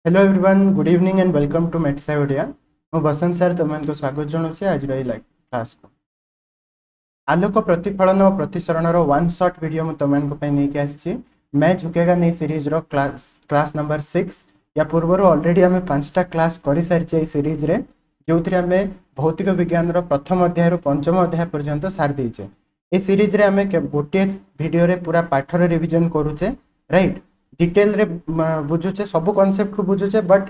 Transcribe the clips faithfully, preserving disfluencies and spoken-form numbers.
Hello everyone, good evening and welcome to ମେଟ୍ସାଇ Odia. ମୁଁ ବସନ୍ତ sir ତୁମମାନଙ୍କୁ ସ୍ୱାଗତ ଜଣାଉଛି ଆଜିର ଏଇ ଲାଇଭ୍ କ୍ଲାସ୍କୁ। ଆଲୋକ ପ୍ରତିଫଳନ ଓ ପ୍ରତିସରଣର ୱାନ୍ ସଟ୍ ଭିଡ଼ିଓ ମୁଁ ତୁମମାନଙ୍କ ପାଇଁ ନେଇକି ଆସିଛି, मैं झुकेगा नहीं ସିରିଜ୍ର କ୍ଲାସ୍ କ୍ଲାସ୍ ନମ୍ବର ସିକ୍ସ। ୟା ପୂର୍ବରୁ ଅଲରେଡ଼ି ଆମେ ପାଞ୍ଚଟା କ୍ଲାସ୍ କରିସାରିଛେ ଏଇ ସିରିଜ୍ରେ, ଯେଉଁଥିରେ ଆମେ ଭୌତିକ ବିଜ୍ଞାନର ପ୍ରଥମ ଅଧ୍ୟାୟରୁ ପଞ୍ଚମ ଅଧ୍ୟାୟ ପର୍ଯ୍ୟନ୍ତ ସାରି ଦେଇଛେ। ଏ ସିରିଜ୍ରେ ଆମେ ଗୋଟିଏ ଭିଡ଼ିଓରେ ପୁରା ପାଠର ରିଭିଜନ୍ କରୁଛେ, ରାଇଟ୍? ଡିଟେଲରେ ବୁଝୁଛେ, ସବୁ କନସେପ୍ଟକୁ ବୁଝୁଛେ, ବଟ୍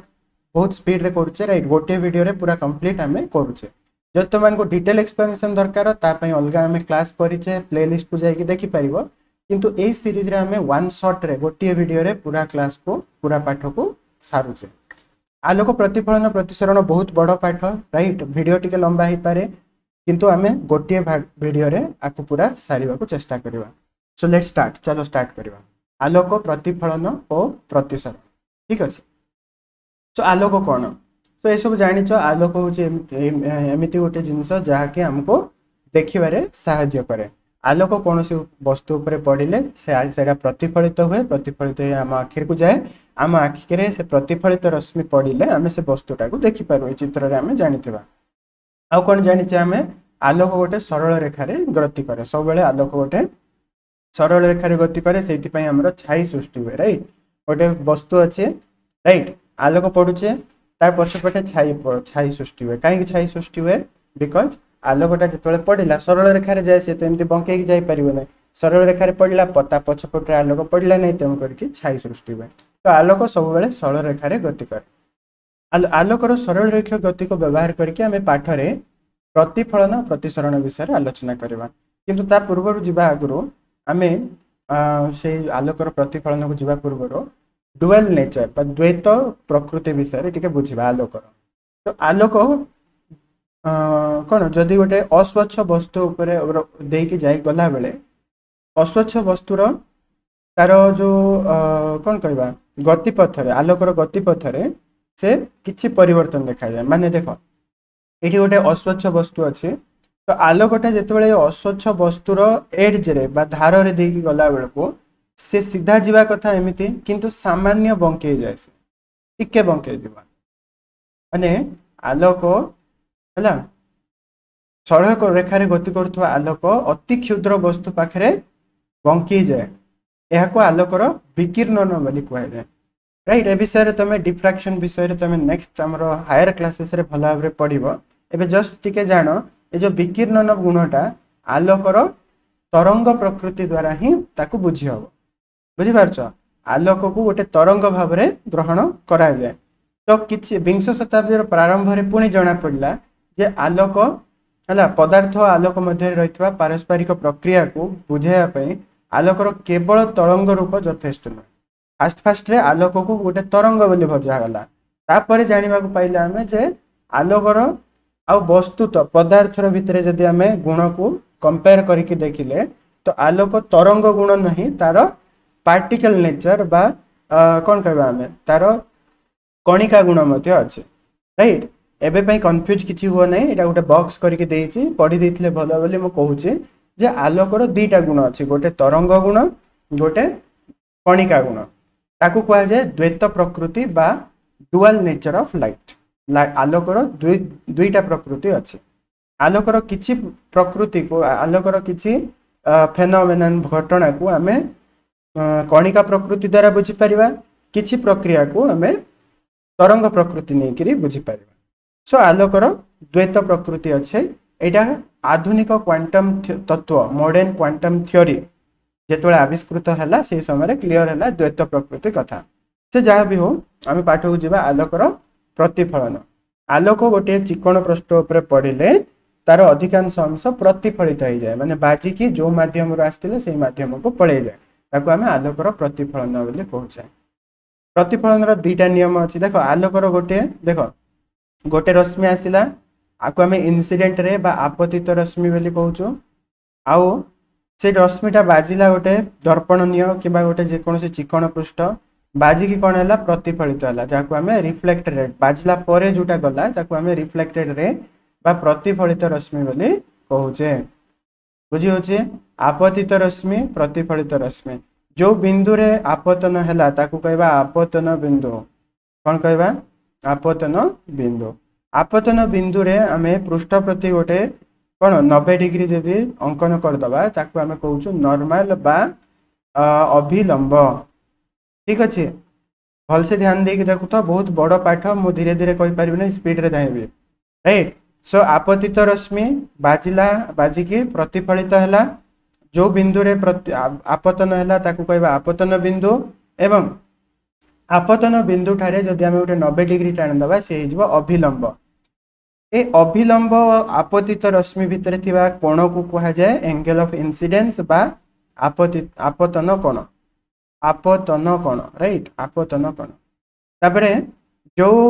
ବହୁତ ସ୍ପିଡରେ କରୁଛେ, ରାଇଟ୍? ଗୋଟିଏ ଭିଡ଼ିଓରେ ପୁରା କମ୍ପ୍ଲିଟ୍ ଆମେ କରୁଛେ। ଯଦି ତୁମମାନଙ୍କୁ ଡିଟେଲ ଏକ୍ସପ୍ଲେନେସନ୍ ଦରକାର, ତା ପାଇଁ ଅଲଗା ଆମେ କ୍ଲାସ୍ କରିଛେ, ପ୍ଲେଲିଷ୍ଟକୁ ଯାଇକି ଦେଖିପାରିବ। କିନ୍ତୁ ଏଇ ସିରିଜ୍ରେ ଆମେ ୱାନ୍ ସଟ୍ରେ ଗୋଟିଏ ଭିଡ଼ିଓରେ ପୁରା କ୍ଲାସ୍କୁ, ପୁରା ପାଠକୁ ସାରୁଛେ। ଆଲୋକ ପ୍ରତିଫଳନ ପ୍ରତିସରଣ ବହୁତ ବଡ଼ ପାଠ, ରାଇଟ୍? ଭିଡ଼ିଓ ଟିକେ ଲମ୍ବା ହେଇପାରେ, କିନ୍ତୁ ଆମେ ଗୋଟିଏ ଭିଡ଼ିଓରେ ଆକୁ ପୁରା ସାରିବାକୁ ଚେଷ୍ଟା କରିବା। ସୋ ଲେଟ୍ ଷ୍ଟାର୍ଟ, ଚାଲ ଷ୍ଟାର୍ଟ କରିବା ଆଲୋକ ପ୍ରତିଫଳନ ଓ ପ୍ରତିସରଣ। ଠିକ୍ ଅଛି। ସୋ ଆଲୋକ କ'ଣ ତ ଏସବୁ ଜାଣିଛ। ଆଲୋକ ହେଉଛି ଏମିତି ଗୋଟେ ଜିନିଷ ଯାହାକି ଆମକୁ ଦେଖିବାରେ ସାହାଯ୍ୟ କରେ। ଆଲୋକ କୌଣସି ବସ୍ତୁ ଉପରେ ପଡ଼ିଲେ ସେ ସେଇଟା ପ୍ରତିଫଳିତ ହୁଏ, ପ୍ରତିଫଳିତ ହୋଇ ଆମ ଆଖିକୁ ଯାଏ। ଆମ ଆଖିରେ ସେ ପ୍ରତିଫଳିତ ରଶ୍ମି ପଡ଼ିଲେ ଆମେ ସେ ବସ୍ତୁଟାକୁ ଦେଖିପାରୁ। ଏ ଚିତ୍ରରେ ଆମେ ଜାଣିଥିବା। ଆଉ କ'ଣ ଜାଣିଛେ ଆମେ? ଆଲୋକ ଗୋଟେ ସରଳ ରେଖାରେ ଗତି କରେ। ସବୁବେଳେ ଆଲୋକ ଗୋଟେ ସରଳ ରେଖାରେ ଗତି କରେ, ସେଇଥିପାଇଁ ଆମର ଛାଇ ସୃଷ୍ଟି ହୁଏ, ରାଇଟ୍? ଗୋଟେ ବସ୍ତୁ ଅଛି, ରାଇଟ୍? ଆଲୋକ ପଡୁଛେ, ତାର ପଛପଟେ ଛାଇ ଛାଇ ସୃଷ୍ଟି ହୁଏ। କାହିଁକି ଛାଇ ସୃଷ୍ଟି ହୁଏ? Because ଆଲୋକଟା ଯେତେବେଳେ ପଡ଼ିଲା, ସରଳ ରେଖାରେ ଯାଏ, ସେ ତ ଏମିତି ବଙ୍କେଇକି ଯାଇପାରିବ ନାହିଁ। ସରଳ ରେଖାରେ ପଡ଼ିଲା, ତା ପଛପଟରେ ଆଲୋକ ପଡ଼ିଲା ନାହିଁ, ତେଣୁ କରିକି ଛାଇ ସୃଷ୍ଟି ହୁଏ। ତ ଆଲୋକ ସବୁବେଳେ ସରଳ ରେଖାରେ ଗତି କରେ। ଆଲୋକର ସରଳ ରେଖ ଗତିକୁ ବ୍ୟବହାର କରିକି ଆମେ ପାଠରେ ପ୍ରତିଫଳନ ପ୍ରତିସରଣ ବିଷୟରେ ଆଲୋଚନା କରିବା। କିନ୍ତୁ ତା ପୂର୍ବରୁ ଯିବା ଆଗରୁ, ଆମେ ସେଇ ଆଲୋକର ପ୍ରତିଫଳନକୁ ଯିବା ପୂର୍ବରୁ ଡୁଏଲ୍ ନେଚର ବା ଦ୍ୱୈତ ପ୍ରକୃତି ବିଷୟରେ ଟିକେ ବୁଝିବା ଆଲୋକର। ତ ଆଲୋକ କ'ଣ? ଯଦି ଗୋଟେ ଅସ୍ୱଚ୍ଛ ବସ୍ତୁ ଉପରେ ଦେଇକି ଯାଇ ଗଲାବେଳେ ଅସ୍ୱଚ୍ଛ ବସ୍ତୁର ତାର ଯେଉଁ କ'ଣ କହିବା, ଗତିପଥରେ, ଆଲୋକର ଗତିପଥରେ ସେ କିଛି ପରିବର୍ତ୍ତନ ଦେଖାଯାଏ। ମାନେ ଦେଖ, ଏଠି ଗୋଟେ ଅସ୍ୱଚ୍ଛ ବସ୍ତୁ ଅଛି। ତ ଆଲୋକଟା ଯେତେବେଳେ ଅସ୍ୱଚ୍ଛ ବସ୍ତୁର ଏଡ୍ଜରେ ବା ଧାରରେ ଦେଇକି ଗଲା ବେଳକୁ ସେ ସିଧା ଯିବା କଥା ଏମିତି, କିନ୍ତୁ ସାମାନ୍ୟ ବଙ୍କେଇ ଯାଏ, ସେ ଟିକେ ବଙ୍କେଇ ଯିବ। ମାନେ ଆଲୋକ ହେଲା ସରଳ ରେଖାରେ ଗତି କରୁଥିବା ଆଲୋକ ଅତି କ୍ଷୁଦ୍ର ବସ୍ତୁ ପାଖରେ ବଙ୍କେଇ ଯାଏ। ଏହାକୁ ଆଲୋକର ବିକିର୍ଣ୍ଣନ ବୋଲି କୁହାଯାଏ, ରାଇଟ୍? ଏ ବିଷୟରେ ତମେ, ଡିଫ୍ରାକ୍ସନ ବିଷୟରେ ତମେ ନେକ୍ସଟ ଆମର ହାୟର କ୍ଲାସେସରେ ଭଲ ଭାବରେ ପଢ଼ିବ। ଏବେ ଜଷ୍ଟ ଟିକେ ଜାଣ, ଏ ଯେଉଁ ବିକିର୍ଣ୍ଣନ ଗୁଣଟା ଆଲୋକର ତରଙ୍ଗ ପ୍ରକୃତି ଦ୍ୱାରା ହିଁ ତାକୁ ବୁଝି ହବ। ବୁଝିପାରୁଛ? ଆଲୋକକୁ ଗୋଟେ ତରଙ୍ଗ ଭାବରେ ଗ୍ରହଣ କରାଯାଏ। ତ କିଛି ବିଂଶ ଶତାବ୍ଦୀର ପ୍ରାରମ୍ଭରେ ପୁଣି ଜଣା ପଡ଼ିଲା ଯେ ଆଲୋକ ହେଲା ପଦାର୍ଥ ଆଲୋକ ମଧ୍ୟରେ ରହିଥିବା ପାରସ୍ପରିକ ପ୍ରକ୍ରିୟାକୁ ବୁଝାଇବା ପାଇଁ ଆଲୋକର କେବଳ ତରଙ୍ଗ ରୂପ ଯଥେଷ୍ଟ ନୁହେଁ। ଫାଷ୍ଟ ଫାଷ୍ଟରେ ଆଲୋକକୁ ଗୋଟେ ତରଙ୍ଗ ବୋଲି ବୁଝାଗଲା। ତାପରେ ଜାଣିବାକୁ ପାଇଲେ ଆମେ ଯେ ଆଲୋକର ଆଉ ବସ୍ତୁତ ପଦାର୍ଥର ଭିତରେ ଯଦି ଆମେ ଗୁଣକୁ କମ୍ପେୟାର କରିକି ଦେଖିଲେ, ତ ଆଲୋକ ତରଙ୍ଗ ଗୁଣ ନାହିଁ, ତାର ପାର୍ଟିକଲ ନେଚର ବା କ'ଣ କହିବା ଆମେ, ତାର କଣିକା ଗୁଣ ମଧ୍ୟ ଅଛି, ରାଇଟ୍? ଏବେ ପାଇଁ କନଫ୍ୟୁଜ୍ କିଛି ହୁଅ ନାହିଁ। ଏଇଟା ଗୋଟେ ବକ୍ସ କରିକି ଦେଇଛି, ପଢ଼ି ଦେଇଥିଲେ ଭଲ ବୋଲି ମୁଁ କହୁଛି ଯେ ଆଲୋକର ଦୁଇଟା ଗୁଣ ଅଛି, ଗୋଟେ ତରଙ୍ଗ ଗୁଣ, ଗୋଟେ କଣିକା ଗୁଣ। ତାକୁ କୁହାଯାଏ ଦ୍ୱୈତ ପ୍ରକୃତି ବା ଡୁଆଲ ନେଚର ଅଫ୍ ଲାଇଟ୍। ଆଲୋକର ଦୁଇ ଦୁଇଟା ପ୍ରକୃତି ଅଛି। ଆଲୋକର କିଛି ପ୍ରକୃତିକୁ, ଆଲୋକର କିଛି ଫେନୋମେନନ୍, ଘଟଣାକୁ ଆମେ କଣିକା ପ୍ରକୃତି ଦ୍ୱାରା ବୁଝିପାରିବା, କିଛି ପ୍ରକ୍ରିୟାକୁ ଆମେ ତରଙ୍ଗ ପ୍ରକୃତି ନେଇକରି ବୁଝିପାରିବା। ସୋ ଆଲୋକର ଦ୍ୱୈତ ପ୍ରକୃତି ଅଛି। ଏଇଟା ଆଧୁନିକ କ୍ୱାଣ୍ଟମ୍ ତତ୍ତ୍ୱ, ମଡର୍ଣ୍ଣ କ୍ୱାଣ୍ଟମ୍ ଥିଓରି ଯେତେବେଳେ ଆବିଷ୍କୃତ ହେଲା, ସେଇ ସମୟରେ କ୍ଲିଅର ହେଲା ଦ୍ୱୈତ ପ୍ରକୃତି କଥା। ସେ ଯାହା ବି ହଉ, ଆମେ ପାଠକୁ ଯିବା। ଆଲୋକର ପ୍ରତିଫଳନ। ଆଲୋକ ଗୋଟିଏ ଚିକଣ ପୃଷ୍ଠ ଉପରେ ପଡ଼ିଲେ ତାର ଅଧିକାଂଶ ଅଂଶ ପ୍ରତିଫଳିତ ହେଇଯାଏ, ମାନେ ବାଜିକି ଯେଉଁ ମାଧ୍ୟମରୁ ଆସିଥିଲେ ସେଇ ମାଧ୍ୟମକୁ ପଳେଇଯାଏ। ତାକୁ ଆମେ ଆଲୋକର ପ୍ରତିଫଳନ ବୋଲି କହୁଛେ। ପ୍ରତିଫଳନର ଦୁଇଟା ନିୟମ ଅଛି। ଦେଖ, ଆଲୋକର ଗୋଟିଏ, ଦେଖ, ଗୋଟେ ରଶ୍ମି ଆସିଲା, ଆକୁ ଆମେ ଇନସିଡେଣ୍ଟ ରେ ବା ଆପତିତ ରଶ୍ମି ବୋଲି କହୁଛୁ। ଆଉ ସେ ରଶ୍ମିଟା ବାଜିଲା ଗୋଟେ ଦର୍ପଣ ନିଅ କିମ୍ବା ଗୋଟେ ଯେକୌଣସି ଚିକଣ ପୃଷ୍ଠ, ବାଜିକି କ'ଣ ହେଲା? ପ୍ରତିଫଳିତ ହେଲା, ଯାହାକୁ ଆମେ ରିଫ୍ଲେକ୍ଟେଡ୍, ବାଜିଲା ପରେ ଯୋଉଟା ଗଲା ତାକୁ ଆମେ ରିଫ୍ଲେକ୍ଟେଡ୍ ରେ ବା ପ୍ରତିଫଳିତ ରଶ୍ମି ବୋଲି କହୁଛେ। ବୁଝି ହଉଛି? ଆପତିତ ରଶ୍ମି, ପ୍ରତିଫଳିତ ରଶ୍ମି। ଯୋଉ ବିନ୍ଦୁରେ ଆପତନ ହେଲା ତାକୁ କହିବା ଆପତନ ବିନ୍ଦୁ। କ'ଣ କହିବା ଆପତନ ବିନ୍ଦୁ ଆପତନ ବିନ୍ଦୁରେ ଆମେ ପୃଷ୍ଠ ପ୍ରତି ଗୋଟେ କ'ଣ ନବେ ଡିଗ୍ରୀ ଯଦି ଅଙ୍କନ କରିଦେବା ତାକୁ ଆମେ କହୁଛୁ ନର୍ମାଲ ବା ଅଭିଲମ୍ବ ଠିକ ଅଛି ଭଲସେ ଧ୍ୟାନ ଦେଇକି ଦେଖୁଥ ବହୁତ ବଡ଼ ପାଠ ମୁଁ ଧୀରେ ଧୀରେ କହିପାରିବିନି ସ୍ପିଡରେ ଧାଇଁବି ରାଇଟ୍ ସୋ ଆପତିତ ରଶ୍ମି ବାଜିଲା ବାଜିକି ପ୍ରତିଫଳିତ ହେଲା ଯେଉଁ ବିନ୍ଦୁରେ ପ୍ରତି ଆପତନ ହେଲା ତାକୁ କହିବା ଆପତନ ବିନ୍ଦୁ ଏବଂ ଆପତନ ବିନ୍ଦୁ ଠାରେ ଯଦି ଆମେ ଗୋଟେ ନବେ ଡିଗ୍ରୀ ଟାଣିଦେବା ସେ ହେଇଯିବ ଅଭିଲମ୍ବ ଏ ଅଭିଲମ୍ବ ଆପତିତ ରଶ୍ମି ଭିତରେ ଥିବା କୋଣକୁ କୁହାଯାଏ ଏଙ୍ଗେଲ ଅଫ ଇନସିଡେନ୍ସ ବା ଆପତି ଆପତନ କୋଣ ଆପତନ କୋଣ ରାଇଟ୍ ଆପତନ କୋଣ ତାପରେ ଯେଉଁ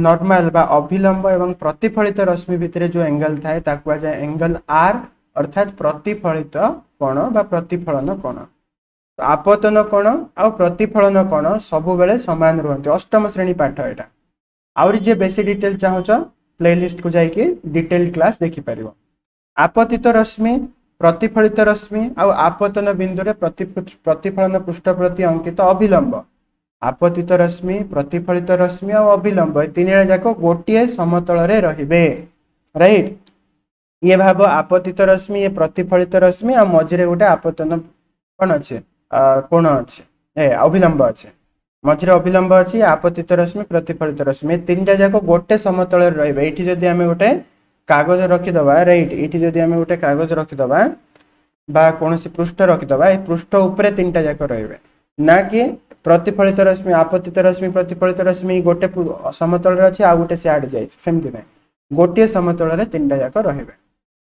ନର୍ମାଲ ବା ଅଭିଲମ୍ବ ଏବଂ ପ୍ରତିଫଳିତ ରଶ୍ମି ଭିତରେ ଯେଉଁ ଏଙ୍ଗେଲ ଥାଏ ତାକୁ କୁହାଯାଏ ଏଙ୍ଗେଲ ଆର୍ ଅର୍ଥାତ୍ ପ୍ରତିଫଳିତ କୋଣ ବା ପ୍ରତିଫଳନ କୋଣ ଆପତନ କୋଣ ଆଉ ପ୍ରତିଫଳନ କୋଣ ସବୁବେଳେ ସମାନ ରୁହନ୍ତି ଅଷ୍ଟମ ଶ୍ରେଣୀ ପାଠ ଏଇଟା ଆହୁରି ଯିଏ ବେଶୀ ଡିଟେଲ ଚାହୁଁଛ ପ୍ଲେଲିଷ୍ଟକୁ ଯାଇକି ଡିଟେଲ କ୍ଲାସ୍ ଦେଖିପାରିବ ଆପତିତ ରଶ୍ମି ପ୍ରତିଫଳିତ ରଶ୍ମି ଆଉ ଆପତନ ବିନ୍ଦୁରେ ପ୍ରତିଫଳନ ପୃଷ୍ଠ ପ୍ରତି ଅଙ୍କିତ ଅଭିଲମ୍ବ ଆପତିତ ରଶ୍ମି ପ୍ରତିଫଳିତ ରଶ୍ମି ଆଉ ଅଭିଲମ୍ବ ଏ ତିନିଟା ଯାକ ଗୋଟିଏ ସମତଳରେ ରହିବେ ରାଇଟ୍ ଇଏ ଭାବ ଆପତିତ ରଶ୍ମି ଇଏ ପ୍ରତିଫଳିତ ରଶ୍ମି ଆଉ ମଝିରେ ଗୋଟେ ଆପତନ କ'ଣ ଅଛି କୋଣ ଅଛି ଏ ଅଭିଲମ୍ବ ଅଛି ମଝିରେ ଅଭିଲମ୍ବ ଅଛି ଆପତିତ ରଶ୍ମି ପ୍ରତିଫଳିତ ରଶ୍ମି ଏ ତିନିଟା ଯାକ ଗୋଟେ ସମତଳରେ ରହିବେ ଏଇଠି ଯଦି ଆମେ ଗୋଟେ କାଗଜ ରଖିଦେବା ରାଇଟ୍ ଏଇଠି ଯଦି ଆମେ ଗୋଟେ କାଗଜ ରଖିଦେବା ବା କୌଣସି ପୃଷ୍ଠ ରଖିଦେବା ଏ ପୃଷ୍ଠ ଉପରେ ତିନିଟା ଯାକ ରହିବେ ନା କି ପ୍ରତିଫଳିତ ରଶ୍ମି ଆପତିତ ରଶ୍ମି ପ୍ରତିଫଳିତ ରଶ୍ମି ଗୋଟେ ସମତଳରେ ଅଛି ଆଉ ଗୋଟେ ସିଆଡ଼େ ଯାଇଛି ସେମିତି ନାହିଁ ଗୋଟିଏ ସମତଳରେ ତିନିଟା ଯାକ ରହିବେ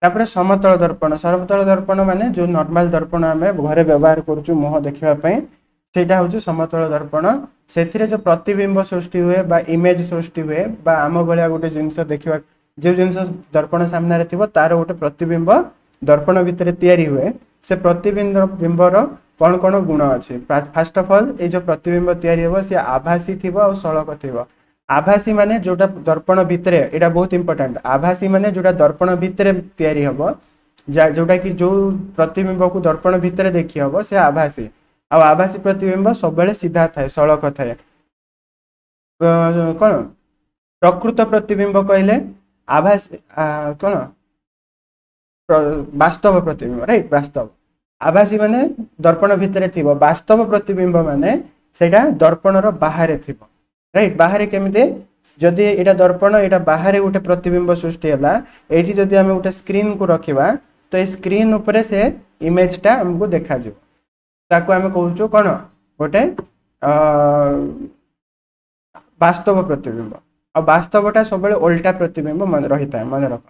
ତାପରେ ସମତଳ ଦର୍ପଣ ସମତଳ ଦର୍ପଣ ମାନେ ଯେଉଁ ନର୍ମାଲ ଦର୍ପଣ ଆମେ ଘରେ ବ୍ୟବହାର କରୁଛୁ ମୁହଁ ଦେଖିବା ପାଇଁ ସେଇଟା ହେଉଛି ସମତଳ ଦର୍ପଣ ସେଥିରେ ଯେଉଁ ପ୍ରତିବିମ୍ବ ସୃଷ୍ଟି ହୁଏ ବା ଇମେଜ ସୃଷ୍ଟି ହୁଏ ବା ଆମ ଭଳିଆ ଗୋଟେ ଜିନିଷ ଦେଖିବା ଯେଉଁ ଜିନିଷ ଦର୍ପଣ ସାମ୍ନାରେ ଥିବ ତାର ଗୋଟେ ପ୍ରତିବିମ୍ବ ଦର୍ପଣ ଭିତରେ ତିଆରି ହୁଏ ସେ ପ୍ରତିବିମ୍ବ ବିମ୍ବର କ'ଣ କ'ଣ ଗୁଣ ଅଛି ଫାଷ୍ଟ ଅଫ୍ ଅଲ୍ ଏଇ ଯେଉଁ ପ୍ରତିବିମ୍ବ ତିଆରି ହେବ ସେ ଆଭାସୀ ଥିବ ଆଉ ସଳକ ଥିବ ଆଭାସୀ ମାନେ ଯୋଉଟା ଦର୍ପଣ ଭିତରେ ଏଇଟା ବହୁତ ଇମ୍ପୋର୍ଟାଣ୍ଟ ଆଭାସୀ ମାନେ ଯୋଉଟା ଦର୍ପଣ ଭିତରେ ତିଆରି ହେବ ଯୋଉଟା କି ଯୋଉ ପ୍ରତିବିମ୍ବକୁ ଦର୍ପଣ ଭିତରେ ଦେଖି ହବ ସେ ଆଭାସୀ ଆଉ ଆଭାସୀ ପ୍ରତିବିମ୍ବ ସବୁବେଳେ ସିଧା ଥାଏ ସଳକ ଥାଏ କ'ଣ ପ୍ରକୃତ ପ୍ରତିବିମ୍ବ କହିଲେ ଆଭାସୀ କ'ଣ ବାସ୍ତବ ପ୍ରତିବିମ୍ବ ରାଇଟ୍ ବାସ୍ତବ ଆଭାସୀ ମାନେ ଦର୍ପଣ ଭିତରେ ଥିବ ବାସ୍ତବ ପ୍ରତିବିମ୍ବ ମାନେ ସେଇଟା ଦର୍ପଣର ବାହାରେ ଥିବ ରାଇଟ୍ ବାହାରେ କେମିତି ଯଦି ଏଇଟା ଦର୍ପଣ ଏଇଟା ବାହାରେ ଗୋଟେ ପ୍ରତିବିମ୍ବ ସୃଷ୍ଟି ହେଲା ଏଇଠି ଯଦି ଆମେ ଗୋଟେ ସ୍କ୍ରିନ୍କୁ ରଖିବା ତ ଏଇ ସ୍କ୍ରିନ୍ ଉପରେ ସେ ଇମେଜଟା ଆମକୁ ଦେଖାଯିବ ତାକୁ ଆମେ କହୁଛୁ କ'ଣ ଗୋଟେ ବାସ୍ତବ ପ୍ରତିବିମ୍ବ ଆଉ ବାସ୍ତବଟା ସବୁବେଳେ ଓଲଟା ପ୍ରତିବିମ୍ବ ମନେ ରହିଥାଏ ମନେ ରଖ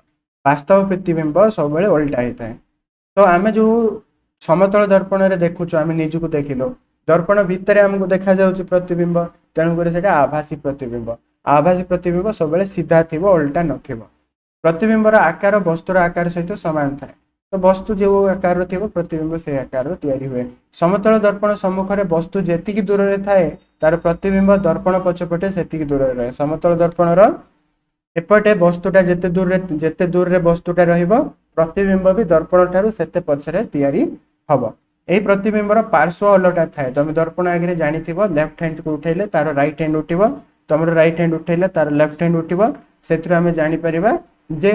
ବାସ୍ତବ ପ୍ରତିବିମ୍ବ ସବୁବେଳେ ଓଲଟା ହେଇଥାଏ ତ ଆମେ ଯେଉଁ ସମତଳ ଦର୍ପଣରେ ଦେଖୁଛୁ ଆମେ ନିଜକୁ ଦେଖିଲୁ ଦର୍ପଣ ଭିତରେ ଆମକୁ ଦେଖାଯାଉଛି ପ୍ରତିବିମ୍ବ ତେଣୁକରି ସେଇଟା ଆଭାସୀ ପ୍ରତିବିମ୍ବ ଆଭାସୀ ପ୍ରତିବିମ୍ବ ସବୁବେଳେ ସିଧା ଥିବ ଓଲଟା ନଥିବ ପ୍ରତିବିମ୍ବର ଆକାର ବସ୍ତୁର ଆକାର ସହିତ ସମାନ ଥାଏ ତ ବସ୍ତୁ ଯେଉଁ ଆକାରର ଥିବ ପ୍ରତିବିମ୍ବ ସେଇ ଆକାରର ତିଆରି ହୁଏ ସମତଳ ଦର୍ପଣ ସମ୍ମୁଖରେ ବସ୍ତୁ ଯେତିକି ଦୂରରେ ଥାଏ ତାର ପ୍ରତିବିମ୍ବ ଦର୍ପଣ ପଛପଟେ ସେତିକି ଦୂରରେ ରହେ ସମତଳ ଦର୍ପଣର ଏପଟେ ବସ୍ତୁଟା ଯେତେ ଦୂରରେ ଯେତେ ଦୂରରେ ବସ୍ତୁଟା ରହିବ ପ୍ରତିବିମ୍ବ ବି ଦର୍ପଣ ଠାରୁ ସେତେ ପଛରେ ତିଆରି ହବ ଏଇ ପ୍ରତିବିମ୍ବର ପାର୍ଶ୍ୱ ଓଲଟା ଥାଏ ତମେ ଦର୍ପଣ ଆଗରେ ଜାଣିଥିବ ଲେଫ୍ଟ ହ୍ୟାଣ୍ଡକୁ ଉଠେଇଲେ ତାର ରାଇଟ୍ ହ୍ୟାଣ୍ଡ ଉଠିବ ତମର ରାଇଟ୍ ହ୍ୟାଣ୍ଡ ଉଠେଇଲେ ତାର ଲେଫ୍ଟ ହ୍ୟାଣ୍ଡ ଉଠିବ ସେଥିରୁ ଆମେ ଜାଣିପାରିବା ଯେ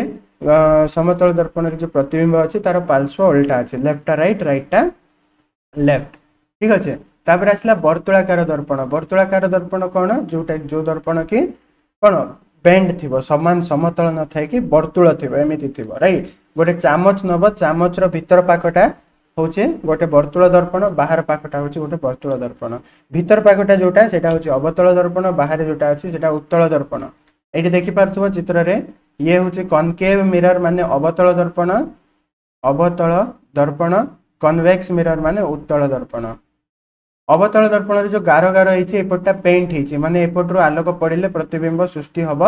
ସମତଳ ଦର୍ପଣରେ ଯେଉଁ ପ୍ରତିବିମ୍ବ ଅଛି ତାର ପାର୍ଶ୍ୱ ଓଲଟା ଅଛି ଲେଫ୍ଟଟା ରାଇଟ୍ ରାଇଟଟା ଲେଫ୍ଟ ଠିକ ଅଛି ତାପରେ ଆସିଲା ବର୍ତ୍ତୁଳାକାର ଦର୍ପଣ ବର୍ତ୍ତୁଳାକାର ଦର୍ପଣ କ'ଣ ଯୋଉଟା ଯୋଉ ଦର୍ପଣ କି କ'ଣ ବେଣ୍ଡ ଥିବ ସମାନ ସମତଳ ନଥାଏ କି ବର୍ତ୍ତୁଳ ଥିବ ଏମିତି ଥିବ ରାଇଟ୍ ଗୋଟେ ଚାମଚ ନବ ଚାମଚର ଭିତର ପାଖଟା ହେଉଛି ଗୋଟେ ବର୍ତ୍ତୁଳ ଦର୍ପଣ ବାହାର ପାଖଟା ହେଉଛି ଗୋଟେ ବର୍ତ୍ତୁଳ ଦର୍ପଣ ଭିତର ପାଖଟା ଯୋଉଟା ସେଇଟା ହେଉଛି ଅବତଳ ଦର୍ପଣ ବାହାରେ ଯୋଉଟା ଅଛି ସେଇଟା ଉତ୍ତଳ ଦର୍ପଣ ଏଇଠି ଦେଖିପାରୁଥିବ ଚିତ୍ରରେ ଇଏ ହେଉଛି କନକେଭ୍ ମିରର ମାନେ ଅବତଳ ଦର୍ପଣ ଅବତଳ ଦର୍ପଣ କନଭେକ୍ସ ମିରର ମାନେ ଉତ୍ତଳ ଦର୍ପଣ ଅବତଳ ଦର୍ପଣରେ ଯୋଉ ଗାର ଗାର ହେଇଛି ଏପଟଟା ପେଣ୍ଟ ହେଇଛି ମାନେ ଏପଟରୁ ଆଲୋକ ପଡ଼ିଲେ ପ୍ରତିବିମ୍ବ ସୃଷ୍ଟି ହବ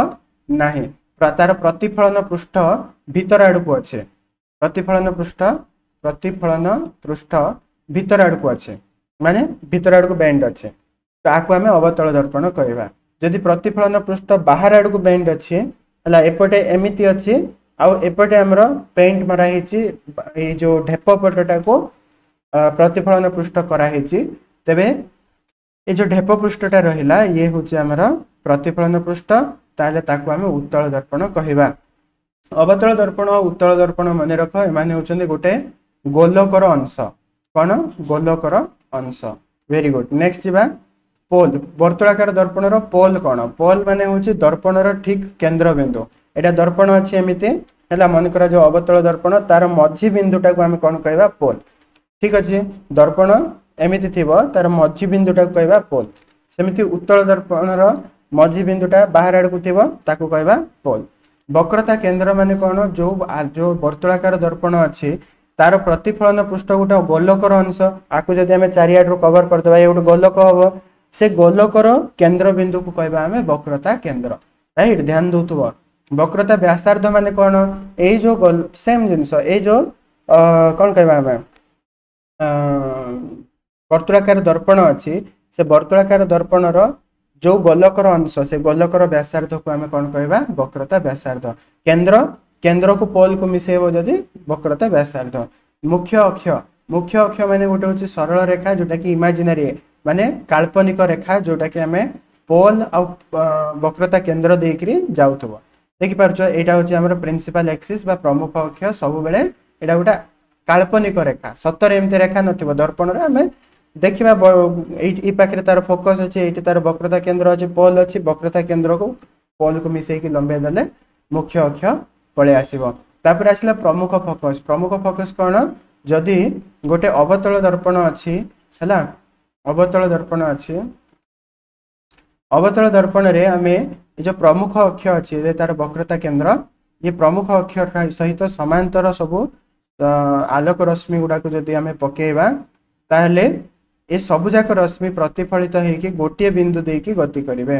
ନାହିଁ ତାର ପ୍ରତିଫଳନ ପୃଷ୍ଠ ଭିତର ଆଡ଼କୁ ଅଛି ପ୍ରତିଫଳନ ପୃଷ୍ଠ ପ୍ରତିଫଳନ ପୃଷ୍ଠ ଭିତର ଆଡ଼କୁ ଅଛି ମାନେ ଭିତର ଆଡ଼କୁ ବେଣ୍ଡ ଅଛି ତାକୁ ଆମେ ଅବତଳ ଦର୍ପଣ କହିବା ଯଦି ପ୍ରତିଫଳନ ପୃଷ୍ଠ ବାହାର ଆଡ଼କୁ ବେଣ୍ଡ ଅଛି ହେଲା ଏପଟେ ଏମିତି ଅଛି ଆଉ ଏପଟେ ଆମର ପେଣ୍ଟ ମରା ହେଇଛି ଏଇ ଯୋଉ ଢେପ ପଟଟାକୁ ପ୍ରତିଫଳନ ପୃଷ୍ଠ କରାହେଇଛି ତେବେ ଏ ଯେଉଁ ଢେପ ପୃଷ୍ଠଟା ରହିଲା, ଇଏ ହେଉଛି ଆମର ପ୍ରତିଫଳନ ପୃଷ୍ଠ। ତାହେଲେ ତାକୁ ଆମେ ଉତ୍ତଳ ଦର୍ପଣ କହିବା। ଅବତଳ ଦର୍ପଣ, ଉତ୍ତଳ ଦର୍ପଣ ମନେ ରଖ, ଏମାନେ ହେଉଛନ୍ତି ଗୋଟେ ଗୋଲକର ଅଂଶ। କ'ଣ? ଗୋଲକର ଅଂଶ। Very good. Next ଯିବା ପୋଲ। ବର୍ତ୍ତୁଳାକାର ଦର୍ପଣର ପୋଲ କ'ଣ? ପୋଲ ମାନେ ହେଉଛି ଦର୍ପଣର ଠିକ କେନ୍ଦ୍ରବିନ୍ଦୁ। ଏଇଟା ଦର୍ପଣ ଅଛି ଏମିତି ହେଲା, ମନେକର ଯୋଉ ଅବତଳ ଦର୍ପଣ, ତାର ମଝି ବିନ୍ଦୁଟାକୁ ଆମେ କ'ଣ କହିବା? ପୋଲ। ଠିକ ଅଛି? ଦର୍ପଣ ଏମିତି ଥିବ, ତାର ମଝି ବିନ୍ଦୁଟାକୁ କହିବା ପୋଲ। ସେମିତି ଉତ୍ତଳ ଦର୍ପଣର ମଝି ବିନ୍ଦୁଟା ବାହାର ଆଡ଼କୁ ଥିବ, ତାକୁ କହିବା ପୋଲ। ବକ୍ରତା କେନ୍ଦ୍ର ମାନେ କ'ଣ? ଯୋଉ ଯୋଉ ବର୍ତ୍ତୁଳାକାର ଦର୍ପଣ ଅଛି, ତାର ପ୍ରତିଫଳନ ପୃଷ୍ଠ ଗୋଟେ ଗୋଲକର ଅଂଶ। ଆକୁ ଯଦି ଆମେ ଚାରିଆଡ଼ରୁ କଭର କରିଦେବା, ଇଏ ଗୋଟେ ଗୋଲକ ହବ। ସେ ଗୋଲକର କେନ୍ଦ୍ର ବିନ୍ଦୁକୁ କହିବା ଆମେ ବକ୍ରତା କେନ୍ଦ୍ର। ରାଇଟ୍? ଧ୍ୟାନ ଦଉଥିବ। ବକ୍ରତା ବ୍ୟାସାର୍ଦ୍ଧ ମାନେ କ'ଣ? ଏଇ ଯୋଉ ସେମ୍ ଜିନିଷ, ଏଇ ଯୋଉ କ'ଣ କହିବା ଆମେ, ବର୍ତ୍ତୁଳାକାର ଦର୍ପଣ ଅଛି, ସେ ବର୍ତ୍ତୁଳାକାର ଦର୍ପଣର ଯୋଉ ଗୋଲକର ଅଂଶ, ସେ ଗୋଲକର ବ୍ୟାସାର୍ଦ୍ଧକୁ ଆମେ କ'ଣ କହିବା? ବକ୍ରତା ବ୍ୟାସାର୍ଦ୍ଧ। କେନ୍ଦ୍ର, କେନ୍ଦ୍ରକୁ ପୋଲକୁ ମିଶେଇବ ଯଦି ବକ୍ରତା ବ୍ୟାସାର୍ଦ୍ଧ। ମୁଖ୍ୟ ଅକ୍ଷ। ମୁଖ୍ୟ ଅକ୍ଷ ମାନେ ଗୋଟେ ହେଉଛି ସରଳ ରେଖା, ଯୋଉଟା କି ଇମାଜିନାରୀ ମାନେ କାଳ୍ପନିକ ରେଖା, ଯୋଉଟା କି ଆମେ ପୋଲ ଆଉ ବକ୍ରତା କେନ୍ଦ୍ର ଦେଇକିରି ଯାଉଥିବ। ଦେଖିପାରୁଛ? ଏଇଟା ହେଉଛି ଆମର ପ୍ରିନ୍ସିପାଲ ଏକ୍ସିସ୍ ବା ପ୍ରମୁଖ ଅକ୍ଷ। ସବୁବେଳେ ଏଇଟା ଗୋଟେ କାଳ୍ପନିକ ରେଖା, ସତରେ ଏମିତି ରେଖା ନଥିବ। ଦର୍ପଣରେ ଆମେ ଦେଖିବା, ଏଇ ଏଇ ପାଖରେ ତାର ଫୋକସ୍ ଅଛି, ଏଇଠି ତାର ବକ୍ରତା କେନ୍ଦ୍ର ଅଛି, ପୋଲ ଅଛି। ବକ୍ରତା କେନ୍ଦ୍ରକୁ ପୋଲକୁ ମିଶେଇକି ଲମ୍ବେଇ ଦେଲେ ମୁଖ୍ୟ ଅକ୍ଷ ପଳେଇ ଆସିବ। ତାପରେ ଆସିଲା ପ୍ରମୁଖ ଫୋକସ୍। ପ୍ରମୁଖ ଫୋକସ୍ କ'ଣ? ଯଦି ଗୋଟେ ଅବତଳ ଦର୍ପଣ ଅଛି, ହେଲା, ଅବତଳ ଦର୍ପଣ ଅଛି, ଅବତଳ ଦର୍ପଣରେ ଆମେ ଏ ଯେଉଁ ପ୍ରମୁଖ ଅକ୍ଷ ଅଛି, ଯେ ତାର ବକ୍ରତା କେନ୍ଦ୍ର, ଇଏ ପ୍ରମୁଖ ଅକ୍ଷ ସହିତ ସମାନ୍ତର ସବୁ ଆଲୋକ ରଶ୍ମି ଗୁଡ଼ାକୁ ଯଦି ଆମେ ପକେଇବା, ତାହେଲେ ଏ ସବୁଯାକ ରଶ୍ମି ପ୍ରତିଫଳିତ ହେଇକି ଗୋଟିଏ ବିନ୍ଦୁ ଦେଇକି ଗତି କରିବେ।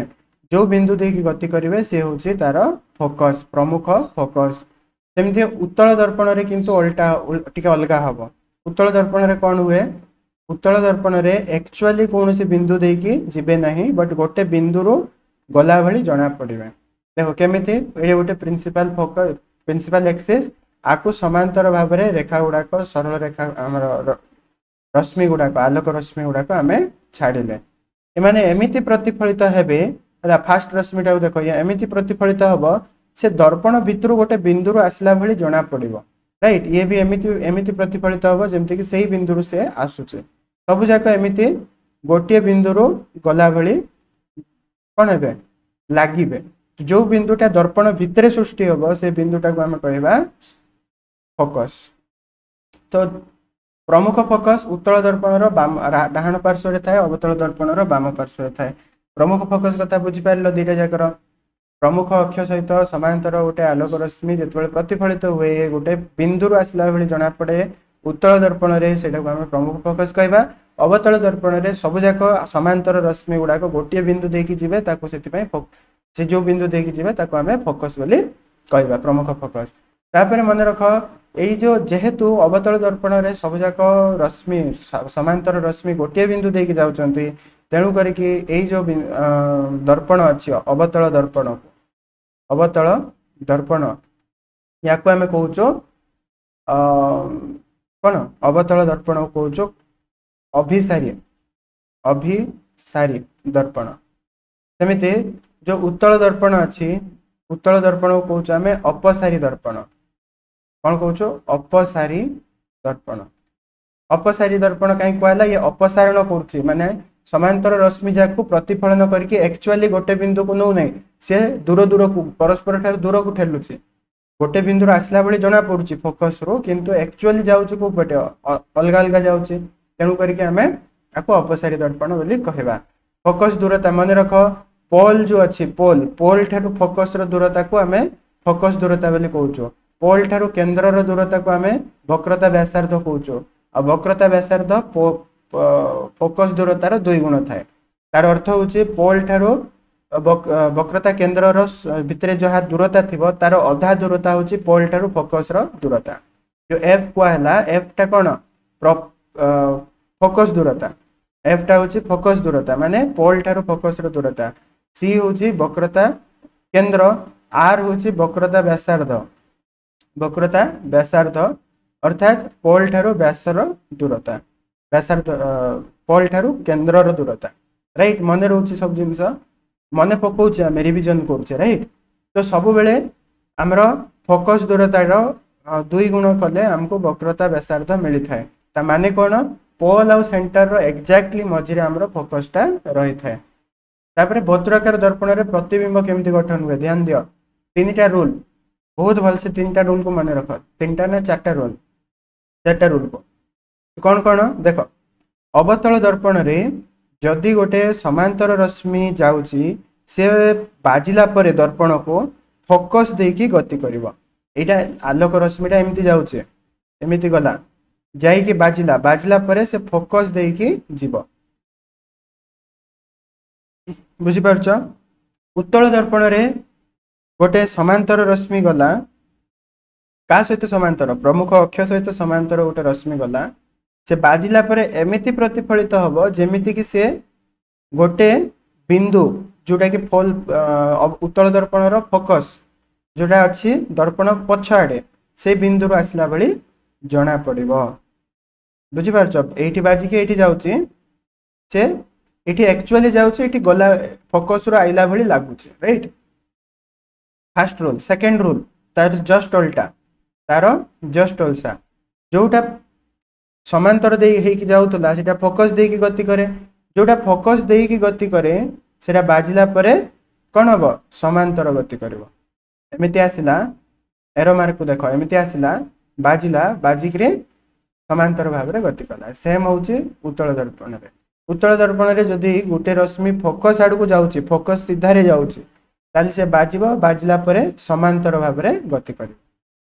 ଯେଉଁ ବିନ୍ଦୁ ଦେଇକି ଗତି କରିବେ, ସେ ହେଉଛି ତାର ଫୋକସ୍, ପ୍ରମୁଖ ଫୋକସ୍। ସେମିତି ଉତ୍ତଳ ଦର୍ପଣରେ କିନ୍ତୁ ଓଲଟା, ଟିକେ ଅଲଗା ହବ। ଉତ୍ତଳ ଦର୍ପଣରେ କ'ଣ ହୁଏ? ଉତ୍ତଳ ଦର୍ପଣରେ ଆକ୍ଚୁଆଲି କୌଣସି ବିନ୍ଦୁ ଦେଇକି ଯିବେ ନାହିଁ, ବଟ୍ ଗୋଟେ ବିନ୍ଦୁରୁ ଗଲା ଭଳି ଜଣା ପଡ଼ିବେ। ଦେଖ କେମିତି, ଏଇଠି ଗୋଟେ ପ୍ରିନ୍ସିପାଲ ଫୋକସ୍, ପ୍ରିନ୍ସିପାଲ ଏକ୍ସିସ୍, ଆକୁ ସମାନ୍ତର ଭାବରେ ରେଖା ଗୁଡ଼ାକ, ସରଳ ରେଖା, ଆମର ରଶ୍ମି ଗୁଡ଼ାକ, ଆଲୋକ ରଶ୍ମି ଗୁଡ଼ାକ ଆମେ ଛାଡ଼ିଲେ, ଏମାନେ ଏମିତି ପ୍ରତିଫଳିତ ହେବେ। ହେଲା, ଫାଷ୍ଟ ରଶ୍ମିଟାକୁ ଦେଖ, ଏମିତି ପ୍ରତିଫଳିତ ହବ, ସେ ଦର୍ପଣ ଭିତରୁ ଗୋଟେ ବିନ୍ଦୁରୁ ଆସିଲା ଭଳି ଜଣା ପଡ଼ିବ। ରାଇଟ୍? ଇଏ ବି ଏମିତି ଏମିତି ପ୍ରତିଫଳିତ ହବ, ଯେମିତିକି ସେଇ ବିନ୍ଦୁରୁ ସେ ଆସୁଛି। ସବୁ ଯାକ ଏମିତି ଗୋଟିଏ ବିନ୍ଦୁରୁ ଗଲା ଭଳି କ'ଣ ହେବେ? ଲାଗିବେ। ଯୋଉ ବିନ୍ଦୁଟା ଦର୍ପଣ ଭିତରେ ସୃଷ୍ଟି ହବ, ସେ ବିନ୍ଦୁଟାକୁ ଆମେ କହିବା ଫୋକସ୍। ତ ପ୍ରମୁଖ ଫୋକସ୍ ଉତ୍ତଳ ଦର୍ପଣର ବାମ ଡାହାଣ ପାର୍ଶ୍ୱରେ ଥାଏ, ଅବତଳ ଦର୍ପଣର ବାମ ପାର୍ଶ୍ୱରେ ଥାଏ। ପ୍ରମୁଖ ଫୋକସ୍ କଥା ବୁଝିପାରିଲ ଦୁଇଟା ଯାକର? ପ୍ରମୁଖ ଅକ୍ଷ ସହିତ ସମାନ୍ତର ଗୋଟେ ଆଲୋକ ରଶ୍ମି ଯେତେବେଳେ ପ୍ରତିଫଳିତ ହୁଏ, ଗୋଟେ ବିନ୍ଦୁରୁ ଆସିଲା ଭଳି ଜଣାପଡ଼େ ଉତ୍ତଳ ଦର୍ପଣରେ, ସେଇଟାକୁ ଆମେ ପ୍ରମୁଖ ଫୋକସ୍ କହିବା। ଅବତଳ ଦର୍ପଣରେ ସବୁଯାକ ସମାନ୍ତର ରଶ୍ମି ଗୁଡ଼ାକ ଗୋଟିଏ ବିନ୍ଦୁ ଦେଇକି ଯିବେ, ତାକୁ ସେଥିପାଇଁ ସେ ଯୋଉ ବିନ୍ଦୁ ଦେଇକି ଯିବେ ତାକୁ ଆମେ ଫୋକସ୍ ବୋଲି କହିବା, ପ୍ରମୁଖ ଫୋକସ୍। ତାପରେ ମନେ ରଖ, ଏଇ ଯୋଉ ଯେହେତୁ ଅବତଳ ଦର୍ପଣରେ ସବୁଯାକ ରଶ୍ମି, ସମାନ୍ତର ରଶ୍ମି ଗୋଟିଏ ବିନ୍ଦୁ ଦେଇକି ଯାଉଛନ୍ତି, ତେଣୁ କରିକି ଏଇ ଯୋଉ ଦର୍ପଣ ଅଛି, ଅବତଳ ଦର୍ପଣକୁ, ଅବତଳ ଦର୍ପଣ, ୟାକୁ ଆମେ କହୁଛୁ କ'ଣ? ଅବତଳ ଦର୍ପଣକୁ କହୁଛୁ ଅଭିସାରୀ, ଅଭିସାରୀ ଦର୍ପଣ। ସେମିତି ଯୋଉ ଉତ୍ତଳ ଦର୍ପଣ ଅଛି, ଉତ୍ତଳ ଦର୍ପଣକୁ କହୁଛୁ ଆମେ ଅପସାରୀ ଦର୍ପଣ। କ'ଣ କହୁଛୁ? ଅପସାରୀ ଦର୍ପଣ। ଅପସାରୀ ଦର୍ପଣ କାହିଁ କୁହାହେଲା? ଇଏ ଅପସାରଣ କରୁଛି, ମାନେ ସମାନ୍ତର ରଶ୍ମି ଯାକୁ ପ୍ରତିଫଳନ କରିକି ଆକ୍ଚୁଆଲି ଗୋଟେ ବିନ୍ଦୁକୁ ନେଉନାହିଁ, ସେ ଦୂର ଦୂରକୁ, ପରସ୍ପର ଠାରୁ ଦୂରକୁ ଠେଲୁଛି। ଗୋଟେ ବିନ୍ଦୁରୁ ଆସିଲା ଭଳି ଜଣା ପଡୁଛି ଫୋକସରୁ, କିନ୍ତୁ ଆକ୍ଚୁଆଲି ଯାଉଛି କୋଉ ପଟେ? ଅଲଗା ଅଲଗା ଯାଉଛି। ତେଣୁ କରିକି ଆମେ ତାକୁ ଅପସାରୀ ଦର୍ପଣ ବୋଲି କହିବା। ଫୋକସ ଦୂରତା ମନେ ରଖ, ପୋଲ ଯୋଉ ଅଛି, ପୋଲ ପୋଲ ଠାରୁ ଫୋକସର ଦୂରତାକୁ ଆମେ ଫୋକସ ଦୂରତା ବୋଲି କହୁଛୁ। ପୋଲ ଠାରୁ କେନ୍ଦ୍ରର ଦୂରତାକୁ ଆମେ ବକ୍ରତା ବ୍ୟାସାର୍ଦ୍ଧ କହୁଛୁ। ଆଉ ବକ୍ରତା ବ୍ୟାସାର୍ଦ୍ଧ ଫୋକସ ଦୂରତାର ଦୁଇ ଗୁଣ ଥାଏ। ତାର ଅର୍ଥ ହେଉଛି ପୋଲ ଠାରୁ ବକ୍ରତା କେନ୍ଦ୍ରର ଭିତରେ ଯାହା ଦୂରତା ଥିବ, ତାର ଅଧା ଦୂରତା ହେଉଛି ପୋଲ ଠାରୁ ଫୋକସର ଦୂରତା। ଯୋଉ ଏଫ୍ କୁହାହେଲା, ଏଫ୍ଟା କ'ଣ? ଫୋକସ ଦୂରତା। ଏଫ୍ଟା ହେଉଛି ଫୋକସ ଦୂରତା, ମାନେ ପୋଲ ଠାରୁ ଫୋକସର ଦୂରତା। ସି ହେଉଛି ବକ୍ରତା କେନ୍ଦ୍ର, ଆର୍ ହେଉଛି ବକ୍ରତା ବ୍ୟାସାର୍ଦ୍ଧ, ବକ୍ରତା ବ୍ୟାସାର୍ଦ୍ଧ ଅର୍ଥାତ୍ ପୋଲ ଠାରୁ ବ୍ୟାସର ଦୂରତା, ବ୍ୟାସାର୍ଦ୍ଧ, ପୋଲ ଠାରୁ କେନ୍ଦ୍ରର ଦୂରତା। ରାଇଟ୍ ମନେ ରହୁଛି ସବୁ ଜିନିଷ ମନେ ପକାଉଛେ ଆମେ ରିଭିଜନ କରୁଛେ ରାଇଟ୍ ତ ସବୁବେଳେ ଆମର ଫୋକସ୍ ଦୂରତାର ଦୁଇ ଗୁଣ କଲେ ଆମକୁ ବକ୍ରତା ବ୍ୟାସାର୍ଦ୍ଧ ମିଳିଥାଏ ତା ମାନେ କ'ଣ ପୋଲ୍ ଆଉ ସେଣ୍ଟରର ଏକ୍ଜାକ୍ଟଲି ମଝିରେ ଆମର ଫୋକସ୍ଟା ରହିଥାଏ ତାପରେ ବର୍ତ୍ତୁଳାକାର ଦର୍ପଣରେ ପ୍ରତିବିମ୍ବ କେମିତି ଗଠନ ହୁଏ ଧ୍ୟାନ ଦିଅ ତିନିଟା ରୁଲ୍ ବହୁତ ଭଲସେ ତିନିଟା ରୁଲ୍କୁ ମନେ ରଖ ତିନିଟା ନା ଚାରିଟା ରୁଲ୍ ଚାରିଟା ରୁଲ୍କୁ କ'ଣ କ'ଣ ଦେଖ ଅବତଳ ଦର୍ପଣରେ ଯଦି ଗୋଟେ ସମାନ୍ତର ରଶ୍ମି ଯାଉଛି ସେ ବାଜିଲା ପରେ ଦର୍ପଣକୁ ଫୋକସ୍ ଦେଇକି ଗତି କରିବ ଏଇଟା ଆଲୋକ ରଶ୍ମିଟା ଏମିତି ଯାଉଛି ଏମିତି ଗଲା ଯାଇକି ବାଜିଲା ବାଜିଲା ପରେ ସେ ଫୋକସ୍ ଦେଇକି ଯିବ ବୁଝିପାରୁଛ ଉତ୍ତଳ ଦର୍ପଣରେ ଗୋଟେ ସମାନ୍ତର ରଶ୍ମି ଗଲା କାହା ସହିତ ସମାନ୍ତର ପ୍ରମୁଖ ଅକ୍ଷ ସହିତ ସମାନ୍ତର ଗୋଟେ ରଶ୍ମି ଗଲା ସେ ବାଜିଲା ପରେ ଏମିତି ପ୍ରତିଫଳିତ ହବ ଯେମିତିକି ସେ ଗୋଟେ ବିନ୍ଦୁ ଯୋଉଟାକି ଫୋଲ ଉତ୍ତଳ ଦର୍ପଣର ଫୋକସ୍ ଯୋଉଟା ଅଛି ଦର୍ପଣ ପଛ ଆଡ଼େ ସେଇ ବିନ୍ଦୁରୁ ଆସିଲା ଭଳି ଜଣା ପଡ଼ିବ ବୁଝିପାରୁଛ ଏଇଠି ବାଜିକି ଏଇଠି ଯାଉଛି ସେ ଏଠି ଆକ୍ଚୁଆଲି ଯାଉଛି ଏଠି ଗଲା ଫୋକସ୍ରୁ ଆଇଲା ଭଳି ଲାଗୁଛି right first rule second rule ତାର ଜଷ୍ଟ ଓଲଟା ତାର ଜଷ୍ଟ ଓଲଟା ଯୋଉଟା ସମାନ୍ତର ଦେଇ ହେଇକି ଯାଉଥିଲା ସେଟା ଫୋକସ୍ ଦେଇକି ଗତି କରେ ଯୋଉଟା ଫୋକସ୍ ଦେଇକି ଗତି କରେ ସେଟା ବାଜିଲା ପରେ କ'ଣ ହବ ସମାନ୍ତର ଗତି କରିବ ଏମିତି ଆସିଲା ଏରୋ ମାର୍କକୁ ଦେଖ ଏମିତି ଆସିଲା ବାଜିଲା ବାଜିକିରି ସମାନ୍ତର ଭାବରେ ଗତି କଲା ସେମ୍ ହେଉଛି ଉତ୍ତଳ ଦର୍ପଣରେ ଉତ୍ତଳ ଦର୍ପଣରେ ଯଦି ଗୋଟେ ରଶ୍ମି ଫୋକସ୍ ଆଡ଼କୁ ଯାଉଛି ଫୋକସ୍ ସିଧାରେ ଯାଉଛି ତାହେଲେ ସେ ବାଜିବ ବାଜିଲା ପରେ ସମାନ୍ତର ଭାବରେ ଗତି କରିବ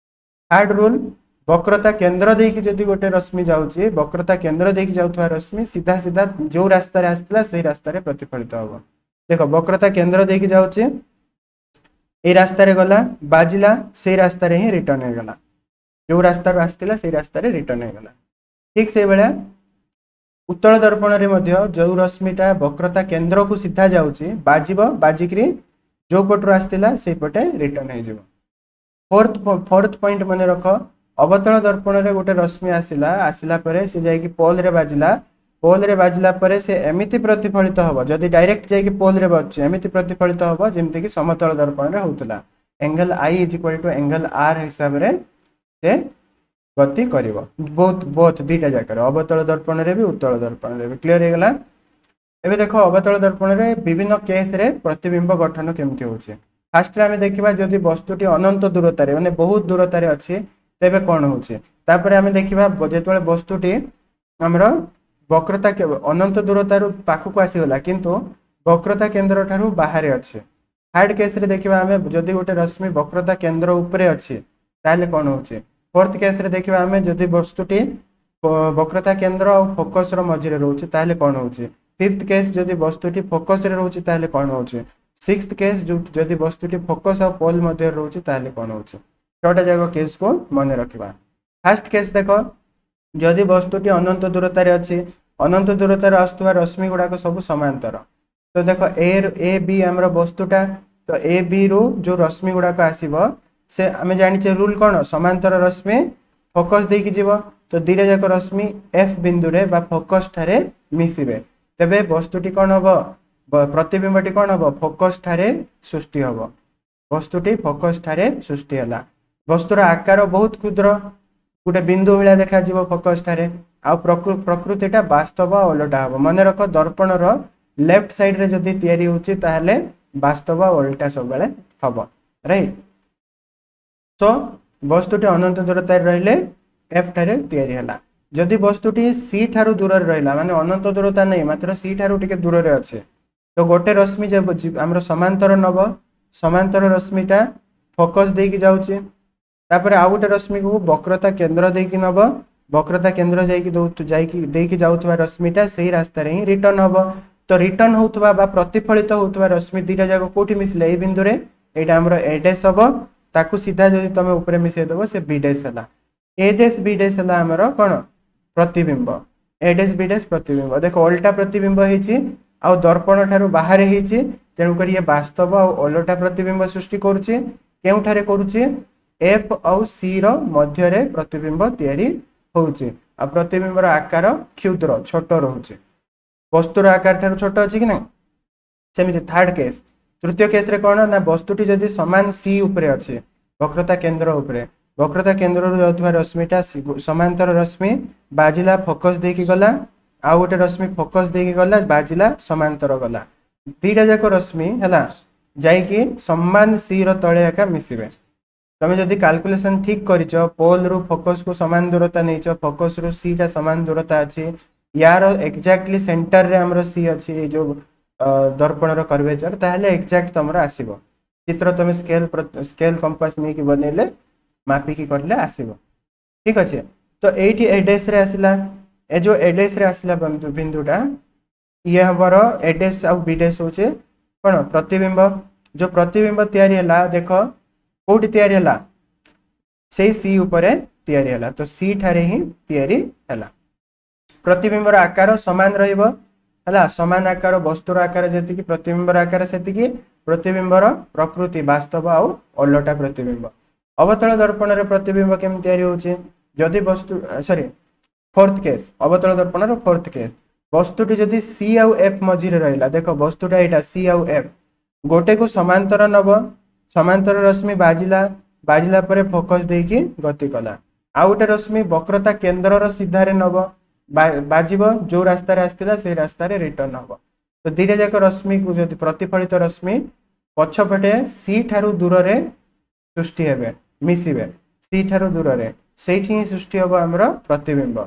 ଥାର୍ଡ ରୁଲ୍ ବକ୍ରତା କେନ୍ଦ୍ର ଦେଇକି ଯଦି ଗୋଟେ ରଶ୍ମି ଯାଉଛି ବକ୍ରତା କେନ୍ଦ୍ର ଦେଇକି ଯାଉଥିବା ରଶ୍ମି ସିଧା ସିଧା ଯୋଉ ରାସ୍ତାରେ ଆସିଥିଲା ସେଇ ରାସ୍ତାରେ ପ୍ରତିଫଳିତ ହବ ଦେଖ ବକ୍ରତା କେନ୍ଦ୍ର ଦେଇକି ଯାଉଛି ଏଇ ରାସ୍ତାରେ ଗଲା ବାଜିଲା ସେଇ ରାସ୍ତାରେ ହିଁ ରିଟର୍ନ ହେଇଗଲା ଯୋଉ ରାସ୍ତାରୁ ଆସିଥିଲା ସେଇ ରାସ୍ତାରେ ରିଟର୍ନ ହେଇଗଲା ଠିକ ସେଇଭଳିଆ ଉତ୍ତଳ ଦର୍ପଣରେ ମଧ୍ୟ ଯୋଉ ରଶ୍ମିଟା ବକ୍ରତା କେନ୍ଦ୍ରକୁ ସିଧା ଯାଉଛି ବାଜିବ ବାଜିକିରି ଯୋଉ ପଟରୁ ଆସିଥିଲା ସେଇପଟେ ରିଟର୍ନ ହେଇଯିବ ଫୋର୍ଥ ଫୋର୍ଥ ପଏଣ୍ଟ ମନେ ରଖ ଅବତଳ ଦର୍ପଣରେ ଗୋଟେ ରଶ୍ମି ଆସିଲା ଆସିଲା ପରେ ସେ ଯାଇକି ପୋଲରେ ବାଜିଲା ପୋଲରେ ବାଜିଲା ପରେ ସେ ଏମିତି ପ୍ରତିଫଳିତ ହବ ଯଦି ଡାଇରେକ୍ଟ ଯାଇକି ପୋଲରେ ବାଜୁଛି ଏମିତି ପ୍ରତିଫଳିତ ହବ ଯେମିତିକି ସମତଳ ଦର୍ପଣରେ ହଉଥିଲା angle I is equal to angle R ହିସାବରେ ସେ ଗତି କରିବ ବୋଥ ବୋଥ ଦୁଇଟା ଜାଗାରେ ଅବତଳ ଦର୍ପଣରେ ବି ଉତ୍ତଳ ଦର୍ପଣରେ ବି କ୍ଲିୟର ହେଇଗଲା ଏବେ ଦେଖ ଅବତଳ ଦର୍ପଣରେ ବିଭିନ୍ନ କେସ୍ରେ ପ୍ରତିବିମ୍ବ ଗଠନ କେମିତି ହେଉଛି ଫାର୍ଷ୍ଟରେ ଆମେ ଦେଖିବା ଯଦି ବସ୍ତୁଟି ଅନନ୍ତ ଦୂରତାରେ ମାନେ ବହୁତ ଦୂରତାରେ ଅଛି ତେବେ କ'ଣ ହେଉଛି ତାପରେ ଆମେ ଦେଖିବା ଯେତେବେଳେ ବସ୍ତୁଟି ଆମର ବକ୍ରତା ଅନନ୍ତ ଦୂରତାରୁ ପାଖକୁ ଆସିଗଲା କିନ୍ତୁ ବକ୍ରତା କେନ୍ଦ୍ର ଠାରୁ ବାହାରେ ଅଛି ଥାର୍ଡ କେସ୍ରେ ଦେଖିବା ଆମେ ଯଦି ଗୋଟେ ରଶ୍ମି ବକ୍ରତା କେନ୍ଦ୍ର ଉପରେ ଅଛି ତାହେଲେ କ'ଣ ହେଉଛି ଫୋର୍ଥ କେସ୍ରେ ଦେଖିବା ଆମେ ଯଦି ବସ୍ତୁଟି ବକ୍ରତା କେନ୍ଦ୍ର ଆଉ ଫୋକସ୍ର ମଝିରେ ରହୁଛି ତାହେଲେ କ'ଣ ହେଉଛି ଫିଫ୍ଥ କେସ୍ ଯଦି ବସ୍ତୁଟି ଫୋକସ୍ରେ ରହୁଛି ତାହେଲେ କ'ଣ ହେଉଛି ସିକ୍ସଥ କେସ୍ ଯଦି ବସ୍ତୁଟି ଫୋକସ୍ ଆଉ ପୋଲ୍ ମଧ୍ୟରେ ରହୁଛି ତାହେଲେ କ'ଣ ହେଉଛି ଛଅଟା ଯାକ କେସ୍କୁ ମନେ ରଖିବା ଫାର୍ଷ୍ଟ କେସ୍ ଦେଖ ଯଦି ବସ୍ତୁଟି ଅନନ୍ତ ଦୂରତାରେ ଅଛି ଅନନ୍ତ ଦୂରତାରୁ ଆସୁଥିବା ରଶ୍ମି ଗୁଡ଼ାକ ସବୁ ସମାନ୍ତର ତ ଦେଖ ଏ ଏ ବି ଆମର ବସ୍ତୁଟା ତ ଏ ବି ରୁ ଯୋଉ ରଶ୍ମି ଗୁଡ଼ାକ ଆସିବ ସେ ଆମେ ଜାଣିଛେ ରୁଲ୍ କ'ଣ ସମାନ୍ତର ରଶ୍ମି ଫୋକସ୍ ଦେଇକି ଯିବ ତ ଦୁଇଟା ଯାକ ରଶ୍ମି ଏଫ୍ ବିନ୍ଦୁରେ ବା ଫୋକସ୍ ଠାରେ ମିଶିବେ ତେବେ ବସ୍ତୁଟି କ'ଣ ହବ ପ୍ରତିବିମ୍ବଟି କ'ଣ ହବ ଫୋକସ୍ ଠାରେ ସୃଷ୍ଟି ହବ ବସ୍ତୁଟି ଫୋକସ୍ ଠାରେ ସୃଷ୍ଟି ହେଲା ବସ୍ତୁର ଆକାର ବହୁତ କ୍ଷୁଦ୍ର ଗୋଟେ ବିନ୍ଦୁ ଭଳିଆ ଦେଖାଯିବ ଫୋକସ୍ ଠାରେ ଆଉ ପ୍ରକୃତିଟା ବାସ୍ତବ ଆଉ ଓଲଟା ହବ ମନେ ରଖ ଦର୍ପଣର ଲେଫ୍ଟ ସାଇଡ୍ରେ ଯଦି ତିଆରି ହେଉଛି ତାହେଲେ ବାସ୍ତବ ଆଉ ଓଲଟା ସବୁବେଳେ ହବ ରାଇଟ୍ ସୋ ବସ୍ତୁଟି ଅନନ୍ତ ଦୂରତାରେ ରହିଲେ ଏଫ୍ ଠାରେ ତିଆରି ହେଲା ଯଦି ବସ୍ତୁଟି ସି ଠାରୁ ଦୂରରେ ରହିଲା ମାନେ ଅନନ୍ତ ଦୂରତା ନାହିଁ ମାତ୍ର ସି ଠାରୁ ଟିକେ ଦୂରରେ ଅଛି ତ ଗୋଟେ ରଶ୍ମି ଆମର ସମାନ୍ତର ନବ ସମାନ୍ତର ରଶ୍ମିଟା ଫୋକସ୍ ଦେଇକି ଯାଉଛି ତାପରେ ଆଉ ଗୋଟେ ରଶ୍ମିକୁ ବକ୍ରତା କେନ୍ଦ୍ର ଦେଇକି ନବ ବକ୍ରତା କେନ୍ଦ୍ର ଯାଇକି ଯାଇକି ଦେଇକି ଯାଉଥିବା ରଶ୍ମିଟା ସେଇ ରାସ୍ତାରେ ହିଁ ରିଟର୍ନ ହବ ତ ରିଟର୍ନ ହେଉଥିବା ବା ପ୍ରତିଫଳିତ ହେଉଥିବା ରଶ୍ମି ଦୁଇଟା ଯାକ କୋଉଠି ମିଶିଲେ ଏଇ ବିନ୍ଦୁରେ ଏଇଟା ଆମର ଏ ଡେସ୍ ହବ ତାକୁ ସିଧା ଯଦି ତମେ ଉପରେ ମିଶେଇ ଦେବ ସେ ବି ଡେସ୍ ହେଲା ଏ ଡେସ୍ ବି ଡେସ୍ ହେଲା ଆମର କ'ଣ ପ୍ରତିବିମ୍ବ ଏ ଡେସ୍ ବି ଡେସ୍ ପ୍ରତିବିମ୍ବ ଦେଖ ଓଲଟା ପ୍ରତିବିମ୍ବ ହେଇଛି ଆଉ ଦର୍ପଣ ଠାରୁ ବାହାରେ ହେଇଛି ତେଣୁକରି ଇଏ ବାସ୍ତବ ଆଉ ଓଲଟା ପ୍ରତିବିମ୍ବ ସୃଷ୍ଟି କରୁଛି କେଉଁଠାରେ କରୁଛି ଏଫ୍ ଆଉ ସି ର ମଧ୍ୟରେ ପ୍ରତିବିମ୍ବ ତିଆରି ହେଉଛି ଆଉ ପ୍ରତିବିମ୍ବର ଆକାର କ୍ଷୁଦ୍ର ଛୋଟ ରହୁଛି ବସ୍ତୁର ଆକାର ଠାରୁ ଛୋଟ ଅଛି କି ନାହିଁ? ସେମିତି ଥାର୍ଡ କେସ୍, ତୃତୀୟ କେସ୍ରେ କ'ଣ ନା ବସ୍ତୁଟି ଯଦି ସମାନ ସି ଉପରେ ଅଛି, ବକ୍ରତା କେନ୍ଦ୍ର ଉପରେ, ବକ୍ରତା କେନ୍ଦ୍ରରୁ ଯାଉଥିବା ରଶ୍ମିଟା ସମାନ୍ତର ରଶ୍ମି ବାଜିଲା, ଫୋକସ୍ ଦେଇକି ଗଲା, ଆଉ ଗୋଟେ ରଶ୍ମି ଫୋକସ୍ ଦେଇକି ଗଲା, ବାଜିଲା, ସମାନ୍ତର ଗଲା, ଦୁଇଟା ଯାକ ରଶ୍ମି ହେଲା ଯାଇକି ସମାନ ସିର ତଳେ ଏକା ମିଶିବେ। ତମେ ଯଦି କାଲକୁଲେସନ୍ ଠିକ୍ କରିଛ, ପୋଲ୍ରୁ ଫୋକସ୍କୁ ସମାନ ଦୂରତା ନେଇଛ, ଫୋକସ୍ରୁ ସିଟା ସମାନ ଦୂରତା ଅଛି, ୟାର ଏକ୍ଜାକ୍ଟଲି ସେଣ୍ଟରରେ ଆମର ସି ଅଛି, ଏଇ ଯେଉଁ ଦର୍ପଣର କର୍ଭେଚର, ତାହେଲେ ଏକ୍ଜାକ୍ଟ ତମର ଆସିବ ଚିତ୍ର। ତମେ ସ୍କେଲ୍ ସ୍କେଲ୍ କମ୍ପାସ୍ ନେଇକି ବନେଇଲେ, ମାପିକି କରିଲେ ଆସିବ। ଠିକ୍ ଅଛି? ତ ଏଇଠି ଏ ଡେସ୍ରେ ଆସିଲା, ଏ ଯେଉଁ ଏ ଡେସ୍ରେ ଆସିଲା ବିନ୍ଦୁଟା, ଇଏ ଆମର ଏ ଡେସ୍ ଆଉ ବି ଡେସ୍ ହେଉଛି କ'ଣ? ପ୍ରତିବିମ୍ବ। ଯେଉଁ ପ୍ରତିବିମ୍ବ ତିଆରି ହେଲା, ଦେଖ କୋଉଠି ତିଆରି ହେଲା? ସେଇ ସି ଉପରେ ତିଆରି ହେଲା। ତ ସି ଠାରେ ହିଁ ତିଆରି ହେଲା। ପ୍ରତିବିମ୍ବର ଆକାର ସମାନ ରହିବ, ହେଲା, ସମାନ ଆକାର, ବସ୍ତୁର ଆକାର ଯେତିକି ପ୍ରତିବିମ୍ବର ଆକାର ସେତିକି। ପ୍ରତିବିମ୍ବର ପ୍ରକୃତି ବାସ୍ତବ ଆଉ ଓଲଟା ପ୍ରତିବିମ୍ବ। ଅବତଳ ଦର୍ପଣରେ ପ୍ରତିବିମ୍ବ କେମିତି ତିଆରି ହେଉଛି? ଯଦି ବସ୍ତୁ, ସରି, ଫୋର୍ଥ କେସ୍, ଅବତଳ ଦର୍ପଣର ଫୋର୍ଥ କେସ୍, ବସ୍ତୁଟି ଯଦି ସି ଆଉ ଏଫ୍ ମଝିରେ ରହିଲା, ଦେଖ ବସ୍ତୁଟା ଏଇଟା ସି ଆଉ ଏଫ୍, ଗୋଟେକୁ ସମାନ୍ତର ନବ, ସମାନ୍ତର ରଶ୍ମି ବାଜିଲା, ବାଜିଲା ପରେ ଫୋକସ୍ ଦେଇକି ଗତି କଲା। ଆଉ ଗୋଟେ ରଶ୍ମି ବକ୍ରତା କେନ୍ଦ୍ରର ସିଧାରେ ନବ, ବାଜିବ, ଯୋଉ ରାସ୍ତାରେ ଆସିଥିଲା ସେଇ ରାସ୍ତାରେ ରିଟର୍ନ ହବ। ତ ଦୁଇଟା ଯାକ ରଶ୍ମିକୁ ଯଦି ପ୍ରତିଫଳିତ ରଶ୍ମି ପଛପଟେ ସି ଠାରୁ ଦୂରରେ ସୃଷ୍ଟି ହେବେ, ମିଶିବେ ସି ଠାରୁ ଦୂରରେ, ସେଇଠି ହିଁ ସୃଷ୍ଟି ହବ ଆମର ପ୍ରତିବିମ୍ବ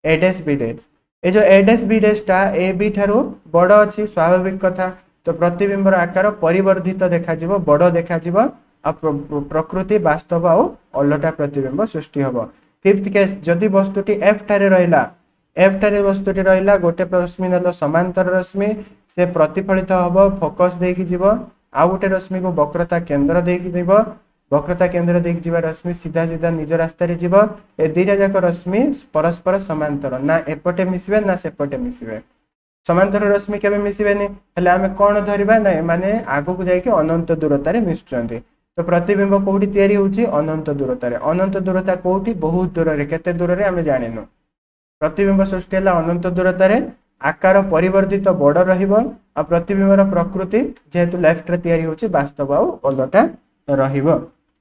ଏ ଡେସ୍ ବି ଡେସ୍। ଏ ଯୋଉ ଏ ଡେସ୍ ବି ଡେସ୍ଟା ଏ ବି ଠାରୁ ବଡ଼ ଅଛି, ସ୍ୱାଭାବିକ କଥା। ତ ପ୍ରତିବିମ୍ବର ଆକାର ପରିବର୍ଦ୍ଧିତ ଦେଖାଯିବ, ବଡ଼ ଦେଖାଯିବ, ଆଉ ପ୍ରକୃତି ବାସ୍ତବ ଆଉ ଓଲଟା ପ୍ରତିବିମ୍ବ ସୃଷ୍ଟି ହବ। ଫିଫ୍ଥ କେସ୍, ଯଦି ବସ୍ତୁଟି ଏଫ୍ ଠାରେ ରହିଲା, ଏଫ୍ ଠାରେ ବସ୍ତୁଟି ରହିଲା, ଗୋଟେ ରଶ୍ମି ନେଲ ସମାନ୍ତର ରଶ୍ମି, ସେ ପ୍ରତିଫଳିତ ହବ, ଫୋକସ୍ ଦେଇକି ଯିବ, ଆଉ ଗୋଟେ ରଶ୍ମିକୁ ବକ୍ରତା କେନ୍ଦ୍ର ଦେଇକି ଯିବ, ବକ୍ରତା କେନ୍ଦ୍ର ଦେଇକି ଯିବା ରଶ୍ମି ସିଧା ସିଧା ନିଜ ରାସ୍ତାରେ ଯିବ। ଏ ଦୁଇଟା ଯାକ ରଶ୍ମି ପରସ୍ପର ସମାନ୍ତର, ନା ଏପଟେ ମିଶିବେ ନା ସେପଟେ ମିଶିବେ। ସମାନ୍ତର ରଶ୍ମି କେବେ ମିଶିବେନି। ହେଲେ ଆମେ କ'ଣ ଧରିବା ନା ଏମାନେ ଆଗକୁ ଯାଇକି ଅନନ୍ତ ଦୂରତାରେ ମିଶୁଛନ୍ତି। ତ ପ୍ରତିବିମ୍ବ କୋଉଠି ତିଆରି ହେଉଛି? ଅନନ୍ତ ଦୂରତାରେ। ଅନନ୍ତ ଦୂରତା କୋଉଠି? ବହୁତ ଦୂରରେ, କେତେ ଦୂରରେ ଆମେ ଜାଣିନୁ। ପ୍ରତିବିମ୍ବ ସୃଷ୍ଟି ହେଲା ଅନନ୍ତ ଦୂରତାରେ, ଆକାର ପରିବର୍ଦ୍ଧିତ ବଡ଼ ରହିବ, ଆଉ ପ୍ରତିବିମ୍ବର ପ୍ରକୃତି ଯେହେତୁ ଲେଫ୍ଟରେ ତିଆରି ହେଉଛି ବାସ୍ତବ ଆଉ ଓଲଟା ରହିବ।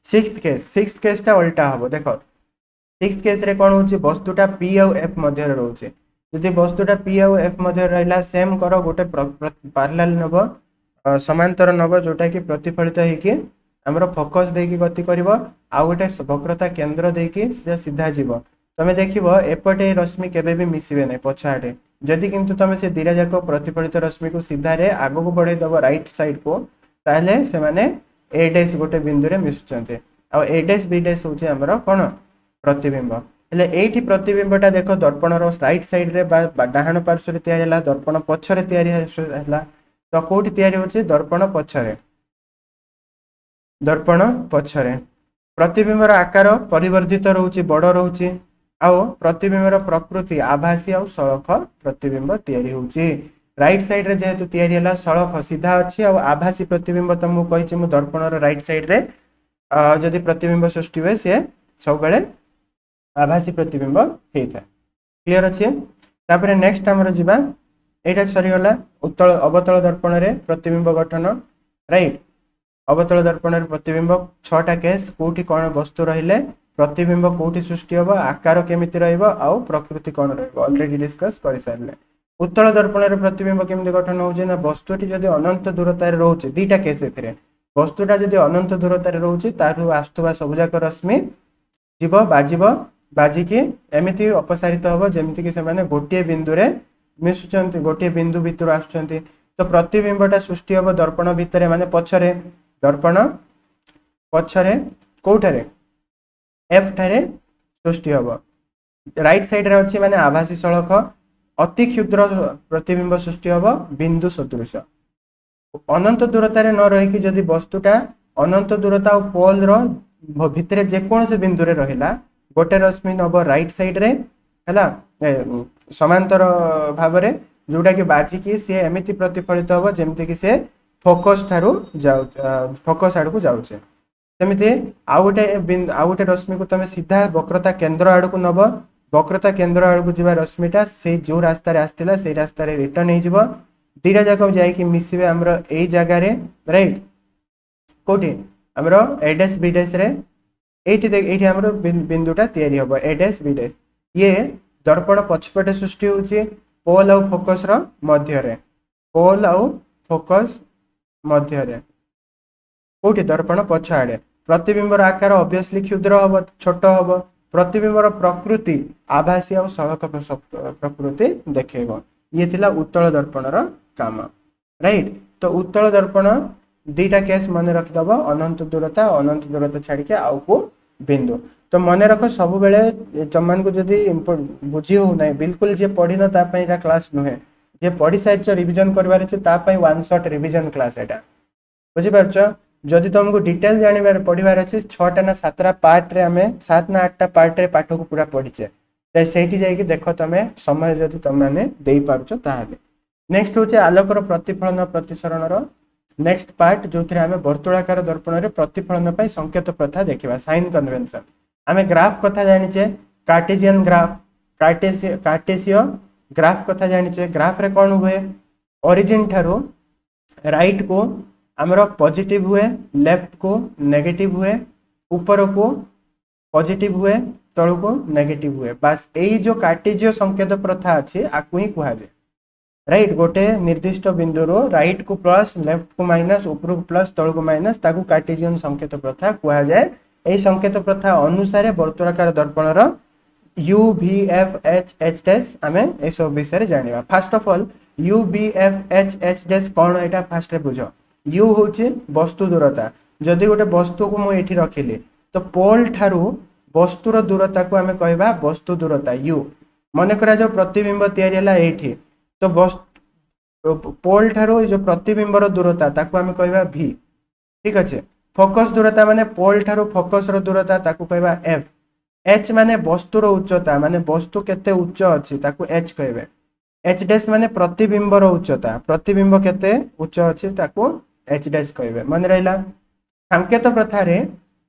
ସିକ୍ସଥ କେସ୍, ସିକ୍ସଥ କେସ୍ଟା ଓଲଟା ହବ। ଦେଖ ସିକ୍ସଥ କେସ୍ରେ କ'ଣ ହେଉଛି? ବସ୍ତୁଟା ପି ଆଉ ଏଫ୍ ମଧ୍ୟରେ ରହୁଛି। ଯଦି ବସ୍ତୁଟା ପି ଆଉ ଏଫ୍ ମଧ୍ୟରେ ରହିଲା, ସେମ୍ କର, ଗୋଟେ ପାରାଲାଲ ନେବ, ସମାନ୍ତର ନେବ, ଯୋଉଟାକି ପ୍ରତିଫଳିତ ହେଇକି ଆମର ଫୋକସ୍ ଦେଇକି ଗତି କରିବ, ଆଉ ଗୋଟେ ବକ୍ରତା କେନ୍ଦ୍ର ଦେଇକି ସିଧା ସିଧା ଯିବ। ତମେ ଦେଖିବ ଏପଟେ ରଶ୍ମି କେବେ ବି ମିଶିବେ ନାହିଁ ପଛ ଆଡ଼େ। ଯଦି କିନ୍ତୁ ତମେ ସେ ଦୁଇଟା ଯାକ ପ୍ରତିଫଳିତ ରଶ୍ମିକୁ ସିଧାରେ ଆଗକୁ ବଢ଼େଇ ଦେବ ରାଇଟ୍ ସାଇଡ୍କୁ, ତାହେଲେ ସେମାନେ ଏ ଡେସ୍ ଗୋଟେ ବିନ୍ଦୁରେ ମିଶୁଛନ୍ତି, ଆଉ ଏ ଡେସ୍ ବି ଡେସ୍ ହେଉଛି ଆମର କ'ଣ? ପ୍ରତିବିମ୍ବ। ହେଲେ ଏଇଠି ପ୍ରତିବିମ୍ବଟା ଦେଖ ଦର୍ପଣର ରାଇଟ୍ ସାଇଡ୍ରେ ବା ଡାହାଣ ପାର୍ଶ୍ୱରେ ତିଆରି ହେଲା, ଦର୍ପଣ ପଛରେ ତିଆରି ହେଲା। ତ କୋଉଠି ତିଆରି ହେଉଛି? ଦର୍ପଣ ପଛରେ। ଦର୍ପଣ ପଛରେ ପ୍ରତିବିମ୍ବର ଆକାର ପରିବର୍ଦ୍ଧିତ ରହୁଛି, ବଡ଼ ରହୁଛି, ଆଉ ପ୍ରତିବିମ୍ବର ପ୍ରକୃତି ଆଭାସୀ ଆଉ ସଳଖ ପ୍ରତିବିମ୍ବ ତିଆରି ହେଉଛି। ରାଇଟ୍ ସାଇଡ୍ରେ ଯେହେତୁ ତିଆରି ହେଲା, ସଳଖ ସିଧା ଅଛି ଆଉ ଆଭାସୀ ପ୍ରତିବିମ୍ବ। ତ ମୁଁ କହିଛି ମୁଁ ଦର୍ପଣର ରାଇଟ୍ ସାଇଡ୍ରେ ଯଦି ପ୍ରତିବିମ୍ବ ସୃଷ୍ଟି ହୁଏ, ସିଏ ସବୁବେଳେ ଆଭାସୀ ପ୍ରତିବିମ୍ବ ହେଇଥାଏ। କ୍ଲିଅର ଅଛି? ତାପରେ ନେକ୍ସଟ ଆମର ଯିବା। ଏଇଟା ସରିଗଲା ଉତ୍ତଳ ଅବତଳ ଦର୍ପଣରେ ପ୍ରତିବିମ୍ବ ଗଠନ, ରାଇଟ୍? ଅବତଳ ଦର୍ପଣରେ ପ୍ରତିବିମ୍ବ ଛଅଟା କେସ୍, କୋଉଠି କ'ଣ ବସ୍ତୁ ରହିଲେ ପ୍ରତିବିମ୍ବ କୋଉଠି ସୃଷ୍ଟି ହେବ, ଆକାର କେମିତି ରହିବ ଆଉ ପ୍ରକୃତି କ'ଣ ରହିବ, ଅଲରେଡି ଡିସ୍କସ୍ କରିସାରିଲେ। ଉତ୍ତଳ ଦର୍ପଣରେ ପ୍ରତିବିମ୍ବ କେମିତି ଗଠନ ହେଉଛି ନା ବସ୍ତୁଟି ଯଦି ଅନନ୍ତ ଦୂରତାରେ ରହୁଛି, ଦୁଇଟା କେସ୍ ଏଥିରେ, ବସ୍ତୁଟା ଯଦି ଅନନ୍ତ ଦୂରତାରେ ରହୁଛି, ତାଠୁ ଆସୁଥିବା ସବୁଯାକ ରଶ୍ମି ଯିବ, ବାଜିବ, ବାଜିକି ଏମିତି ଅପସାରିତ ହେବ ଯେମିତିକି ସେମାନେ ଗୋଟିଏ ବିନ୍ଦୁରେ ମିଶୁଛନ୍ତି, ଗୋଟିଏ ବିନ୍ଦୁ ଭିତରୁ ଆସୁଛନ୍ତି। ତ ପ୍ରତିବିମ୍ବଟା ସୃଷ୍ଟି ହେବ ଦର୍ପଣ ଭିତରେ, ମାନେ ପଛରେ, ଦର୍ପଣ ପଛରେ କୋଉଠାରେ? ଏଫ୍ ଠାରେ ସୃଷ୍ଟି ହେବ। ରାଇଟ୍ ସାଇଡ୍ରେ ଅଛି ମାନେ ଆଭାସୀ ସଳଖ ଅତି କ୍ଷୁଦ୍ର ପ୍ରତିବିମ୍ବ ସୃଷ୍ଟି ହେବ, ବିନ୍ଦୁ ସଦୃଶ। ଅନନ୍ତ ଦୂରତାରେ ନ ରହିକି ଯଦି ବସ୍ତୁଟା ଅନନ୍ତ ଦୂରତା ଆଉ ପୋଲ୍ର ଭିତରେ ଯେକୌଣସି ବିନ୍ଦୁରେ ରହିଲା, ଗୋଟେ ରଶ୍ମି ନେବ ରାଇଟ୍ ସାଇଡ୍ରେ, ହେଲା, ସମାନ୍ତର ଭାବରେ, ଯୋଉଟାକି ବାଜିକି ସିଏ ଏମିତି ପ୍ରତିଫଳିତ ହେବ ଯେମିତିକି ସେ ଫୋକସ୍ ଠାରୁ ଯାଉ ଫୋକସ୍ ଆଡ଼କୁ ଯାଉଛି। ସେମିତି ଆଉ ଗୋଟେ ଆଉ ଗୋଟେ ରଶ୍ମିକୁ ତମେ ସିଧା ବକ୍ରତା କେନ୍ଦ୍ର ଆଡ଼କୁ ନେବ, ବକ୍ରତା କେନ୍ଦ୍ର ଆଡ଼କୁ ଯିବା ରଶ୍ମିଟା ସେଇ ଯେଉଁ ରାସ୍ତାରେ ଆସିଥିଲା ସେଇ ରାସ୍ତାରେ ରିଟର୍ନ ହେଇଯିବ। ଦୁଇଟା ଯାକ ଯାଇକି ମିଶିବେ ଆମର ଏଇ ଜାଗାରେ, ରାଇଟ୍? କୋଉଠି? ଆମର ଏ ଡ୍ୟାସ୍ ବି ଡ୍ୟାସ୍ରେ। ଏଇଠି ଏଇଠି ଆମର ବିନ୍ଦୁଟା ତିଆରି ହେବ, ଏ ଡ୍ୟାସ୍ ବି ଡ୍ୟାସ୍। ଇଏ ଦର୍ପଣ ପଛପଟେ ସୃଷ୍ଟି ହେଉଛି ପୋଲ୍ ଆଉ ଫୋକସ୍ର ମଧ୍ୟରେ, ପୋଲ୍ ଆଉ ଫୋକସ୍ ମଧ୍ୟରେ। କୋଉଠି? ଦର୍ପଣ ପଛ ଆଡ଼େ। ପ୍ରତିବିମ୍ବର ଆକାର ଅବଭିୟସଲି କ୍ଷୁଦ୍ର ହବ, ଛୋଟ ହବ। ପ୍ରତିବିମ୍ବର ପ୍ରକୃତି ଆଭାସୀ ଆଉ ସଳଖ ପ୍ରକୃତି ଦେଖେଇବ। ଇଏ ଥିଲା ଉତ୍ତଳ ଦର୍ପଣର କାମ, ରାଇଟ୍? ତ ଉତ୍ତଳ ଦର୍ପଣ ଦୁଇଟା କେସ୍ ମନେ ରଖିଦବ, ଅନନ୍ତ ଦୂରତା, ଅନନ୍ତ ଦୂରତା ଛାଡ଼ିକି ଆଉ କୋଉ ବିନ୍ଦୁ। ତ ମନେ ରଖ ସବୁବେଳେ, ତମମାନଙ୍କୁ ଯଦି ବୁଝି ହଉନାହିଁ ବିଲକୁଲ, ଯିଏ ପଢିନ ତା ପାଇଁ ଏଇଟା କ୍ଲାସ୍ ନୁହେଁ। ଯିଏ ପଢି ସାରିଛ, ରିଭିଜନ କରିବାର ଅଛି, ତା ପାଇଁ ୱାନ୍ ସଟ୍ ରିଭିଜନ କ୍ଲାସ୍ ଏଇଟା, ବୁଝିପାରୁଛ? ଯଦି ତମକୁ ଡିଟେଲ ଜାଣିବାର ପଢିବାର ଅଛି, ଛଅଟା ନା ସାତଟା ପାର୍ଟରେ, ଆମେ ସାତ ନା ଆଠଟା ପାର୍ଟରେ ପାଠକୁ ପୁରା ପଢିଛେ, ସେଇଠି ଯାଇକି ଦେଖ ତମେ, ସମୟ ଯଦି ତମେମାନେ ଦେଇପାରୁଛ ତାହେଲେ। ନେକ୍ସଟ ହଉଛି ଆଲୋକର ପ୍ରତିଫଳନ ପ୍ରତିସରଣର ନେକ୍ସଟ ପାର୍ଟ, ଯୋଉଥିରେ ଆମେ ବର୍ତ୍ତୁଳାକାର ଦର୍ପଣରେ ପ୍ରତିଫଳନ ପାଇଁ ସଂକେତ ପ୍ରଥା ଦେଖିବା, ସାଇନ୍ କନଭେନସନ। ଆମେ ଗ୍ରାଫ କଥା ଜାଣିଛେ, କାର୍ଟେଜିଆନ ଗ୍ରାଫ, କାର୍ଟେସିୟ ଗ୍ରାଫ କଥା ଜାଣିଛେ। ଗ୍ରାଫରେ କ'ଣ ହୁଏ? ଅରିଜିନ ଠାରୁ ରାଇଟ୍ କୁ ଆମର ପଜିଟିଭ ହୁଏ, ଲେଫ୍ଟ କୁ ନେଗେଟିଭ ହୁଏ, ଉପରକୁ ପଜିଟିଭ ହୁଏ, ତଳକୁ ନେଗେଟିଭ ହୁଏ। ବାସ୍, ଏଇ ଯୋଉ କାର୍ଟେଜିୟ ସଂକେତ ପ୍ରଥା ଅଛି, ଆକୁ ହିଁ କୁହାଯାଏ, ରାଇଟ୍? ଗୋଟେ ନିର୍ଦ୍ଦିଷ୍ଟ ବିନ୍ଦୁରୁ ରାଇଟ୍ କୁ ପ୍ଲସ୍, ଲେଫ୍ଟ କୁ ମାଇନସ୍, ଉପରକୁ ପ୍ଲସ୍, ତଳକୁ ମାଇନସ୍, ତାକୁ କାର୍ଟେଜିୟନ ସଂକେତ ପ୍ରଥା କୁହାଯାଏ। ଏଇ ସଂକେତ ପ୍ରଥା ଅନୁସାରେ ବର୍ତ୍ତୁଳାକାର ଦର୍ପଣର U, V, F, H, H dash ଆମେ ଏସବୁ ବିଷୟରେ ଜାଣିବା। First of all, U, V, F, H, H dash କ'ଣ, ଏଇଟା ଫାର୍ଷ୍ଟରେ ବୁଝ। You ହେଉଛି ବସ୍ତୁ ଦୂରତା। ଯଦି ଗୋଟେ ବସ୍ତୁକୁ ମୁଁ ଏଇଠି ରଖିଲି, ତ ପୋଲ୍ ଠାରୁ ବସ୍ତୁର ଦୂରତାକୁ ଆମେ କହିବା ବସ୍ତୁ ଦୂରତା, you. ମନେ କରାଯାଉ ପ୍ରତିବିମ୍ବ ତିଆରି ହେଲା ଏଇଠି, ତ ପୋଲ୍ ଠାରୁ ଏଇ ଯୋଉ ପ୍ରତିବିମ୍ବର ଦୂରତା, ତାକୁ ଆମେ କହିବା ଭି, ଠିକ ଅଛି? ଫୋକସ୍ ଦୂରତା ମାନେ ପୋଲ୍ ଠାରୁ ଫୋକସ୍ର ଦୂରତା, ତାକୁ କହିବା ଏଫ୍। ଏଚ୍ ମାନେ ବସ୍ତୁର ଉଚ୍ଚତା, ମାନେ ବସ୍ତୁ କେତେ ଉଚ୍ଚ ଅଛି ତାକୁ ଏଚ୍ କହିବେ। ଏଚ୍ ଡ୍ୟାସ୍ ମାନେ ପ୍ରତିବିମ୍ବର ଉଚ୍ଚତା, ପ୍ରତିବିମ୍ବ କେତେ ଉଚ୍ଚ ଅଛି ତାକୁ ଏଚ୍ ଡ୍ୟାସ୍ କହିବେ। ମନେ ରହିଲା? ସଂକେତ ପ୍ରଥାରେ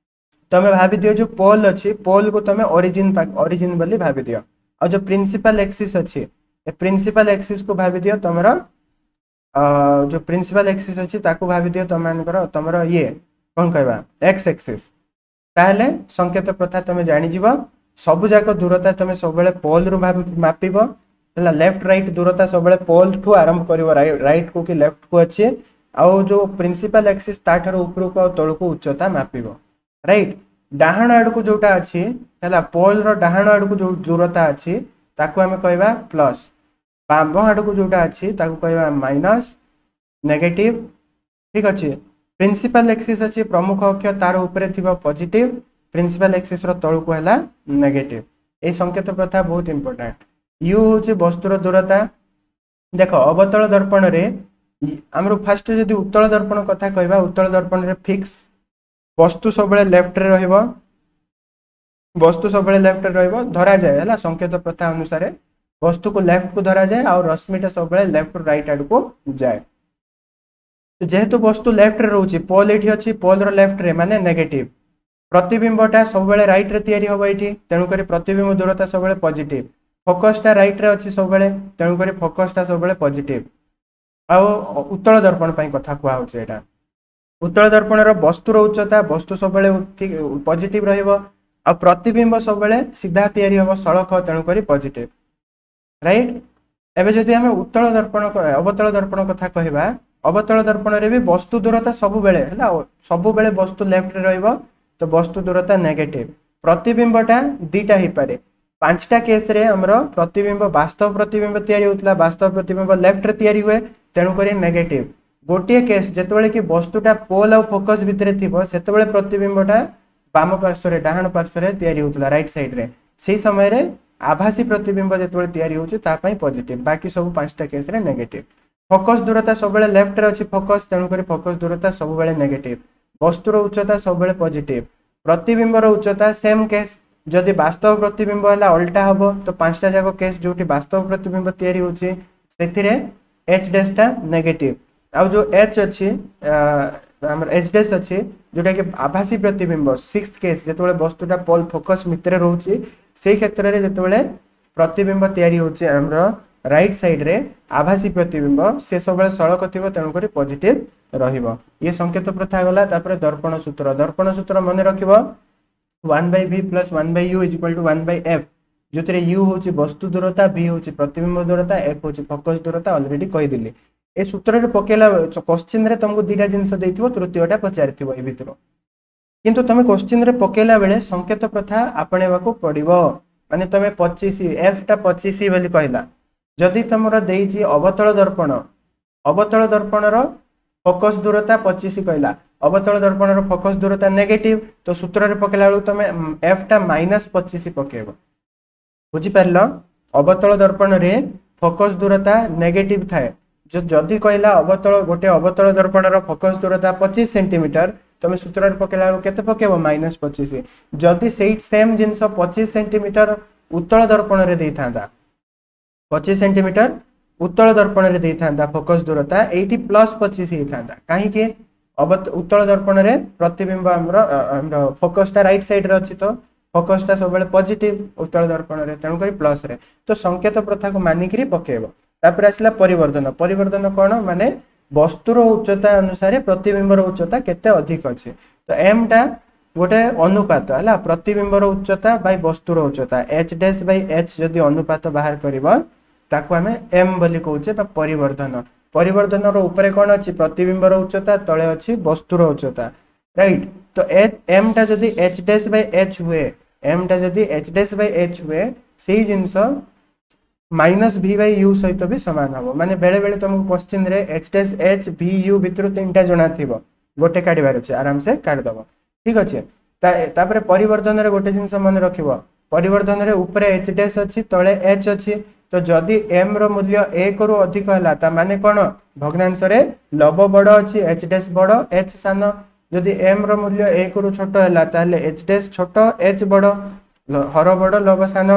ତମେ ଭାବିଦିଅ, ଯୋଉ ପୋଲ୍ ଅଛି, ପୋଲ୍କୁ ତମେ ଅରିଜିନ୍ ଅରିଜିନ୍ ବୋଲି ଭାବିଦିଅ। ଆଉ ଯୋଉ ପ୍ରିନ୍ସିପାଲ ଏକ୍ସିସ୍ ଅଛି, ଏ ପ୍ରିନ୍ସିପାଲ ଏକ୍ସିସ୍କୁ ଭାବିଦିଅ ତମର, ଯୋଉ ପ୍ରିନ୍ସିପାଲ ଏକ୍ସିସ୍ ଅଛି ତାକୁ ଭାବିଦିଅ ତମମାନଙ୍କର ତମର ଇଏ କ'ଣ କହିବା, ଏକ୍ସ ଏକ୍ସିସ୍। ତାହେଲେ ସଂକେତ ପ୍ରଥା ତମେ ଜାଣିଯିବ। ସବୁ ଯାକ ଦୂରତା ତମେ ସବୁବେଳେ ପୋଲ୍ରୁ ମାପିବ, ହେଲା? ଲେଫ୍ଟ ରାଇଟ୍ ଦୂରତା ସବୁବେଳେ ପୋଲ୍ ଠୁ ଆରମ୍ଭ କରିବ, ରାଇଟ୍ କୁ କି ଲେଫ୍ଟ କୁ ଅଛି, ଆଉ ଯୋଉ ପ୍ରିନ୍ସିପାଲ ଏକ୍ସିସ୍ ତାଠାରୁ ଉପରକୁ ଆଉ ତଳକୁ ଉଚ୍ଚତା ମାପିବ, ରାଇଟ୍? ଡାହାଣ ଆଡ଼କୁ ଯୋଉଟା ଅଛି, ହେଲା, ପୋଲ୍ର ଡାହାଣ ଆଡ଼କୁ ଯୋଉ ଦୂରତା ଅଛି ତାକୁ ଆମେ କହିବା ପ୍ଲସ୍, ବାମ ଆଡ଼କୁ ଯୋଉଟା ଅଛି ତାକୁ କହିବା ମାଇନସ୍, ନେଗେଟିଭ, ଠିକ ଅଛି? ପ୍ରିନ୍ସିପାଲ ଏକ୍ସିସ୍ ଅଛି, ପ୍ରମୁଖ ଅକ୍ଷ, ତାର ଉପରେ ଥିବ ପଜିଟିଭ, ପ୍ରିନ୍ସିପାଲ ଏକ୍ସିସ୍ର ତଳକୁ ହେଲା ନେଗେଟିଭ। ଏଇ ସଂକେତ ପ୍ରଥା ବହୁତ ଇମ୍ପୋର୍ଟାଣ୍ଟ। You ହେଉଛି ବସ୍ତୁର ଦୂରତା। ଦେଖ, ଅବତଳ ଦର୍ପଣରେ ଆମର ଫାଷ୍ଟ ଯଦି ଉତ୍ତଳ ଦର୍ପଣ କଥା କହିବା, ଉତ୍ତଳ ଦର୍ପଣରେ ଫିକ୍ସ ବସ୍ତୁ ସବୁବେଳେ ଲେଫ୍ଟରେ ରହିବ, ବସ୍ତୁ ସବୁବେଳେ ଲେଫ୍ଟରେ ରହିବ ଧରାଯାଏ, ହେଲା? ସଂକେତ ପ୍ରଥା ଅନୁସାରେ ବସ୍ତୁକୁ ଲେଫ୍ଟକୁ ଧରାଯାଏ ଆଉ ରଶ୍ମିଟା ସବୁବେଳେ ଲେଫ୍ଟ ରାଇଟ୍ ଆଡ଼କୁ ଯାଏ। ଯେହେତୁ ବସ୍ତୁ ଲେଫ୍ଟରେ ରହୁଛି, ପୋଲ୍ ଏଇଠି ଅଛି, ପୋଲ୍ର ଲେଫ୍ଟରେ ମାନେ ନେଗେଟିଭ। ପ୍ରତିବିମ୍ବଟା ସବୁବେଳେ ରାଇଟ୍ରେ ତିଆରି ହେବ ଏଇଠି, ତେଣୁକରି ପ୍ରତିବିମ୍ବ ଦୂରତା ସବୁବେଳେ ପଜିଟିଭ। ଫୋକସ୍ଟା ରାଇଟ୍ରେ ଅଛି ସବୁବେଳେ, ତେଣୁକରି ଫୋକସ୍ଟା ସବୁବେଳେ ପଜିଟିଭ। ଆଉ ଉତ୍ତଳ ଦର୍ପଣ ପାଇଁ କଥା କୁହାହଉଛି ଏଇଟା। ଉତ୍ତଳ ଦର୍ପଣର ବସ୍ତୁର ଉଚ୍ଚତା, ବସ୍ତୁ ସବୁବେଳେ ପଜିଟିଭ ରହିବ ଆଉ ପ୍ରତିବିମ୍ବ ସବୁବେଳେ ସିଧା ତିଆରି ହେବ, ସଳଖ, ତେଣୁକରି ପଜିଟିଭ, ରାଇଟ୍? ଏବେ ଯଦି ଆମେ ଉତ୍ତଳ ଦର୍ପଣ ଅବତଳ ଦର୍ପଣ କଥା କହିବା, ଅବତଳ ଦର୍ପଣରେ ବି ବସ୍ତୁ ଦୂରତା ସବୁବେଳେ ହେଲା, ସବୁବେଳେ ବସ୍ତୁ ଲେଫ୍ଟରେ ରହିବ, ତ ବସ୍ତୁ ଦୂରତା ନେଗେଟିଭ। ପ୍ରତିବିମ୍ବଟା ଦିଟା ହେଇପାରେ। ପାଞ୍ଚଟା କେସ୍ରେ ଆମର ପ୍ରତିବିମ୍ବ, ବାସ୍ତବ ପ୍ରତିବିମ୍ବ ତିଆରି ହେଉଥିଲା, ବାସ୍ତବ ପ୍ରତିବିମ୍ବ ଲେଫ୍ଟରେ ତିଆରି ହୁଏ, ତେଣୁକରି ନେଗେଟିଭ। ଗୋଟିଏ କେସ୍, ଯେତେବେଳେ କି ବସ୍ତୁଟା ପୋଲ୍ ଆଉ ଫୋକସ୍ ଭିତରେ ଥିବ, ସେତେବେଳେ ପ୍ରତିବିମ୍ବଟା ବାମ ପାର୍ଶ୍ୱରେ, ଡାହାଣ ପାର୍ଶ୍ୱରେ ତିଆରି ହେଉଥିଲା, ରାଇଟ୍ ସାଇଡ୍ରେ। ସେଇ ସମୟରେ ଆଭାସୀ ପ୍ରତିବିମ୍ବ ଯେତେବେଳେ ତିଆରି ହେଉଛି ତା ପାଇଁ ପଜିଟିଭ, ବାକି ସବୁ ପାଞ୍ଚଟା କେସ୍ରେ ନେଗେଟିଭ। ଫୋକସ୍ ଦୂରତା ସବୁବେଳେ ଲେଫ୍ଟରେ ଅଛି ଫୋକସ୍, ତେଣୁକରି ଫୋକସ୍ ଦୂରତା ସବୁବେଳେ ନେଗେଟିଭ। ବସ୍ତୁର ଉଚ୍ଚତା ସବୁବେଳେ ପଜିଟିଭ। ପ୍ରତିବିମ୍ବର ଉଚ୍ଚତା ସେମ୍ କେସ୍, ଯଦି ବାସ୍ତବ ପ୍ରତିବିମ୍ବ ହେଲା ଅଲଟା ହବ। ତ ପାଞ୍ଚଟା ଯାକ କେସ୍ ଯୋଉଠି ବାସ୍ତବ ପ୍ରତିବିମ୍ବ ତିଆରି ହେଉଛି ସେଥିରେ ଏଚ୍ ଡ୍ୟାସ୍ଟା ନେଗେଟିଭ। ଆଉ ଯୋଉ ଏଚ୍ ଅଛି, ଆମର ଏଚ୍ ଡ୍ୟାସ୍ ଅଛି, ଯୋଉଟାକି ଆଭାସୀ ପ୍ରତିବିମ୍ବ, ସିକ୍ସ କେସ୍, ଯେତେବେଳେ ବସ୍ତୁଟା ପୋଲ୍ ଫୋକସ୍ ଭିତରେ ରହୁଛି, ସେଇ କ୍ଷେତ୍ରରେ ଯେତେବେଳେ ପ୍ରତିବିମ୍ବ ତିଆରି ହେଉଛି ଆମର ରାଇଟ୍ ସାଇଡ୍ରେ ଆଭାସୀ ପ୍ରତିବିମ୍ବ, ସେ ସବୁବେଳେ ସଳଖ ଥିବ, ତେଣୁକରି ପଜିଟିଭ ରହିବ। ଇଏ ସଂକେତ ପ୍ରଥା ଗଲା। ତାପରେ ଦର୍ପଣ ସୂତ୍ର। ଦର୍ପଣ ସୂତ୍ର ମନେ ରଖିବ, one by V plus one by U is equal to one by F, ଯେଉଁଥିରେ you ହେଉଛି ବସ୍ତୁ ଦୂରତା, ଭି ହେଉଛି ପ୍ରତିବିମ୍ବ ଦୂରତା, ଏଫ୍ ହେଉଛି ଫୋକସ୍ ଦୂରତା। ଅଲରେଡି କହିଦେଲି। ଏ ସୂତ୍ରରେ ପକେଇଲା, କୋଶ୍ଚିନ୍ରେ ତମକୁ ଦୁଇଟା ଜିନିଷ ଦେଇଥିବ, ତୃତୀୟଟା ପଚାରିଥିବ ଏ ଭିତରୁ। କିନ୍ତୁ ତମେ କୋଶ୍ଚିନ୍ରେ ପକେଇଲା ବେଳେ ସଂକେତ ପ୍ରଥା ଆପଣେଇବାକୁ ପଡ଼ିବ। ମାନେ ତମେ ପଚିଶ, ଏଫ୍ଟା ପଚିଶ ବୋଲି କହିଲା, ଯଦି ତମର ଦେଇଛି ଅବତଳ ଦର୍ପଣ, ଅବତଳ ଦର୍ପଣର ଫୋକସ୍ ଦୂରତା ପଚିଶ କହିଲା, ଅବତଳ ଦର୍ପଣର ଫୋକସ୍ ଦୂରତା ନେଗେଟିଭ, ତ ସୂତ୍ରରେ ପକେଇଲା ବେଳକୁ ତମେ ଏଫ୍ଟା ମାଇନସ୍ ପଚିଶ ପକେଇବ। ବୁଝିପାରିଲ? ଅବତଳ ଦର୍ପଣରେ ଫୋକସ୍ ଦୂରତା ନେଗେଟିଭ ଥାଏ। ଯଦି କହିଲା ଅବତଳ, ଗୋଟେ ଅବତଳ ଦର୍ପଣର ଫୋକସ୍ ଦୂରତା ପଚିଶ ସେଣ୍ଟିମିଟର, ତମେ ସୂତ୍ରରେ ପକେଇଲା ବେଳକୁ କେତେ ପକେଇବ? ମାଇନସ୍ ପଚିଶ। ଯଦି ସେଇ ସେମ୍ ଜିନିଷ ପଚିଶ ସେଣ୍ଟିମିଟର ଉତ୍ତଳ ଦର୍ପଣରେ ଦେଇଥାନ୍ତା, ପଚିଶ ସେଣ୍ଟିମିଟର ଉତ୍ତଳ ଦର୍ପଣରେ ଦେଇଥାନ୍ତା ଫୋକସ୍ ଦୂରତା, ଏଇଠି ପ୍ଲସ୍ ପଚିଶ ହେଇଥାନ୍ତା। କାହିଁକି? ଉତ୍ତଳ ଦର୍ପଣରେ ପ୍ରତିବିମ୍ବ ଆମର ଆମର ଫୋକସ୍ଟା ରାଇଟ୍ ସାଇଡ୍ରେ ଅଛି, ତ ଫୋକସ୍ଟା ସବୁବେଳେ ପଜିଟିଭ ଉତ୍ତଳ ଦର୍ପଣରେ, ତେଣୁକରି ପ୍ଲସ୍ରେ। ତ ସଂକେତ ପ୍ରଥାକୁ ମାନିକିରି ପକେଇବ। ତାପରେ ଆସିଲା ପରିବର୍ତ୍ତନ। ପରିବର୍ତ୍ତନ କ'ଣ? ମାନେ ବସ୍ତୁର ଉଚ୍ଚତା ଅନୁସାରେ ପ୍ରତିବିମ୍ବର ଉଚ୍ଚତା କେତେ ଅଧିକ ଅଛି। ତ ଏମ୍ଟା ଗୋଟେ ଅନୁପାତ ହେଲା, ପ୍ରତିବିମ୍ବର ଉଚ୍ଚତା ବାଇ ବସ୍ତୁର ଉଚ୍ଚତା, ଏଚ୍ ଡ୍ୟାସ୍ ବାଇ ଏଚ୍। ଯଦି ଅନୁପାତ ବାହାର କରିବ, ତାକୁ ଆମେ ଏମ୍ ବୋଲି କହୁଛେ ବା ପରିବର୍ଦ୍ଧନ। ପରିବର୍ଦ୍ଧନର ଉପରେ କ'ଣ ଅଛି? ପ୍ରତିବିମ୍ବର ଉଚ୍ଚତା, ତଳେ ଅଛି ବସ୍ତୁର ଉଚ୍ଚତା, ରାଇଟ୍? ତ ଏମ୍ଟା ଯଦି ଏଚ୍ ଡ୍ୟାସ୍ ବାଇ ଏଚ୍ ହୁଏ, ଏମ୍ଟା ଯଦି ଏଚ୍ ଡ୍ୟାସ୍ ବାଇ ଏଚ୍ ହୁଏ, ସେଇ ଜିନିଷ ମାଇନସ୍ ଭି ବାଇ you ସହିତ ବି ସମାନ ହେବ। ମାନେ ବେଳେବେଳେ ତୁମକୁ କୋଶ୍ଚିନ୍ରେ H dash, H, V, U ଭିତରୁ ତିନିଟା ଜଣା ଥିବ, ଗୋଟେ କାଢ଼ିବାର ଅଛି, ଆରାମସେ କାଢ଼ିଦେବ। ଠିକ ଅଛି? ତାପରେ ପରିବର୍ତ୍ତନରେ ଗୋଟେ ଜିନିଷ ମନେ ରଖିବ, ପରିବର୍ତ୍ତନରେ ଉପରେ ଏଚ୍ ଡ୍ୟାସ୍ ଅଛି, ତଳେ ଏଚ୍ ଅଛି। ତ ଯଦି ଏମ୍ ର ମୂଲ୍ୟ ଏକରୁ ଅଧିକ ହେଲା, ତା ମାନେ କ'ଣ? ଭଗ୍ନାଂଶରେ ଲବ ବଡ଼ ଅଛି, ଏଚ୍ ଡ୍ୟାସ୍ ବଡ଼, ଏଚ୍ ସାନ। ଯଦି ଏମ୍ ର ମୂଲ୍ୟ ଏକରୁ ଛୋଟ ହେଲା, ତାହେଲେ ଏଚ୍ ଡ୍ୟାସ୍ ଛୋଟ, ଏଚ୍ ବଡ଼, ହର ବଡ଼, ଲବ ସାନ।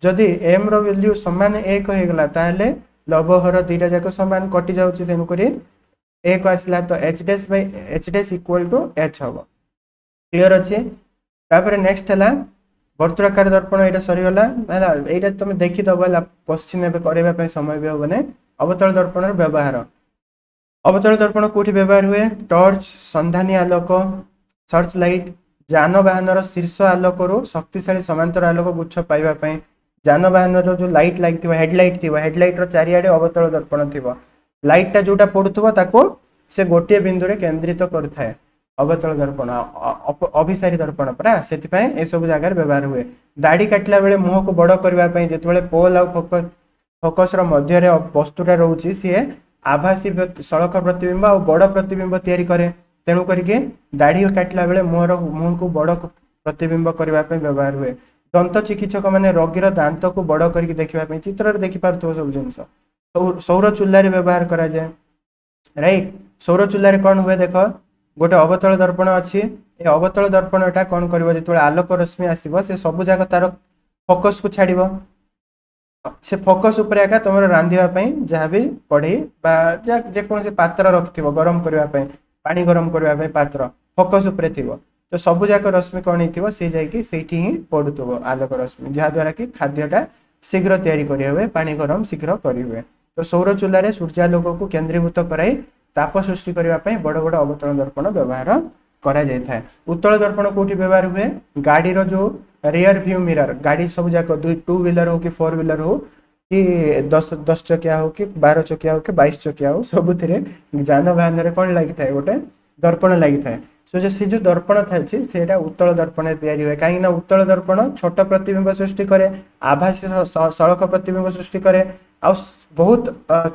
ଯଦି ଏମ୍ ର ଭ୍ୟାଲ୍ୟୁ ସମାନ ଏକ ହେଇଗଲା, ତାହେଲେ ଲବ ହର ଦୁଇଟା ଯାକ ସମାନ, କଟି ଯାଉଛି, ତେଣୁକରି ଏକ ଆସିଲା। ତ H dash by H dash equal to H ହବ। କ୍ଲିଅର ଅଛି? ତାପରେ ନେକ୍ସଟ ହେଲା ବର୍ତ୍ତୁଳାକାର ଦର୍ପଣ। ଏଇଟା ସରିଗଲା, ହେଲା? ଏଇଟା ତମେ ଦେଖିଦବ, ହେଲା? କୋଶ୍ଚିନ୍ ଏବେ କରିବା ପାଇଁ ସମୟ ବି ହବନି। ଅବତଳ ଦର୍ପଣର ବ୍ୟବହାର। ଅବତଳ ଦର୍ପଣ କୋଉଠି ବ୍ୟବହାର ହୁଏ? ଟର୍ଚ୍ଚ, ସନ୍ଧାନୀ ଆଲୋକ, ସର୍ଚ୍ଚ ଲାଇଟ୍, ଯାନବାହନର ଶୀର୍ଷ ଆଲୋକରୁ ଶକ୍ତିଶାଳୀ ସମାନ୍ତର ଆଲୋକ ଗୁଚ୍ଛ ପାଇବା ପାଇଁ। ଯାନବାହନର ଯୋଉ ଲାଇଟ୍ ଲାଗିଥିବ, ହେଡଲାଇଟ୍ ଥିବ, ହେଡଲାଇଟ୍ର ଚାରିଆଡ଼େ ଅବତଳ ଦର୍ପଣ ଥିବ। ଲାଇଟ୍ଟା ଯୋଉଟା ପଡୁଥିବ, ତାକୁ ସେ ଗୋଟିଏ ବିନ୍ଦୁରେ କେନ୍ଦ୍ରିତ କରିଥାଏ ଅବତଳ ଦର୍ପଣ, ଅଭିସାରୀ ଦର୍ପଣ ପରା। ସେଥିପାଇଁ ଏସବୁ ଜାଗାରେ ବ୍ୟବହାର ହୁଏ। ଦାଢ଼ି କାଟିଲା ବେଳେ ମୁହଁକୁ ବଡ଼ କରିବା ପାଇଁ, ଯେତେବେଳେ ପୋଲ୍ ଆଉ ଫୋକସ୍ ଫୋକସ୍ର ମଧ୍ୟରେ ବସ୍ତୁଟା ରହୁଛି, ସିଏ ଆଭାସୀ ସଳଖ ପ୍ରତିବିମ୍ବ ଆଉ ବଡ଼ ପ୍ରତିବିମ୍ବ ତିଆରି କରେ। ତେଣୁ କରିକି ଦାଢ଼ି କାଟିଲା ବେଳେ ମୁହଁର ମୁହଁକୁ ବଡ଼ ପ୍ରତିବିମ୍ବ କରିବା ପାଇଁ ବ୍ୟବହାର ହୁଏ। ଦନ୍ତ ଚିକିତ୍ସକ ମାନେ ରୋଗୀର ଦାନ୍ତକୁ ବଡ଼ କରିକି ଦେଖିବା ପାଇଁ, ଚିତ୍ରରେ ଦେଖିପାରୁଥିବ ସବୁ ଜିନିଷ। ସୌର ଚୁଲାରେ ବ୍ୟବହାର କରାଯାଏ, ରାଇଟ୍? ସୌର ଚୁଲାରେ କ'ଣ ହୁଏ ଦେଖ, ଗୋଟେ ଅବତଳ ଦର୍ପଣ ଅଛି। ଏ ଅବତଳ ଦର୍ପଣଟା କ'ଣ କରିବ? ଯେତେବେଳେ ଆଲୋକ ରଶ୍ମି ଆସିବ, ସେ ସବୁ ଯାକ ତାର ଫୋକସ୍କୁ ଛାଡ଼ିବ। ସେ ଫୋକସ୍ ଉପରେ ଏକା ତମର ରାନ୍ଧିବା ପାଇଁ ଯାହା ବି କଢ଼େଇ ବା ଯେକୌଣସି ପାତ୍ର ରଖିଥିବ, ଗରମ କରିବା ପାଇଁ, ପାଣି ଗରମ କରିବା ପାଇଁ ପାତ୍ର ଫୋକସ୍ ଉପରେ ଥିବ। ତ ସବୁ ଯାକ ରଶ୍ମି କ'ଣ ହେଇଥିବ? ସେ ଯାଇକି ସେଇଠି ହିଁ ପଡୁଥିବ ଆଲୋକ ରଶ୍ମି, ଯାହାଦ୍ୱାରା କି ଖାଦ୍ୟଟା ଶୀଘ୍ର ତିଆରି କରିହୁଏ, ପାଣି ଗରମ ଶୀଘ୍ର କରିହୁଏ। ତ ସୌର ଚୁଲାରେ ସୂର୍ଯ୍ୟାଲୋକକୁ କେନ୍ଦ୍ରୀଭୂତ କରାଇ ତାପ ସୃଷ୍ଟି କରିବା ପାଇଁ ବଡ଼ ବଡ଼ ଅବତଳ ଦର୍ପଣ ବ୍ୟବହାର କରାଯାଇଥାଏ। ଉତ୍ତଳ ଦର୍ପଣ କୋଉଠି ବ୍ୟବହାର ହୁଏ? ଗାଡ଼ିର ଯୋଉ ରିୟର ଭ୍ୟୁ ମିରର, ଗାଡ଼ି ସବୁ ଯାକ, ଦୁଇ ଟୁ ହ୍ୱିଲର ହଉ କି ଫୋର୍ ହ୍ୱିଲର ହଉ କି ଦଶ ଦଶ ଚକିଆ ହଉ କି ବାର ଚକିଆ ହଉ କି ବାଇଶ ଚକିଆ ହଉ, ସବୁଥିରେ ଯାନବାହନରେ କ'ଣ ଲାଗିଥାଏ? ଗୋଟେ ଦର୍ପଣ ଲାଗିଥାଏ। ସୋ ସେ ଯୋଉ ଦର୍ପଣ ଥାଉଛି, ସେଇଟା ଉତ୍ତଳ ଦର୍ପଣରେ ତିଆରି ହୁଏ। କାହିଁକି ନା ଉତ୍ତଳ ଦର୍ପଣ ଛୋଟ ପ୍ରତିବିମ୍ବ ସୃଷ୍ଟି କରେ, ଆଭାସୀ ସଳଖ ପ୍ରତିବିମ୍ବ ସୃଷ୍ଟି କରେ ଆଉ ବହୁତ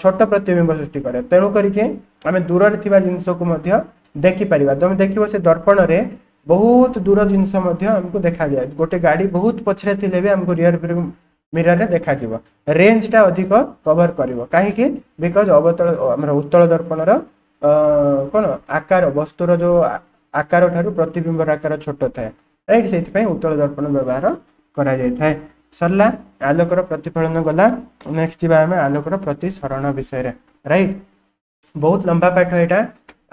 ଛୋଟ ପ୍ରତିବିମ୍ବ ସୃଷ୍ଟି କରେ। ତେଣୁ କରିକି ଆମେ ଦୂରରେ ଥିବା ଜିନିଷକୁ ମଧ୍ୟ ଦେଖିପାରିବା। ତମେ ଦେଖିବ, ସେ ଦର୍ପଣରେ ବହୁତ ଦୂର ଜିନିଷ ମଧ୍ୟ ଆମକୁ ଦେଖାଯାଏ। ଗୋଟେ ଗାଡ଼ି ବହୁତ ପଛରେ ଥିଲେ ବି ଆମକୁ ରିୟର ମିରରରେ ଦେଖାଯିବ। ରେଞ୍ଜଟା ଅଧିକ କଭର କରିବ। କାହିଁକି? Because ଅବତଳ ଆମର ଉତ୍ତଳ ଦର୍ପଣର କ'ଣ ଆକାର, ବସ୍ତୁର ଯୋଉ ଆକାର ଠାରୁ ପ୍ରତିବିମ୍ବର ଆକାର ଛୋଟ ଥାଏ, ରାଇଟ୍? ସେଇଥିପାଇଁ ଉତ୍ତଳ ଦର୍ପଣ ବ୍ୟବହାର କରାଯାଇଥାଏ। ସରିଲା, ଆଲୋକର ପ୍ରତିଫଳନ ଗଲା। ନେକ୍ସଟ ଯିବା ଆମେ ଆଲୋକର ପ୍ରତିସରଣ ବିଷୟରେ, ରାଇଟ୍? ବହୁତ ଲମ୍ବା ପାଠ ଏଇଟା।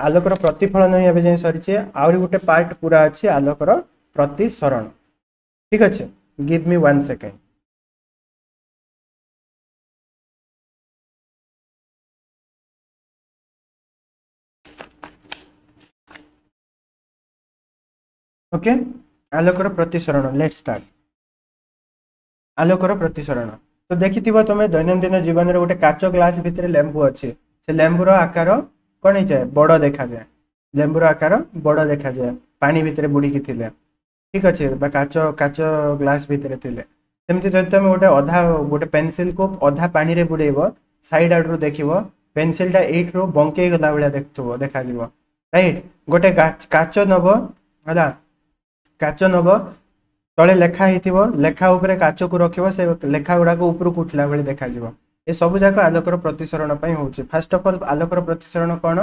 ଆଲୋକର ପ୍ରତିଫଳନ ହିଁ ଏବେ ଯାଏଁ ସରିଛି, ଆହୁରି ଗୋଟେ ପାର୍ଟ ପୁରା ଅଛି, ଆଲୋକର ପ୍ରତିସରଣ। ଠିକ ଅଛି? Give me one second. Okay, ଆଲୋକର ପ୍ରତିସରଣ, let's start. ଆଲୋକର ପ୍ରତିସରଣ ତ ଦେଖିଥିବ ତମେ ଦୈନନ୍ଦିନ ଜୀବନରେ, ଗୋଟେ କାଚ ଗ୍ଲାସ ଭିତରେ ଲେମ୍ବୁ ଅଛି, ସେ ଲେମ୍ବୁର ଆକାର କ'ଣ ହେଇଯାଏ? ବଡ଼ ଦେଖାଯାଏ। ଲେମ୍ବୁର ଆକାର ବଡ଼ ଦେଖାଯାଏ ପାଣି ଭିତରେ ବୁଡ଼ିକି ଥିଲେ, ଠିକ ଅଛି, ବା କାଚ କାଚ ଗ୍ଲାସ ଭିତରେ ଥିଲେ। ସେମିତି ଯଦି ତମେ ଗୋଟେ ଅଧା ଗୋଟେ ପେନସିଲକୁ ଅଧା ପାଣିରେ ବୁଡ଼େଇବ, ସାଇଡ୍ ଆଡ଼ରୁ ଦେଖିବ, ପେନସିଲଟା ଏଇଠରୁ ବଙ୍କେଇ ଗଲା ଭଳିଆ ଦେଖୁଥିବ, ଦେଖାଯିବ, ରାଇଟ୍? ଗୋଟେ କାଚ ନବ, ହେଲା, କାଚ ନବ, ତଳେ ଲେଖା ହେଇଥିବ, ଲେଖା ଉପରେ କାଚକୁ ରଖିବ, ସେ ଲେଖା ଗୁଡ଼ାକ ଉପରକୁ ଉଠିଲା ଭଳି ଦେଖାଯିବ। ଏ ସବୁ ଯାକ ଆଲୋକର ପ୍ରତିସରଣ ପାଇଁ ହେଉଛି। ଫାର୍ଷ୍ଟ ଅଫ୍ ଅଲ୍, ଆଲୋକର ପ୍ରତିସରଣ କ'ଣ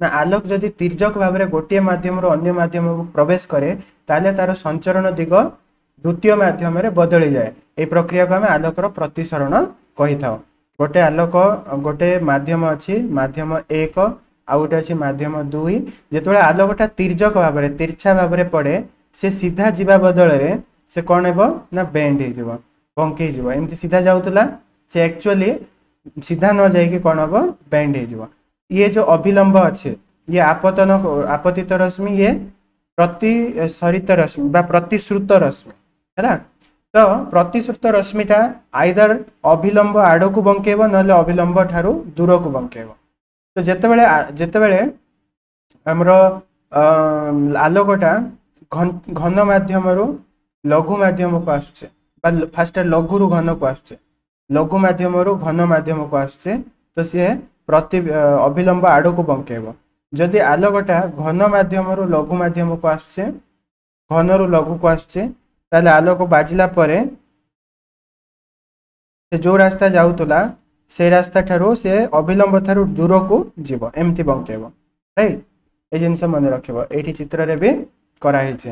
ନା ଆଲୋକ ଯଦି ତିର୍ଯକ ଭାବରେ ଗୋଟିଏ ମାଧ୍ୟମରୁ ଅନ୍ୟ ମାଧ୍ୟମକୁ ପ୍ରବେଶ କରେ, ତାହେଲେ ତାର ସଞ୍ଚରଣ ଦିଗ ଦ୍ୱିତୀୟ ମାଧ୍ୟମରେ ବଦଳିଯାଏ। ଏହି ପ୍ରକ୍ରିୟାକୁ ଆମେ ଆଲୋକର ପ୍ରତିସରଣ କହିଥାଉ। ଗୋଟେ ଆଲୋକ, ଗୋଟେ ମାଧ୍ୟମ ଅଛି ମାଧ୍ୟମ ଏକ, ଆଉ ଗୋଟେ ଅଛି ମାଧ୍ୟମ ଦୁଇ। ଯେତେବେଳେ ଆଲୋକଟା ତିର୍ଯକ ଭାବରେ, ତିର୍ଛା ଭାବରେ ପଡ଼େ, ସେ ସିଧା ଯିବା ବଦଳରେ ସେ କ'ଣ ହେବ ନା ବେଣ୍ଡ ହେଇଯିବ, ବଙ୍କେଇ ଯିବ। ଏମିତି ସିଧା ଯାଉଥିଲା, ସେ ଆକ୍ଚୁଆଲି ସିଧା ନ ଯାଇକି କ'ଣ ହେବ? ବେଣ୍ଡ ହେଇଯିବ। ଇଏ ଯେଉଁ ଅଭିଲମ୍ବ ଅଛି, ଇଏ ଆପତନ ଆପତିତ ରଶ୍ମି, ଇଏ ପ୍ରତିସରିତ ରଶ୍ମି ବା ପ୍ରତିଶ୍ରୁତ ରଶ୍ମି, ହେଲା? ତ ପ୍ରତିଶ୍ରୁତ ରଶ୍ମିଟା ଆଇଦର ଅଭିଲମ୍ବ ଆଡ଼କୁ ବଙ୍କେଇବ, ନହେଲେ ଅଭିଲମ୍ବ ଠାରୁ ଦୂରକୁ ବଙ୍କେଇବ। ତ ଯେତେବେଳେ ଯେତେବେଳେ ଆମର ଆଲୋକଟା ଘନ ମାଧ୍ୟମରୁ ଲଘୁ ମାଧ୍ୟମକୁ ଆସୁଛେ, ବା ଫାଷ୍ଟ ଲଘୁରୁ ଘନକୁ ଆସୁଛେ, ଲଘୁ ମାଧ୍ୟମରୁ ଘନ ମାଧ୍ୟମକୁ ଆସୁଛେ, ତ ସିଏ ପ୍ରତି ଅଭିଲମ୍ବ ଆଡ଼କୁ ବଙ୍କେଇବ। ଯଦି ଆଲୋକଟା ଘନ ମାଧ୍ୟମରୁ ଲଘୁ ମାଧ୍ୟମକୁ ଆସୁଛେ, ଘନରୁ ଲଘୁକୁ ଆସୁଛେ, ତାହେଲେ ଆଲୋକ ବାଜିଲା ପରେ ସେ ଯେଉଁ ରାସ୍ତା ଯାଉଥିଲା, ସେ ରାସ୍ତା ଠାରୁ ସେ ଅଭିଲମ୍ବ ଠାରୁ ଦୂରକୁ ଯିବ, ଏମିତି ବଙ୍କେଇବ, ରାଇଟ୍? ଏ ଜିନିଷ ମନେ ରଖିବ। ଏଇଠି ଚିତ୍ରରେ ବି କରାହେଇଛି।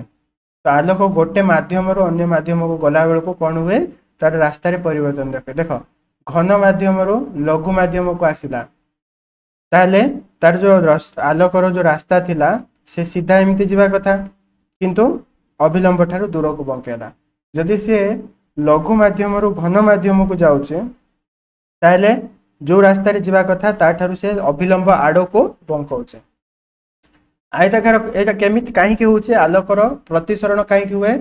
ତ ଆଲୋକ ଗୋଟେ ମାଧ୍ୟମରୁ ଅନ୍ୟ ମାଧ୍ୟମକୁ ଗଲାବେଳକୁ କ'ଣ ହୁଏ? ତାର ରାସ୍ତାରେ ପରିବର୍ତ୍ତନ ଦେଖେ। ଦେଖ, ଘନ ମାଧ୍ୟମରୁ ଲଘୁ ମାଧ୍ୟମକୁ ଆସିଲା, ତାହେଲେ ତାର ଯେଉଁ ଆଲୋକର ଯେଉଁ ରାସ୍ତା ଥିଲା, ସେ ସିଧା ଏମିତି ଯିବା କଥା, କିନ୍ତୁ ଅଭିଲମ୍ବ ଠାରୁ ଦୂରକୁ ବଙ୍କେଇଲା। ଯଦି ସିଏ ଲଘୁ ମାଧ୍ୟମରୁ ଘନ ମାଧ୍ୟମକୁ ଯାଉଛି, ତାହେଲେ ଯେଉଁ ରାସ୍ତାରେ ଯିବା କଥା ତାଠାରୁ ସେ ଅଭିଲମ୍ବ ଆଡ଼କୁ ବଙ୍କଉଛି। ଆୟତାକାର ଏଇଟା କେମିତି, କାହିଁକି ହେଉଛି? ଆଲୋକର ପ୍ରତିସରଣ କାହିଁକି ହୁଏ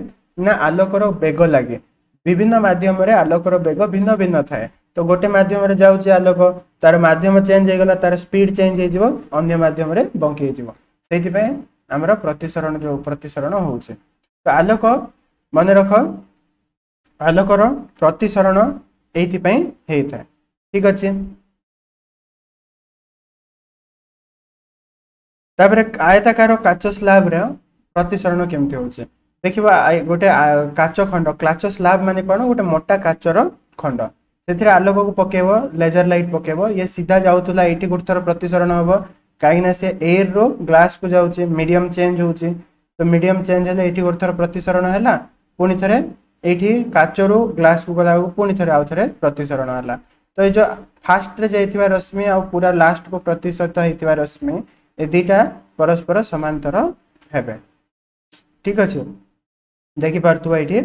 ନା ଆଲୋକର ବେଗ ଲାଗେ। ବିଭିନ୍ନ ମାଧ୍ୟମରେ ଆଲୋକର ବେଗ ଭିନ୍ନ ଭିନ୍ନ ଥାଏ। ତ ଗୋଟେ ମାଧ୍ୟମରେ ଯାଉଛି ଆଲୋକ, ତାର ମାଧ୍ୟମ ଚେଞ୍ଜ ହେଇଗଲା, ତାର ସ୍ପିଡ୍ ଚେଞ୍ଜ ହେଇଯିବ, ଅନ୍ୟ ମାଧ୍ୟମରେ ବଙ୍କି ହେଇଯିବ। ସେଇଥିପାଇଁ ଆମର ପ୍ରତିସରଣ ଯେଉଁ ପ୍ରତିସରଣ ହେଉଛି। ତ ଆଲୋକ, ମନେ ରଖ, ଆଲୋକର ପ୍ରତିସରଣ ଏଇଥିପାଇଁ ହେଇଥାଏ, ଠିକ ଅଛି? ତାପରେ ଆୟତାକାର କାଚ ସ୍ଲାବରେ ପ୍ରତିସରଣ କେମିତି ହେଉଛି ଦେଖିବା। ଗୋଟେ କାଚ ଖଣ୍ଡ, କାଚ ସ୍ଲାବ ମାନେ କ'ଣ? ଗୋଟେ ମୋଟା କାଚର ଖଣ୍ଡ। ସେଥିରେ ଆଲୋକକୁ ପକେଇବ, ଲେଜର ଲାଇଟ୍ ପକେଇବ। ଇଏ ସିଧା ଯାଉଥିଲା, ଏଇଠି ଗୋଟେ ଥର ପ୍ରତିସରଣ ହେବ, କାହିଁକିନା ସେ ଏୟାରରୁ ଗ୍ଲାସକୁ ଯାଉଛି, ମିଡ଼ିୟମ ଚେଞ୍ଜ ହେଉଛି। ତ ମିଡ଼ିୟମ ଚେଞ୍ଜ ହେଲେ ଏଇଠି ଗୋଟେ ଥର ପ୍ରତିସରଣ ହେଲା। ପୁଣି ଥରେ ଏଇଠି କାଚରୁ ଗ୍ଲାସକୁ ଗଲାବେଳକୁ ପୁଣି ଥରେ ଆଉ ଥରେ ପ୍ରତିସରଣ ହେଲା। ତ ଏଇ ଯେଉଁ ଫାଷ୍ଟରେ ଯାଇଥିବା ରଶ୍ମି ଆଉ ପୁରା ଲାଷ୍ଟକୁ ପ୍ରତିସରିତ ହେଇଥିବା ରଶ୍ମି, ଏ ଦୁଇଟା ପରସ୍ପର ସମାନ୍ତର ହେବେ, ଠିକ ଅଛି? ଦେଖିପାରୁଥିବ ଏଇଠି,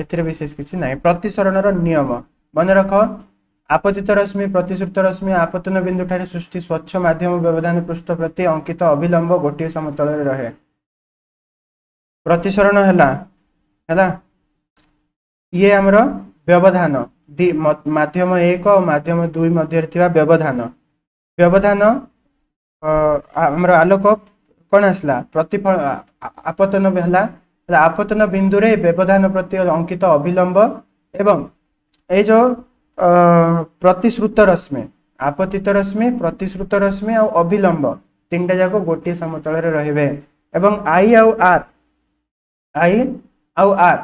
ଏଥିରେ ବିଶେଷ କିଛି ନାହିଁ। ପ୍ରତିସରଣର ନିୟମ ମନେ ରଖ। ଆପତିତ ରଶ୍ମି, ପ୍ରତିଶ୍ରୁତ ରଶ୍ମି, ଆପତନ ବିନ୍ଦୁ ଠାରେ ସୃଷ୍ଟି ସ୍ୱଚ୍ଛ ମାଧ୍ୟମ ବ୍ୟବଧାନ ପୃଷ୍ଠ ପ୍ରତି ଅଙ୍କିତ ଅଭିଲମ୍ବ ଗୋଟିଏ ସମତଳରେ ରହେ। ପ୍ରତିସରଣ ହେଲା ହେଲା ଇଏ ଆମର ବ୍ୟବଧାନ, ମାଧ୍ୟମ ଏକ ଓ ମାଧ୍ୟମ ଦୁଇ ମଧ୍ୟରେ ଥିବା ବ୍ୟବଧାନ। ବ୍ୟବଧାନ ଆମର ଆଲୋକ କ'ଣ ଆସିଲା? ପ୍ରତିଫଳ, ଆପତନ ହେଲା। ଆପତନ ବିନ୍ଦୁରେ ବ୍ୟବଧାନ ପ୍ରତି ଅଙ୍କିତ ଅଭିଲମ୍ବ ଏବଂ ଏଇ ଯେଉଁ ପ୍ରତିଶ୍ରୁତ ରଶ୍ମି, ଆପତିତ ରଶ୍ମି, ପ୍ରତିଶ୍ରୁତ ରଶ୍ମି ଆଉ ଅଭିଲମ୍ବ ତିନିଟା ଯାକ ଗୋଟିଏ ସମତଳରେ ରହିବେ। ଏବଂ I ଆଉ ଆର୍, I ଆଉ ଆର୍,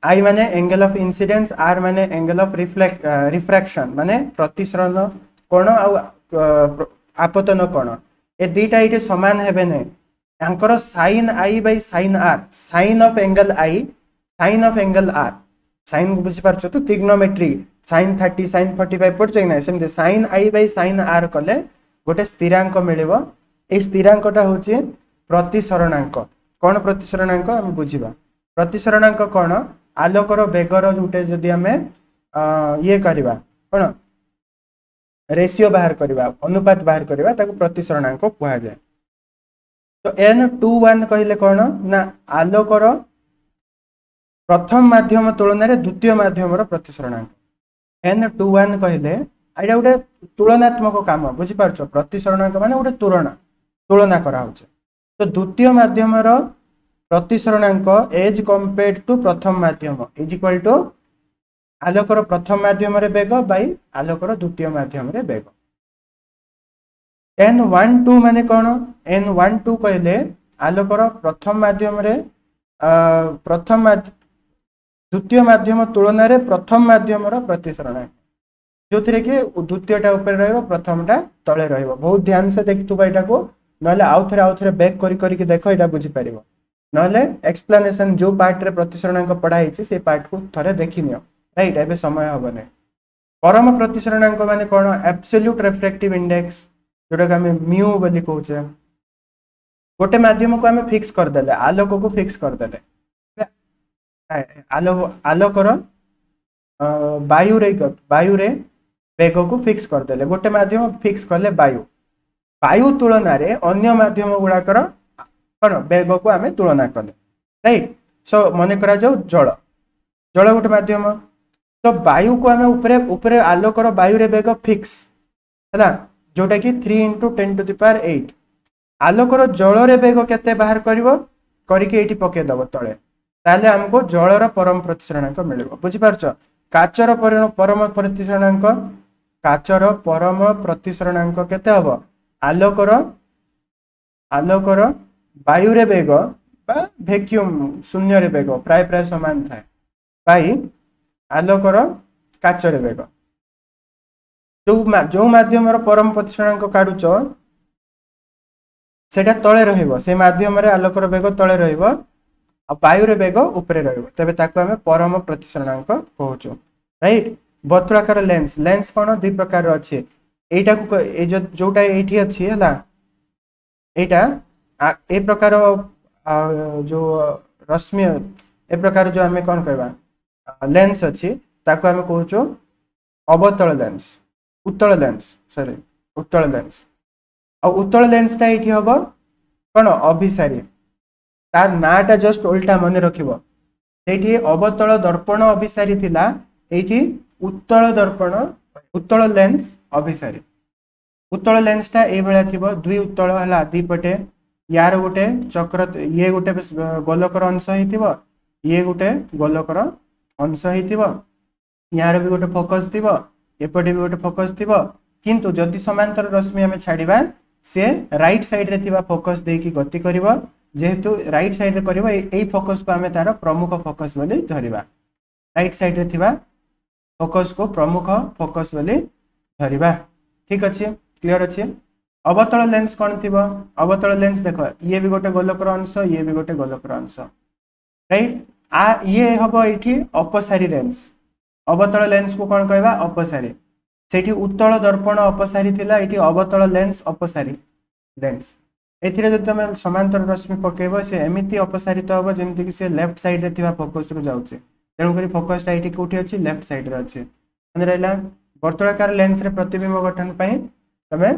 I ମାନେ ଏଙ୍ଗେଲ ଅଫ୍ ଇନସିଡେନ୍ସ, ଆର୍ ମାନେ ଏଙ୍ଗେଲ ଅଫ୍ ରିଫ୍ଲେକ୍ଟ ରିଫ୍ରାକ୍ସନ, ମାନେ ପ୍ରତିସରଣ କୋଣ ଆଉ ଆପତନ କୋଣ, ଏ ଦୁଇଟା ଏଇଠି ସମାନ ହେବେ ନାହିଁ। ତାଙ୍କର sine I by sine R, sine of angle I, sine of angle R, sine ବୁଝିପାରୁଛ ତ? Trigonometry, sine thirty, sine forty five ପଢୁଛ କି ନାହିଁ? ସେମିତି sine I by sine R କଲେ ଗୋଟେ ସ୍ଥିରାଙ୍କ ମିଳିବ। ଏଇ ସ୍ଥିରାଙ୍କଟା ହେଉଛି ପ୍ରତିସରଣାଙ୍କ। କ'ଣ ପ୍ରତିସରଣାଙ୍କ ଆମେ ବୁଝିବା। ପ୍ରତିସରଣାଙ୍କ କ'ଣ ଆଲୋକର ବେଗର ଗୋଟେ ଯଦି ଆମେ ଇଏ କରିବା କ'ଣ ରେସିଓ ବାହାର କରିବା ଅନୁପାତ ବାହାର କରିବା ତାକୁ ପ୍ରତିସରଣାଙ୍କ କୁହାଯାଏ ତ ଏନ୍ ଟୁ ୱାନ୍ କହିଲେ କ'ଣ ନା ଆଲୋକର ପ୍ରଥମ ମାଧ୍ୟମ ତୁଳନାରେ ଦ୍ୱିତୀୟ ମାଧ୍ୟମର ପ୍ରତିସରଣାଙ୍କ ଏନ୍ ଟୁ ୱାନ୍ କହିଲେ ଏଇଟା ଗୋଟେ ତୁଳନାତ୍ମକ କାମ ବୁଝିପାରୁଛ ପ୍ରତିସରଣାଙ୍କ ମାନେ ଗୋଟେ ତୁଳନା ତୁଳନା କରାହଉଛି ତ ଦ୍ୱିତୀୟ ମାଧ୍ୟମର ପ୍ରତିସରଣାଙ୍କ ଏଜ୍ କମ୍ପେୟାର୍ଡ ଟୁ ପ୍ରଥମ ମାଧ୍ୟମ is equal to ଆଲୋକର ପ୍ରଥମ ମାଧ୍ୟମରେ ବେଗ ବାଇ ଆଲୋକର ଦ୍ୱିତୀୟ ମାଧ୍ୟମରେ ବେଗ ଏନ୍ ୱାନ୍ ଟୁ ମାନେ କ'ଣ ଏନ୍ ୱାନ୍ ଟୁ କହିଲେ ଆଲୋକର ପ୍ରଥମ ମାଧ୍ୟମରେ ପ୍ରଥମ ଦ୍ୱିତୀୟ ମାଧ୍ୟମ ତୁଳନାରେ ପ୍ରଥମ ମାଧ୍ୟମର ପ୍ରତିସରଣାଙ୍କ ଯୋଉଥିରେ କି ଦ୍ୱିତୀୟଟା ଉପରେ ରହିବ ପ୍ରଥମଟା ତଳେ ରହିବ ବହୁତ ଧ୍ୟାନ ସେ ଦେଖିଥିବ ଏଇଟାକୁ ନହେଲେ ଆଉ ଥରେ ଆଉ ଥରେ ବ୍ୟାକ୍ କରି କରିକି ଦେଖ ଏଇଟା ବୁଝିପାରିବ ନହେଲେ ଏକ୍ସପ୍ଲାନେସନ ଯୋଉ ପାର୍ଟରେ ପ୍ରତିସରଣାଙ୍କ ପଢା ହେଇଛି ସେଇ ପାର୍ଟକୁ ଥରେ ଦେଖିନିଅ ରାଇଟ୍ ଏବେ ସମୟ ହବନି ପରମ ପ୍ରତିସରଣାଙ୍କ ମାନେ କ'ଣ ଆବସଲ୍ୟୁଟ ରେଫ୍ରାକ୍ଟିଭ ଇଣ୍ଡେକ୍ସ ଯୋଉଟାକୁ ଆମେ ମ୍ୟୁ ବୋଲି କହୁଛେ ଗୋଟେ ମାଧ୍ୟମକୁ ଆମେ ଫିକ୍ସ କରିଦେଲେ ଆଲୋକକୁ ଫିକ୍ସ କରିଦେଲେ ଆଲୋକ ଆଲୋକର ବାୟୁରେ ବାୟୁରେ ବେଗକୁ ଫିକ୍ସ କରିଦେଲେ ଗୋଟେ ମାଧ୍ୟମ ଫିକ୍ସ କଲେ ବାୟୁ ବାୟୁ ତୁଳନାରେ ଅନ୍ୟ ମାଧ୍ୟମ ଗୁଡାକର କ'ଣ ବେଗକୁ ଆମେ ତୁଳନା କଲେ ରାଇଟ୍ ସୋ ମନେ କରାଯାଉ ଜଳ ଜଳ ଗୋଟେ ମାଧ୍ୟମ ତ ବାୟୁକୁ ଆମେ ଉପରେ ଉପରେ ଆଲୋକର ବାୟୁରେ ବେଗ ଫିକ୍ସ ହେଲା ଯୋଉଟା କି three into ten to the power eight ଆଲୋକର ଜଳରେ ବେଗ କେତେ ବାହାର କରିବ କରିକି ଏଇଠି ପକେଇଦବ ତଳେ ତାହେଲେ ଆମକୁ ଜଳର ପରମ ପ୍ରତିସରଣାଙ୍କ ମିଳିବ ବୁଝିପାରୁଛ କାଚର ପରମ ପ୍ରତିସରଣାଙ୍କ କାଚର ପରମ ପ୍ରତିସରଣାଙ୍କ କେତେ ହବ ଆଲୋକର ଆଲୋକର ବାୟୁରେ ବେଗ ବା ଭ୍ୟାକ୍ୟୁମ୍ ଶୂନ୍ୟରେ ବେଗ ପ୍ରାୟ ପ୍ରାୟ ସମାନ ଥାଏ ବାଇ ଆଲୋକର କାଚରେ ବେଗ ଯୋଉ ଯୋଉ ମାଧ୍ୟମର ପରମ ପ୍ରତିସରଣାଙ୍କ କାଢୁଛ ସେଇଟା ତଳେ ରହିବ ସେଇ ମାଧ୍ୟମରେ ଆଲୋକର ବେଗ ତଳେ ରହିବ ଆଉ ବାୟୁର ବେଗ ଉପରେ ରହିବ ତେବେ ତାକୁ ଆମେ ପରମ ପ୍ରତିସରଣାଙ୍କ କହୁଛୁ ରାଇଟ୍ ବର୍ତ୍ତୁଳାକାର ଲେନ୍ସ ଲେନ୍ସ କ'ଣ ଦୁଇ ପ୍ରକାରର ଅଛି ଏଇଟାକୁ ଏଇ ଯୋଉ ଯୋଉଟା ଏଇଠି ଅଛି ହେଲା ଏଇଟା ଏ ପ୍ରକାର ଯୋଉ ରଶ୍ମି ଏ ପ୍ରକାର ଯୋଉ ଆମେ କ'ଣ କହିବା ଲେନ୍ସ ଅଛି ତାକୁ ଆମେ କହୁଛୁ ଅବତଳ ଲେନ୍ସ ଉତ୍ତଳ ଲେନ୍ସ ସରି ଉତ୍ତଳ ଲେନ୍ସ ଆଉ ଉତ୍ତଳ ଲେନ୍ସଟା ଏଇଠି ହବ କ'ଣ ଅଭିସାରୀ ତାର ନାଁଟା ଜଷ୍ଟ ଓଲଟା ମନେ ରଖିବ ସେଇଠି ଅବତଳ ଦର୍ପଣ ଅଭିସାରୀ ଥିଲା ଏଇଠି ଉତ୍ତଳ ଦର୍ପଣ ଉତ୍ତଳ ଲେନ୍ସ ଅଭିସାରୀ ଉତ୍ତଳ ଲେନ୍ସଟା ଏଇଭଳିଆ ଥିବ ଦୁଇ ଉତ୍ତଳ ହେଲା ଦି ପଟେ ୟାର ଗୋଟେ ଚକ୍ର ଇଏ ଗୋଟେ ଗୋଲକର ଅଂଶ ହେଇଥିବ ଇଏ ଗୋଟେ ଗୋଲକର ଅଂଶ ହେଇଥିବ ୟାର ବି ଗୋଟେ ଫୋକସ୍ ଥିବ ଏପଟେ ବି ଗୋଟେ ଫୋକସ୍ ଥିବ କିନ୍ତୁ ଯଦି ସମାନ୍ତର ରଶ୍ମି ଆମେ ଛାଡ଼ିବା ସେ ରାଇଟ୍ ସାଇଡ୍ରେ ଥିବା ଫୋକସ୍ ଦେଇକି ଗତି କରିବ ଯେହେତୁ ରାଇଟ୍ ସାଇଡ୍ରେ କରିବ ଏଇ ଫୋକସ୍କୁ ଆମେ ତାର ପ୍ରମୁଖ ଫୋକସ୍ ବୋଲି ଧରିବା ରାଇଟ୍ ସାଇଡ୍ରେ ଥିବା ଫୋକସ୍କୁ ପ୍ରମୁଖ ଫୋକସ୍ ବୋଲି ଧରିବା ଠିକ ଅଛି କ୍ଲିୟର ଅଛି ଅବତଳ ଲେନ୍ସ କ'ଣ ଥିବ ଅବତଳ ଲେନ୍ସ ଦେଖ ଇଏ ବି ଗୋଟେ ଗୋଲକର ଅଂଶ ଇଏ ବି ଗୋଟେ ଗୋଲକର ଅଂଶ ରାଇଟ୍ ଆ ଇଏ ହବ ଏଇଠି ଅପସାରୀ ଲେନ୍ସ ଅବତଳ ଲେନ୍ସକୁ କ'ଣ କହିବା ଅପସାରୀ ସେଇଠି ଉତ୍ତଳ ଦର୍ପଣ ଅପସାରୀ ଥିଲା ଏଇଠି ଅବତଳ ଲେନ୍ସ ଅପସାରୀ ଲେନ୍ସ ଏଥିରେ ଯଦି ତମେ ସମାନ୍ତର ରଶ୍ମି ପକେଇବ ସେ ଏମିତି ଅପସାରିତ ହବ ଯେମିତିକି ସେ ଲେଫ୍ଟ ସାଇଡ୍ରେ ଥିବା ଫୋକସ୍ରୁ ଯାଉଛି ତେଣୁକରି ଫୋକସ୍ଟା ଏଇଠି କୋଉଠି ଅଛି ଲେଫ୍ଟ ସାଇଡ୍ରେ ଅଛି ମନେ ରହିଲା ବର୍ତ୍ତୁଳାକାର ଲେନ୍ସରେ ପ୍ରତିବିମ୍ବ ଗଠନ ପାଇଁ ତମେ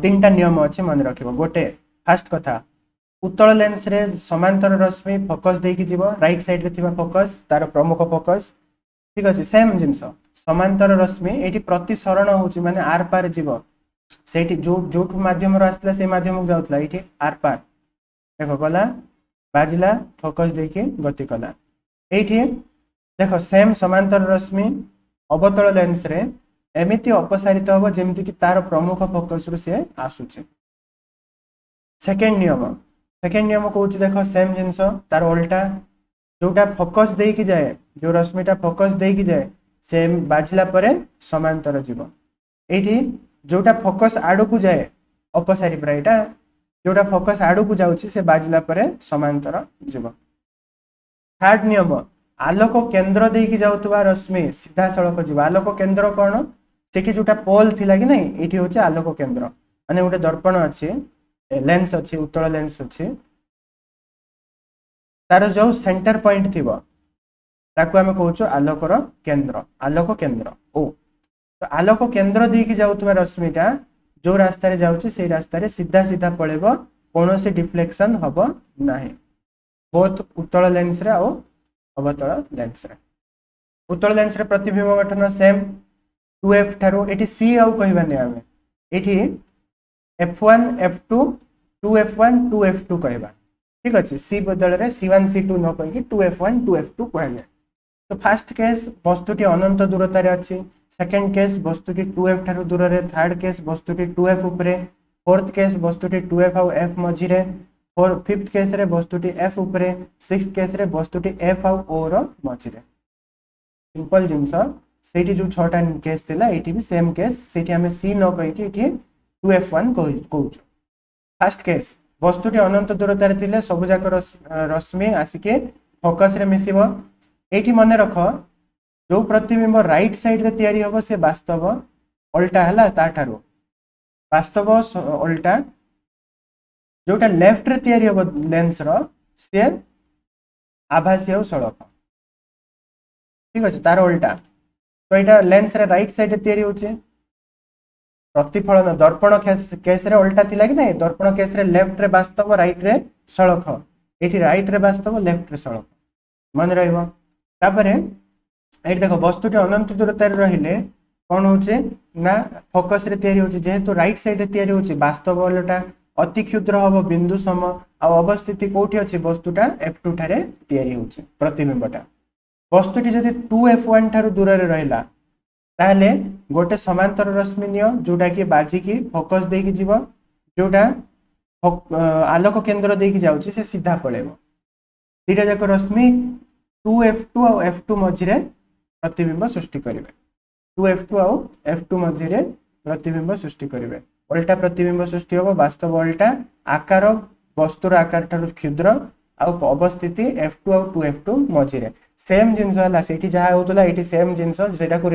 ତିନିଟା ନିୟମ ଅଛି ମନେ ରଖିବ ଗୋଟେ ଫାଷ୍ଟ କଥା ଉତ୍ତଳ ଲେନ୍ସରେ ସମାନ୍ତର ରଶ୍ମି ଫୋକସ୍ ଦେଇକି ଯିବ ରାଇଟ୍ ସାଇଡ୍ରେ ଥିବା ଫୋକସ୍ ତାର ପ୍ରମୁଖ ଫୋକସ୍ ଠିକ ଅଛି ସେମ୍ ଜିନିଷ ସମାନ୍ତର ରଶ୍ମି ଏଇଠି ପ୍ରତିସରଣ ହଉଛି ମାନେ ଆର ପାର ଯିବ ସେଇଠି ଯୋଉ ଯୋଉଠୁ ମାଧ୍ୟମରୁ ଆସିଥିଲା ସେଇ ମାଧ୍ୟମକୁ ଯାଉଥିଲା ଏଇଠି ଆର ପାର ଦେଖ ଗଲା ବାଜିଲା ଫୋକସ୍ ଦେଇକି ଗତି କଲା ଏଇଠି ଦେଖ ସେମ୍ ସମାନ୍ତର ରଶ୍ମି ଅବତଳ ଲେନ୍ସରେ ଏମିତି ଅପସାରିତ ହବ ଯେମିତିକି ତାର ପ୍ରମୁଖ ଫୋକସ୍ରୁ ସିଏ ଆସୁଛି ସେକେଣ୍ଡ ନିୟମ ସେକେଣ୍ଡ ନିୟମ କହୁଛି ଦେଖ ସେମ୍ ଜିନିଷ ତାର ଓଲଟା ଯୋଉଟା ଫୋକସ୍ ଦେଇକି ଯାଏ ଯୋଉ ରଶ୍ମିଟା ଫୋକସ୍ ଦେଇକି ଯାଏ ସେ ବାଜିଲା ପରେ ସମାନ୍ତର ଯିବ ଏଇଠି ଯୋଉଟା ଫୋକସ୍ ଆଡ଼କୁ ଯାଏ ଅପସାରୀ ପୁରା ଏଇଟା ଯୋଉଟା ଫୋକସ୍ ଆଡ଼କୁ ଯାଉଛି ସେ ବାଜିଲା ପରେ ସମାନ୍ତର ଯିବ ଥାର୍ଡ ନିୟମ ଆଲୋକ କେନ୍ଦ୍ର ଦେଇକି ଯାଉଥିବା ରଶ୍ମି ସିଧାସଳଖ ଯିବ ଆଲୋକ କେନ୍ଦ୍ର କ'ଣ ସେଠି ଯୋଉଟା ପୋଲ ଥିଲା କି ନାଇଁ ଏଇଠି ହଉଛି ଆଲୋକ କେନ୍ଦ୍ର ମାନେ ଗୋଟେ ଦର୍ପଣ ଅଛି ଲେନ୍ସ ଅଛି ଉତ୍ତଳ ଲେନ୍ସ ଅଛି ତାର ଯୋଉ ସେଣ୍ଟର ପଏଣ୍ଟ ଥିବ ତାକୁ ଆମେ କହୁଛୁ ଆଲୋକର କେନ୍ଦ୍ର, ଆଲୋକ କେନ୍ଦ୍ର ଓ। ତ ଆଲୋକ କେନ୍ଦ୍ର ଦେଇକି ଯାଉଥିବା ରଶ୍ମିଟା ଯୋଉ ରାସ୍ତାରେ ଯାଉଛି ସେଇ ରାସ୍ତାରେ ସିଧା ସିଧା ପଳେଇବ, କୌଣସି ଡିଫ୍ଲେକ୍ସନ ହବ ନାହିଁ, ବୋଥ ଉତ୍ତଳ ଲେନ୍ସରେ ଆଉ ଅବତଳ ଲେନ୍ସରେ। ଉତ୍ତଳ ଲେନ୍ସରେ ପ୍ରତିବିମ୍ବ ଗଠନ ସେମ୍, ଟୁ ଏଫ୍ ଠାରୁ ଏଠି ସି ଆଉ କହିବାନି ଆମେ, ଏଠି F one F two, two F one two F two କହିବା, ଠିକ ଅଛି। ସି ବଦଳରେ ସି ୱାନ୍ ସି ଟୁ ନ କହିକି two F one two F two କୁହାଯାଏ। ତ ଫାର୍ଷ୍ଟ କେସ୍ ବସ୍ତୁଟି ଅନନ୍ତ ଦୂରତାରେ ଅଛି, ସେକେଣ୍ଡ କେସ୍ ବସ୍ତୁଟି ଟୁ ଏଫ୍ ଠାରୁ ଦୂରରେ, ଥାର୍ଡ କେସ୍ ବସ୍ତୁଟି ଟୁ ଏଫ୍ ଉପରେ, ଫୋର୍ଥ କେସ୍ ବସ୍ତୁଟି ଟୁ ଏଫ୍ ଆଉ ଏଫ୍ ମଝିରେ, ଫୋର୍ ଫିଫ୍ଥ କେସ୍ରେ ବସ୍ତୁଟି ଏଫ୍ ଉପରେ, ସିକ୍ସ କେସ୍ରେ ବସ୍ତୁଟି ଏଫ୍ ଆଉ ଓ ର ମଝିରେ। ସିମ୍ପଲ ଜିନିଷ, ସେଇଠି ଯୋଉ ଛଅଟା କେସ୍ ଥିଲା ଏଇଠି ବି ସେମ୍ କେସ୍, ସେଇଠି ଆମେ ସି ନ କହିକି ଏଠି ଟୁ ଏଫ୍ ୱାନ୍ କହୁଛୁ। ଫାର୍ଷ୍ଟ କେସ୍ ବସ୍ତୁଟି ଅନନ୍ତ ଦୂରତାରେ ଥିଲେ ସବୁଯାକ ରଶ୍ମି ଆସିକି ଫୋକସରେ ମିଶିବ। ଏଇଠି ମନେ ରଖ ଯୋଉ ପ୍ରତିବିମ୍ବ ରାଇଟ୍ ସାଇଡ୍ରେ ତିଆରି ହବ ସେ ବାସ୍ତବ ଅଲଟା ହେଲା, ତାଠାରୁ ବାସ୍ତବ ଅଲଟା। ଯୋଉଟା ଲେଫ୍ଟରେ ତିଆରି ହବ ଲେନ୍ସର ସିଏ ଆଭାସୀ ଆଉ ସଳଖ, ଠିକ ଅଛି, ତାର ଓଲଟା। ତ ଏଇଟା ଲେନ୍ସରେ ରାଇଟ୍ ସାଇଡ୍ରେ ତିଆରି ହଉଛି। ପ୍ରତିଫଳନ ଦର୍ପଣ କେସ୍ରେ ଓଲଟା ଥିଲା କି ନାଇଁ? ଦର୍ପଣ କେସ୍ରେ ଲେଫ୍ଟରେ ବାସ୍ତବ, ରାଇଟ୍ରେ ସଳଖ। ଏଇଠି ରାଇଟ୍ରେ ବାସ୍ତବ, ଲେଫ୍ଟରେ ସଳଖ, ମନେ ରହିବ। ତାପରେ ଏଇଠି ଦେଖ ବସ୍ତୁଟି ଅନନ୍ତ ଦୂରତାରେ ରହିଲେ କ'ଣ ହଉଛି ନା ଫୋକସରେ ତିଆରି ହଉଛି, ଯେହେତୁ ରାଇଟ୍ ସାଇଡ୍ରେ ତିଆରି ହଉଛି ବାସ୍ତବ ଓଲଟା, ଅତି କ୍ଷୁଦ୍ର ହବ, ବିନ୍ଦୁ ସମ, ଆଉ ଅବସ୍ଥିତି କୋଉଠି ଅଛି, ବସ୍ତୁଟା ଏଫ୍ ଟୁ ଠାରେ ତିଆରି ହଉଛି ପ୍ରତିବିମ୍ବଟା। ବସ୍ତୁଟି ଯଦି ଟୁ ଏଫ୍ ୱାନ୍ ଠାରୁ ଦୂରରେ ରହିଲା ତାହେଲେ ଗୋଟେ ସମାନ୍ତର ରଶ୍ମି ନିଅ ଯୋଉଟା କି ବାଜିକି ଫୋକସ ଦେଇକି ଯିବ, ଯୋଉଟା ଆଲୋକ କେନ୍ଦ୍ର ଦେଇକି ଯାଉଛି ସେ ସିଧା ପଳେଇବ। ଦୁଇଟା ଯାକ ରଶ୍ମି ଟୁ ଏଫ୍ ଟୁ ଆଉ ଏଫ୍ ଟୁ ମଝିରେ ପ୍ରତିବିମ୍ବ ସୃଷ୍ଟି କରିବେ, ଟୁ ଏଫ୍ ଟୁ ଆଉ ଏଫ୍ ଟୁ ମଝିରେ ପ୍ରତିବିମ୍ବ ସୃଷ୍ଟି କରିବେ। ଓଲଟା ପ୍ରତିବିମ୍ବ ସୃଷ୍ଟି ହବ, ବାସ୍ତବ ଓଲଟା, ଆକାର ବସ୍ତୁର ଆକାର ଠାରୁ କ୍ଷୁଦ୍ର, ଆଉ ଅବସ୍ଥିତି ଏଫ୍ ଟୁ ଆଉ ଟୁ ଏଫ୍ ଟୁ ମଝିରେ। ସେମ୍ ଜିନିଷ ହେଲା, ସେଇଠି ଯାହା ହଉଥିଲା ଏଇଠି ସେମ୍ ଜିନିଷ, ସେଇଟାକୁ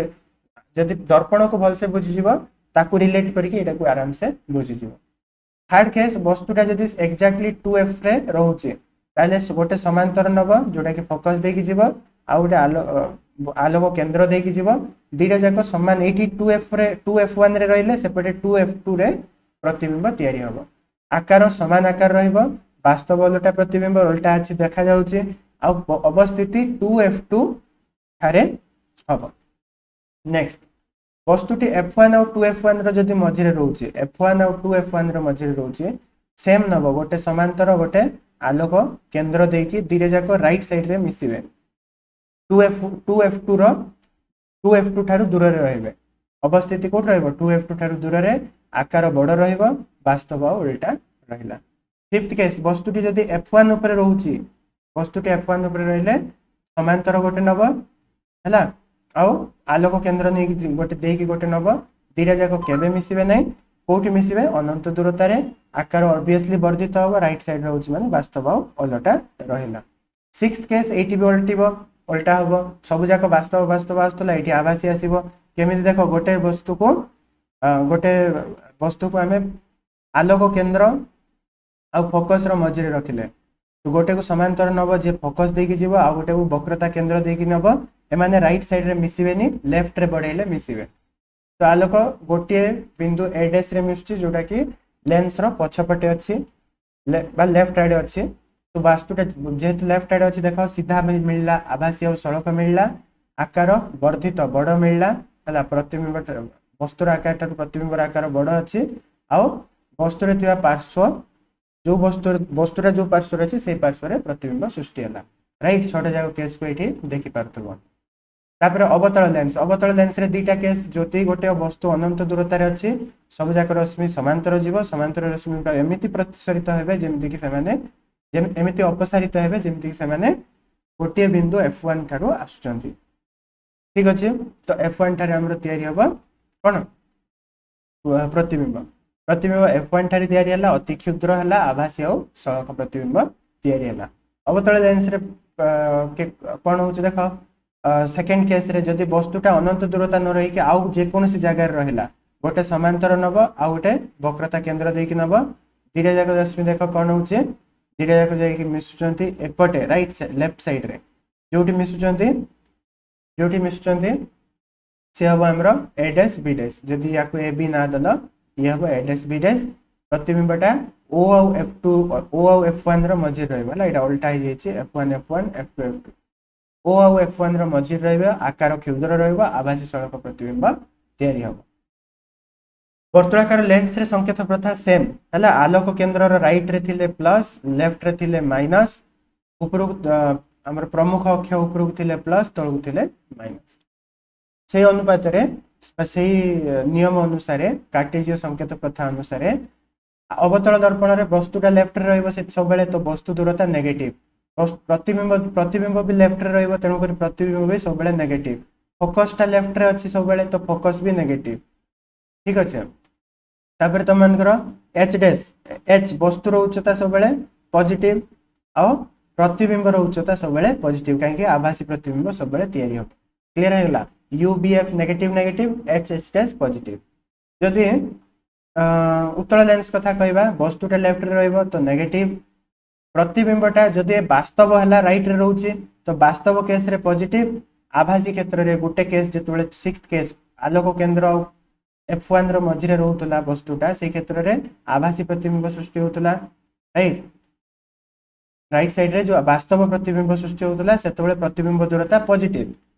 ଯଦି ଦର୍ପଣକୁ ଭଲସେ ବୁଝିଯିବ ତାକୁ ରିଲେଟ୍ କରିକି ଏଇଟାକୁ ଆରାମସେ ବୁଝିଯିବ। ଥାର୍ଡ କେସ୍ ବସ୍ତୁଟା ଯଦି ଏକ୍ଜାକ୍ଟଲି ଟୁ ଏଫ୍ ରେ ରହୁଛି ତାହେଲେ ଗୋଟେ ସମାନ୍ତର ନବ ଯୋଉଟା କି ଫୋକସ ଦେଇକି ଯିବ, ଆଉ ଗୋଟେ ଆଲୋକ କେନ୍ଦ୍ର ଦେଇକି ଯିବ, ଦୁଇଟା ଯାକ ସମାନ। ଏଇଠି ଟୁ ଏଫ୍ ରେ ଟୁ ଏଫ୍ ୱାନ୍ ରେ ରହିଲେ ସେପଟେ ଟୁ ଏଫ୍ ଟୁ ରେ ପ୍ରତିବିମ୍ବ ତିଆରି ହବ। ଆକାର ସମାନ ଆକାର ରହିବ, ବାସ୍ତବ ଓଲଟା ପ୍ରତିବିମ୍ବ ଓଲଟା ଅଛି ଦେଖାଯାଉଛି, ଆଉ ଅବସ୍ଥିତି ଟୁ ଏଫ୍ ଟୁ ଠାରେ ହବ। ନେକ୍ସଟ ବସ୍ତୁଟି ଏଫ୍ ୱାନ୍ ଆଉ ଟୁ ଏଫ୍ ୱାନ୍ ର ଯଦି ମଝିରେ ରହୁଛି, ଏଫ୍ ୱାନ୍ ଆଉ ଟୁ ଏଫ୍ ୱାନ୍ ର ମଝିରେ ରହୁଛି, ସେମ୍ ନବ, ଗୋଟେ ସମାନ୍ତର ଗୋଟେ ଆଲୋକ କେନ୍ଦ୍ର ଦେଇକି ଦୁଇଟା ଯାକ ରାଇଟ୍ ସାଇଡ୍ରେ ମିଶିବେ, two F two F two ର ଟୁ ଏଫ୍ ଟୁ ଠାରୁ ଦୂରରେ ରହିବେ। ଅବସ୍ଥିତି କୋଉଠି ରହିବ, ଟୁ ଏଫ୍ ଟୁ ଠାରୁ ଦୂରରେ, ଆକାର ବଡ଼ ରହିବ, ବାସ୍ତବ ଆଉ ଓଲଟା ରହିଲା। ଫିଫ୍ଥ କେସ୍ ବସ୍ତୁଟି ଯଦି ଏଫ୍ ୱାନ୍ ଉପରେ ରହୁଛି, ବସ୍ତୁଟି ଏଫ୍ ୱାନ୍ ଉପରେ ରହିଲେ ସମାନ୍ତର ଗୋଟେ ନବ ହେଲା, ଆଉ ଆଲୋକ କେନ୍ଦ୍ର ନେଇକି ଗୋଟେ ଦେଇକି ଗୋଟେ ନବ, ଦୁଇଟା ଯାକ କେବେ ମିଶିବେ ନାହିଁ। କୋଉଠି ମିଶିବେ, ଅନନ୍ତ ଦୂରତାରେ, ଆକାର ଅବଭିୟସଲି ବର୍ଦ୍ଧିତ ହବ, ରାଇଟ୍ ସାଇଡ୍ ରହୁଛି ମାନେ ବାସ୍ତବ ଆଉ ଓଲଟା ରହିଲା। ସିକ୍ସ କେସ୍ ଏଇଠି ବି ଓଲଟିବ, ଓଲଟା ହବ, ସବୁ ଯାକ ବାସ୍ତବ ବାସ୍ତବ ଆସୁଥିଲା, ଏଇଠି ଆଭାସୀ ଆସିବ। କେମିତି ଦେଖ, ଗୋଟେ ବସ୍ତୁକୁ ଗୋଟେ ବସ୍ତୁକୁ ଆମେ ଆଲୋକ କେନ୍ଦ୍ର ଆଉ ଫୋକସର ମଝିରେ ରଖିଲେ, ଗୋଟେକୁ ସମାନ୍ତର ନବ ଯିଏ ଫୋକସ ଦେଇକି ଯିବ, ଆଉ ଗୋଟେକୁ ବକ୍ରତା କେନ୍ଦ୍ର ଦେଇକି ନବ, ଏମାନେ ରାଇଟ୍ ସାଇଡ୍ରେ ମିଶିବେନି, ଲେଫ୍ଟରେ ବଢ଼େଇଲେ ମିଶିବେ। ତ ଆଲୋକ ଗୋଟିଏ ବିନ୍ଦୁ ଏ ଡ୍ୟାସ୍ରେ ମିଶୁଛି ଯୋଉଟା କି ଲେନ୍ସର ପଛପଟେ ଅଛି ବା ଲେଫ୍ଟ ଆଡ଼େ ଅଛି। ତ ବାସ୍ତୁଟା ଯେହେତୁ ଲେଫ୍ଟ ଆଡ଼େ ଅଛି ଦେଖ ସିଧା ମିଳିଲା, ଆଭାସୀ ଆଉ ସଳଖ ମିଳିଲା, ଆକାର ବର୍ଦ୍ଧିତ ବଡ଼ ମିଳିଲା ହେଲା, ପ୍ରତିବିମ୍ବ ବସ୍ତୁର ଆକାର ଠାରୁ ପ୍ରତିବିମ୍ବର ଆକାର ବଡ଼ ଅଛି, ଆଉ ବସ୍ତୁରେ ଥିବା ପାର୍ଶ୍ୱ ଯୋଉ ବସ୍ତୁ ବସ୍ତୁଟା ଯୋଉ ପାର୍ଶ୍ୱରେ ଅଛି ସେଇ ପାର୍ଶ୍ୱରେ ପ୍ରତିବିମ୍ବ ସୃଷ୍ଟି ହେଲା। ରାଇଟ୍, ଛଅଟା ଯାକ କେସ୍କୁ ଏଇଠି ଦେଖିପାରୁଥିବ। ତାପରେ ଅବତଳ ଲେନ୍ସ, ଅବତଳ ଲେନ୍ସରେ ଦୁଇଟା କେସ୍, ଯଦି ଗୋଟେ ବସ୍ତୁ ଅନନ୍ତ ଦୂରତାରେ ଅଛି ସବୁ ଯାକ ରଶ୍ମି ସମାନ୍ତର ଯିବ, ସମାନ୍ତର ରଶ୍ମି ଗୁଡ଼ା ଏମିତି ପ୍ରତିସରିତ ହେବେ ଯେମିତିକି ସେମାନେ ଏମିତି ଅପସାରିତ ହେବେ ଯେମିତିକି ସେମାନେ ଗୋଟିଏ ବିନ୍ଦୁ ଏଫ୍ ୱାନ୍ ଠାରୁ ଆସୁଛନ୍ତି, ଠିକ ଅଛି। ତ ଏଫ୍ ୱାନ୍ ଠାରେ ଆମର ତିଆରି ହବ କ'ଣ, ପ୍ରତିବିମ୍ବ। ପ୍ରତିବିମ୍ବ ଏଫ୍ ୱାନ୍ ଠାରେ ତିଆରି ହେଲା, ଅତି କ୍ଷୁଦ୍ର ହେଲା, ଆଭାସୀ ଆଉ ସଳଖ ପ୍ରତିବିମ୍ବ ତିଆରି ହେଲା। ଅବତଳ ଲେନ୍ସରେ କ'ଣ ହଉଛି ଦେଖ, ସେକେଣ୍ଡ କେସ୍ରେ ଯଦି ବସ୍ତୁଟା ଅନନ୍ତ ଦୂରତା ନ ରହିକି ଆଉ ଯେକୌଣସି ଜାଗାରେ ରହିଲା, ଗୋଟେ ସମାନ୍ତର ନବ ଆଉ ଗୋଟେ ବକ୍ରତା କେନ୍ଦ୍ର ଦେଇକି ନବ, ଦୁଇଟା ଯାକ ରଶ୍ମି ଦେଖ କ'ଣ ହଉଛି, ଦୁଇଟା ଯାକ ଯାଇକି ମିଶୁଛନ୍ତି ଏପଟେ ରାଇଟ୍ ଲେଫ୍ଟ ସାଇଡ୍ରେ, ଯୋଉଠି ମିଶୁଛନ୍ତି ଯୋଉଠି ମିଶୁଛନ୍ତି ସେ ହେବ ଆମର ଏ ଡ୍ୟାସ୍ ବି ଡ୍ୟାସ୍ ଯଦି ୟାକୁ ଏ ବି ନା ଦେଲ ଇଏ ହେବ ଏ ଡ୍ୟାସ୍ ବି ଡ୍ୟାସ୍ ପ୍ରତିବିମ୍ବଟା ଓ ଆଉ ଏଫ୍ ଟୁ ଓ ଆଉ ଏଫ୍ ୱାନ୍ର ମଝିରେ ରହିବ ହେଲା ଏଇଟା ଓଲଟା ହେଇଯାଇଛି F one F one F two F two ଓ ଆଉ ଏଫ୍ ୱାନ୍ର ମଝିରେ ରହିବ ଆକାର କ୍ଷୁଦ୍ର ରହିବ ଆଭାସୀ ସଳଖ ପ୍ରତିବିମ୍ବ ତିଆରି ହେବ ବର୍ତ୍ତୁଳାକାର ଲେନ୍ସରେ ସଂକେତ ପ୍ରଥା ସେମ୍ ହେଲା ଆଲୋକ କେନ୍ଦ୍ରର ରାଇଟ୍ରେ ଥିଲେ ପ୍ଲସ୍ ଲେଫ୍ଟରେ ଥିଲେ ମାଇନସ୍ ଉପରକୁ ଆମର ପ୍ରମୁଖ ଅକ୍ଷ ଉପରକୁ ଥିଲେ ପ୍ଲସ୍ ତଳକୁ ଥିଲେ ମାଇନସ୍ ସେଇ ଅନୁପାତରେ ବା ସେଇ ନିୟମ ଅନୁସାରେ କାର୍ଟେଜୀୟ ସଂକେତ ପ୍ରଥା ଅନୁସାରେ ଅବତଳ ଦର୍ପଣରେ ବସ୍ତୁଟା ଲେଫ୍ଟରେ ରହିବ ସେ ସବୁବେଳେ ତ ବସ୍ତୁ ଦୂରତା ନେଗେଟିଭ ପ୍ରତିବିମ୍ବ ପ୍ରତିବିମ୍ବ ବି ଲେଫ୍ଟରେ ରହିବ ତେଣୁକରି ପ୍ରତିବିମ୍ବ ବି ସବୁବେଳେ ନେଗେଟିଭ ଫୋକସଟା ଲେଫ୍ଟରେ ଅଛି ସବୁବେଳେ ତ ଫୋକସ ବି ନେଗେଟିଭ ଠିକ ଅଛି ତାପରେ ତମମାନଙ୍କର ଏଚ୍ ଡ୍ୟାସ୍ ଏଚ୍ ବସ୍ତୁର ଉଚ୍ଚତା ସବୁବେଳେ ପଜିଟିଭ ଆଉ ପ୍ରତିବିମ୍ବର ଉଚ୍ଚତା ସବୁବେଳେ ପଜିଟିଭ କାହିଁକି ଆଭାସୀ ପ୍ରତିବିମ୍ବ ସବୁବେଳେ ତିଆରି ହେବ କ୍ଲିୟର ହେଇଗଲା U V F negative negative H H dash positive ଯଦି ଉତ୍ତଳ ଲେନ୍ସ କଥା କହିବା ବସ୍ତୁଟା ଲେଫ୍ଟରେ ରହିବ ତ ନେଗେଟିଭ ପ୍ରତିବିମ୍ବଟା ଯଦି ବାସ୍ତବ ହେଲା ରାଇଟ୍ରେ ରହୁଛି ତ ବାସ୍ତବ କେସ୍ରେ ପଜିଟିଭ ଆଭାସୀ କ୍ଷେତ୍ରରେ ଗୋଟେ କେସ୍ ଯେତେବେଳେ ସିକ୍ସ କେସ୍ ଆଲୋକ କେନ୍ଦ୍ର ଆଉ ଏଫ୍ ୱାନ୍ର ମଝିରେ ରହୁଥିଲା ବସ୍ତୁଟା ସେଇ କ୍ଷେତ୍ରରେ ଆଭାସୀ ପ୍ରତିବିମ୍ବ ସୃଷ୍ଟି ହେଉଥିଲା ରାଇଟ୍ ରାଇଟ୍ ସାଇଡ୍ରେ ଯେଉଁ ବାସ୍ତବ ପ୍ରତିବିମ୍ବ ସୃଷ୍ଟି ହେଉଥିଲା ସେତେବେଳେ ପ୍ରତିବିମ୍ବ ଦୂରତା ପଜିଟିଭ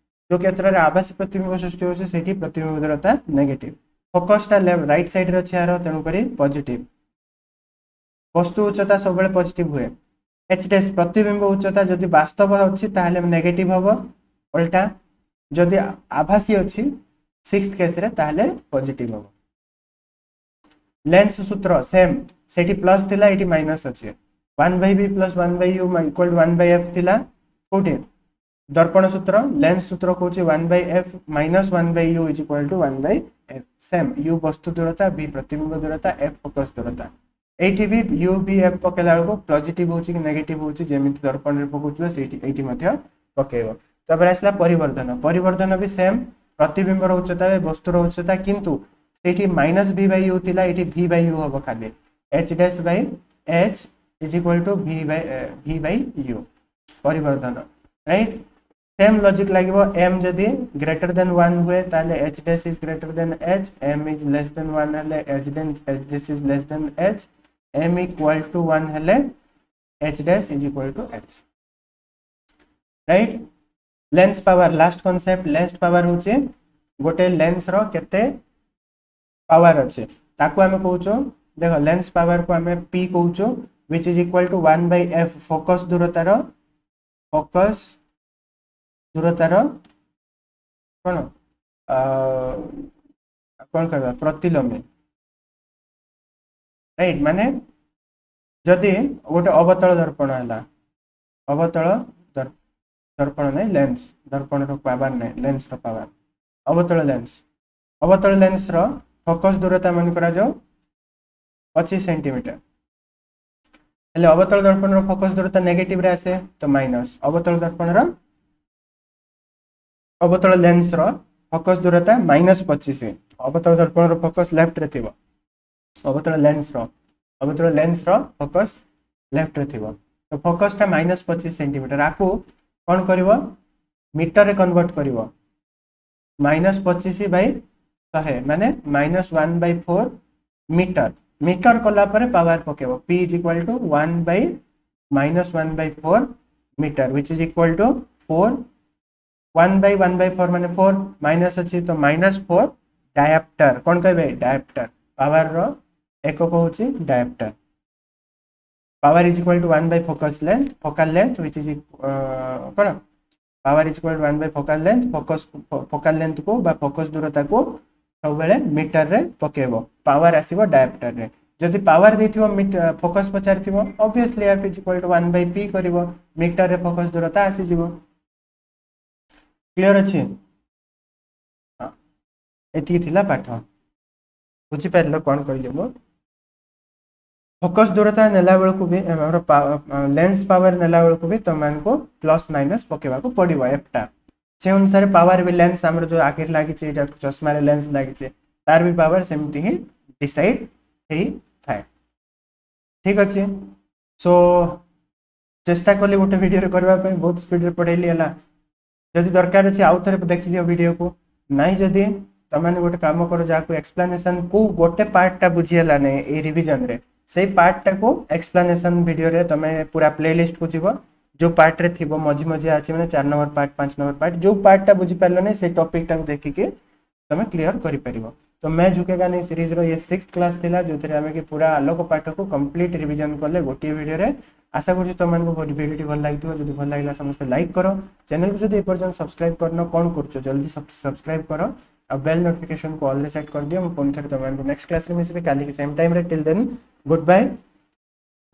ଯେଉଁ କ୍ଷେତ୍ରରେ ଆଭାସୀ ପ୍ରତିବିମ୍ବ ସୃଷ୍ଟି ହେଉଛି ସେଇଠି ପ୍ରତିବିମ୍ବ ଦୂରତା ନେଗେଟିଭ ଫୋକସଟା ରାଇଟ୍ ସାଇଡ୍ରେ ଅଛି ଏହାର ତେଣୁକରି ପଜିଟିଭ ବସ୍ତୁ ଉଚ୍ଚତା ସବୁବେଳେ ପଜିଟିଭ ହୁଏ ଏଚ୍ ଡ୍ୟାସ୍ ପ୍ରତିବିମ୍ବ ଉଚ୍ଚତା ଯଦି ବାସ୍ତବ ଅଛି ତାହେଲେ ନେଗେଟିଭ ହେବ ଓଲଟା ଯଦି ଆଭାସୀ ଅଛି ସିକ୍ସ କେସ୍ରେ ତାହେଲେ ପଜିଟିଭ ହେବ ଲେନ୍ସ ସୂତ୍ର ସେମ୍ ସେଠି ପ୍ଲସ୍ ଥିଲା ଏଠି ମାଇନସ୍ ଅଛି one by V plus one by U equal to one by F ଥିଲା କୋଉଠି ଦର୍ପଣ ସୂତ୍ର ଲେନ୍ସ ସୂତ୍ର କହୁଛି one by F minus one by U is equal to one by F same U ବସ୍ତୁ ଦୂରତା ଭି ପ୍ରତିବିମ୍ବ ଦୂରତା ଏଫ୍ ଫୋକସ୍ ଦୂରତା ଏଇଠି ବି ୟୁ ଭି ଏଫ୍ ପକେଇଲା ବେଳକୁ ପଜିଟିଭ ହେଉଛି କି ନେଗେଟିଭ ହେଉଛି ଯେମିତି ଦର୍ପଣରେ ପକାଉଥିବ ସେଇଠି ଏଇଠି ମଧ୍ୟ ପକେଇବ ତାପରେ ଆସିଲା ପରିବର୍ଦ୍ଧନ ପରିବର୍ଦ୍ଧନ ବି ସେମ୍ ପ୍ରତିବିମ୍ବର ଉଚ୍ଚତା ବସ୍ତୁର ଉଚ୍ଚତା କିନ୍ତୁ ସେଇଠି ମାଇନସ୍ ଭି ବାଇ you ଥିଲା ଏଇଠି ଭି ବାଇ you ହବ ଖାଲି H dash by H is equal to V by V by U ପରିବର୍ଦ୍ଧନ right same logic ଲାଗିବ ଏମ୍ ଯଦି ଗ୍ରେଟର ଦେନ୍ ୱାନ୍ ହୁଏ ତାହେଲେ H dash is greater than H M is less than one ହେଲେ H H dash is less than H M equal to one ହେଲେ H dash is equal to H right lens power last concept lens power ହେଉଛି ଗୋଟେ ଲେନ୍ସର କେତେ power ଅଛି ତାକୁ ଆମେ କହୁଛୁ ଦେଖ ଲେନ୍ସ ପାୱାରକୁ ଆମେ ପି କହୁଛୁ which is equal to one by F focus ଦୂରତାର ଫୋକସ୍ ଦୂରତାର କ'ଣ କ'ଣ କହିବା ପ୍ରତିଲୋମୀ ରାଇଟ୍ ମାନେ ଯଦି ଗୋଟେ ଅବତଳ ଦର୍ପଣ ହେଲା ଅବତଳ ଦର୍ପଣ ନାହିଁ ଲେନ୍ସ ଦର୍ପଣର ପାୱାର ନାହିଁ ଲେନ୍ସର ପାୱାର ଅବତଳ ଲେନ୍ସ ଅବତଳ ଲେନ୍ସର ଫୋକସ୍ ଦୂରତା ମନେ କରାଯାଉ ପଚିଶ ସେଣ୍ଟିମିଟର ହେଲେ ଅବତଳ ଦର୍ପଣର ଫୋକସ୍ ଦୂରତା ନେଗେଟିଭରେ ଆସେ ତ ମାଇନସ୍ ଅବତଳ ଦର୍ପଣର ଅବତଳ ଲେନ୍ସର ଫୋକସ୍ ଦୂରତା ମାଇନସ୍ ପଚିଶ ଅବତଳ ଦର୍ପଣର ଫୋକସ୍ ଲେଫ୍ଟରେ ଥିବ ଅବତଳ ଲେନ୍ସର ଅବତଳ ଲେନ୍ସର ଫୋକସ୍ ଲେଫ୍ଟରେ ଥିବ ତ ଫୋକସ୍ଟା ମାଇନସ୍ ପଚିଶ ସେଣ୍ଟିମିଟର ଆକୁ କ'ଣ କରିବ ମିଟରରେ କନଭର୍ଟ କରିବ ମାଇନସ୍ ପଚିଶ ବାଇ ଶହେ ମାନେ minus one by four meter meter କଲା ପରେ ପାୱାର ପକେଇବ P is equal to one by minus one by four meter which is equal to four one by one by four ମାନେ ଫୋର୍ ମାଇନସ୍ ଅଛି ତ minus four ଡାୟାପ୍ଟର କ'ଣ କହିବେ ଡାୟାପ୍ଟର ପାୱାରର ଏକକ ହେଉଛି diopter power is equal to one by focus length focal length which is କ'ଣ power is equal to one by focal length focus focal ଲେନ୍ଥକୁ ବା focus ଦୂରତାକୁ ସବୁବେଳେ ମିଟରରେ ପକେଇବ ପାୱାର ଆସିବ ଡାୟାପ୍ଟରରେ ଯଦି ପାୱାର ଦେଇଥିବ focus ପଚାରିଥିବ obviously F is equal to one by P କରିବ ମିଟରରେ focus ଦୂରତା ଆସିଯିବ କ୍ଲିୟର ଅଛି ହଁ ଏତିକି ଥିଲା ପାଠ ବୁଝିପାରିଲ କ'ଣ କହିଲି ମୁଁ ଫୋକସ୍ ଦୂରତା ନେଲା ବେଳକୁ ବି ଆମର ଲେନ୍ସ ପାୱାର ନେଲା ବେଳକୁ ବି ତୁମମାନଙ୍କୁ ପ୍ଲସ୍ ମାଇନସ୍ ପକେଇବାକୁ ପଡ଼ିବ ଏଫ୍ଟା ସେ ଅନୁସାରେ ପାୱାର ବି ଲେନ୍ସ ଆମର ଯେଉଁ ଆଖିରେ ଲାଗିଛି ଏଇଟା ଚଷମାରେ ଲେନ୍ସ ଲାଗିଛି ତାର ବି ପାୱାର ସେମିତି ହିଁ ଡିସାଇଡ୍ ହେଇଥାଏ ଠିକ୍ ଅଛି ସୋ ଚେଷ୍ଟା କଲି ଗୋଟେ ଭିଡ଼ିଓରେ କରିବା ପାଇଁ, ବହୁତ ସ୍ପିଡ଼ରେ ପଢ଼େଇଲି। ହେଲା, ଯଦି ଦରକାର ଅଛି ଆଉ ଥରେ ଦେଖିଦିଅ ଭିଡ଼ିଓକୁ। ନାଇଁ ଯଦି ତମେମାନେ ଗୋଟେ କାମ କର, ଯାହାକୁ ଏକ୍ସପ୍ଲାନେସନ୍ କୋଉ ଗୋଟେ ପାର୍ଟଟା ବୁଝି ହେଲା ନାହିଁ ଏଇ ରିଭିଜନରେ, ସେଇ ପାର୍ଟଟାକୁ ଏକ୍ସପ୍ଲାନେସନ୍ ଭିଡ଼ିଓରେ ତମେ ପୁରା ପ୍ଲେଲିଷ୍ଟକୁ ଯିବ, ଯୋଉ ପାର୍ଟରେ ଥିବ, ମଝି ମଝିଆ ଅଛି, ମାନେ ଚାରି ନମ୍ବର ପାର୍ଟ, ପାଞ୍ଚ ନମ୍ବର ପାର୍ଟ, ଯୋଉ ପାର୍ଟଟା ବୁଝିପାରିଲନି ସେଇ ଟପିକଟାକୁ ଦେଖିକି ତମେ କ୍ଲିୟର କରିପାରିବ। ତ मैं झुकेगा नहीं ସିରିଜ୍ର ଇଏ ସିକ୍ସ କ୍ଲାସ୍ ଥିଲା, ଯେଉଁଥିରେ ଆମେ କି ପୁରା ଆଲୋକ ପାଠକୁ କମ୍ପ୍ଲିଟ୍ ରିଭିଜନ୍ କଲେ ଗୋଟିଏ ଭିଡ଼ିଓରେ। ଆଶା କରୁଛି ତୁମମାନଙ୍କୁ ଭିଡ଼ିଓଟି ଭଲ ଲାଗିଥିବ। ଯଦି ଭଲ ଲାଗିଲା, ସମସ୍ତେ ଲାଇକ୍ କର। ଚ୍ୟାନେଲକୁ ଯଦି ଏପର୍ଯ୍ୟନ୍ତ ସବସ୍କ୍ରାଇବ୍ କରିନ, କ'ଣ କରୁଛ? ଜଲ୍ଦି ସବସ୍କ୍ରାଇବ୍ କର ଆଉ ବେଲ୍ ନୋଟିଫିକେସନକୁ ଅଲ୍ରେ ସେଟ୍ କରିଦିଅ। ମୁଁ ପୁଣି ଥରେ ତୁମମାନଙ୍କୁ ନେକ୍ସଟ କ୍ଲାସ୍ରେ ମିଶିବି କାଲିକି ସେମ୍ ଟାଇମ୍ରେ। Till then, good bye,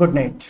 good night.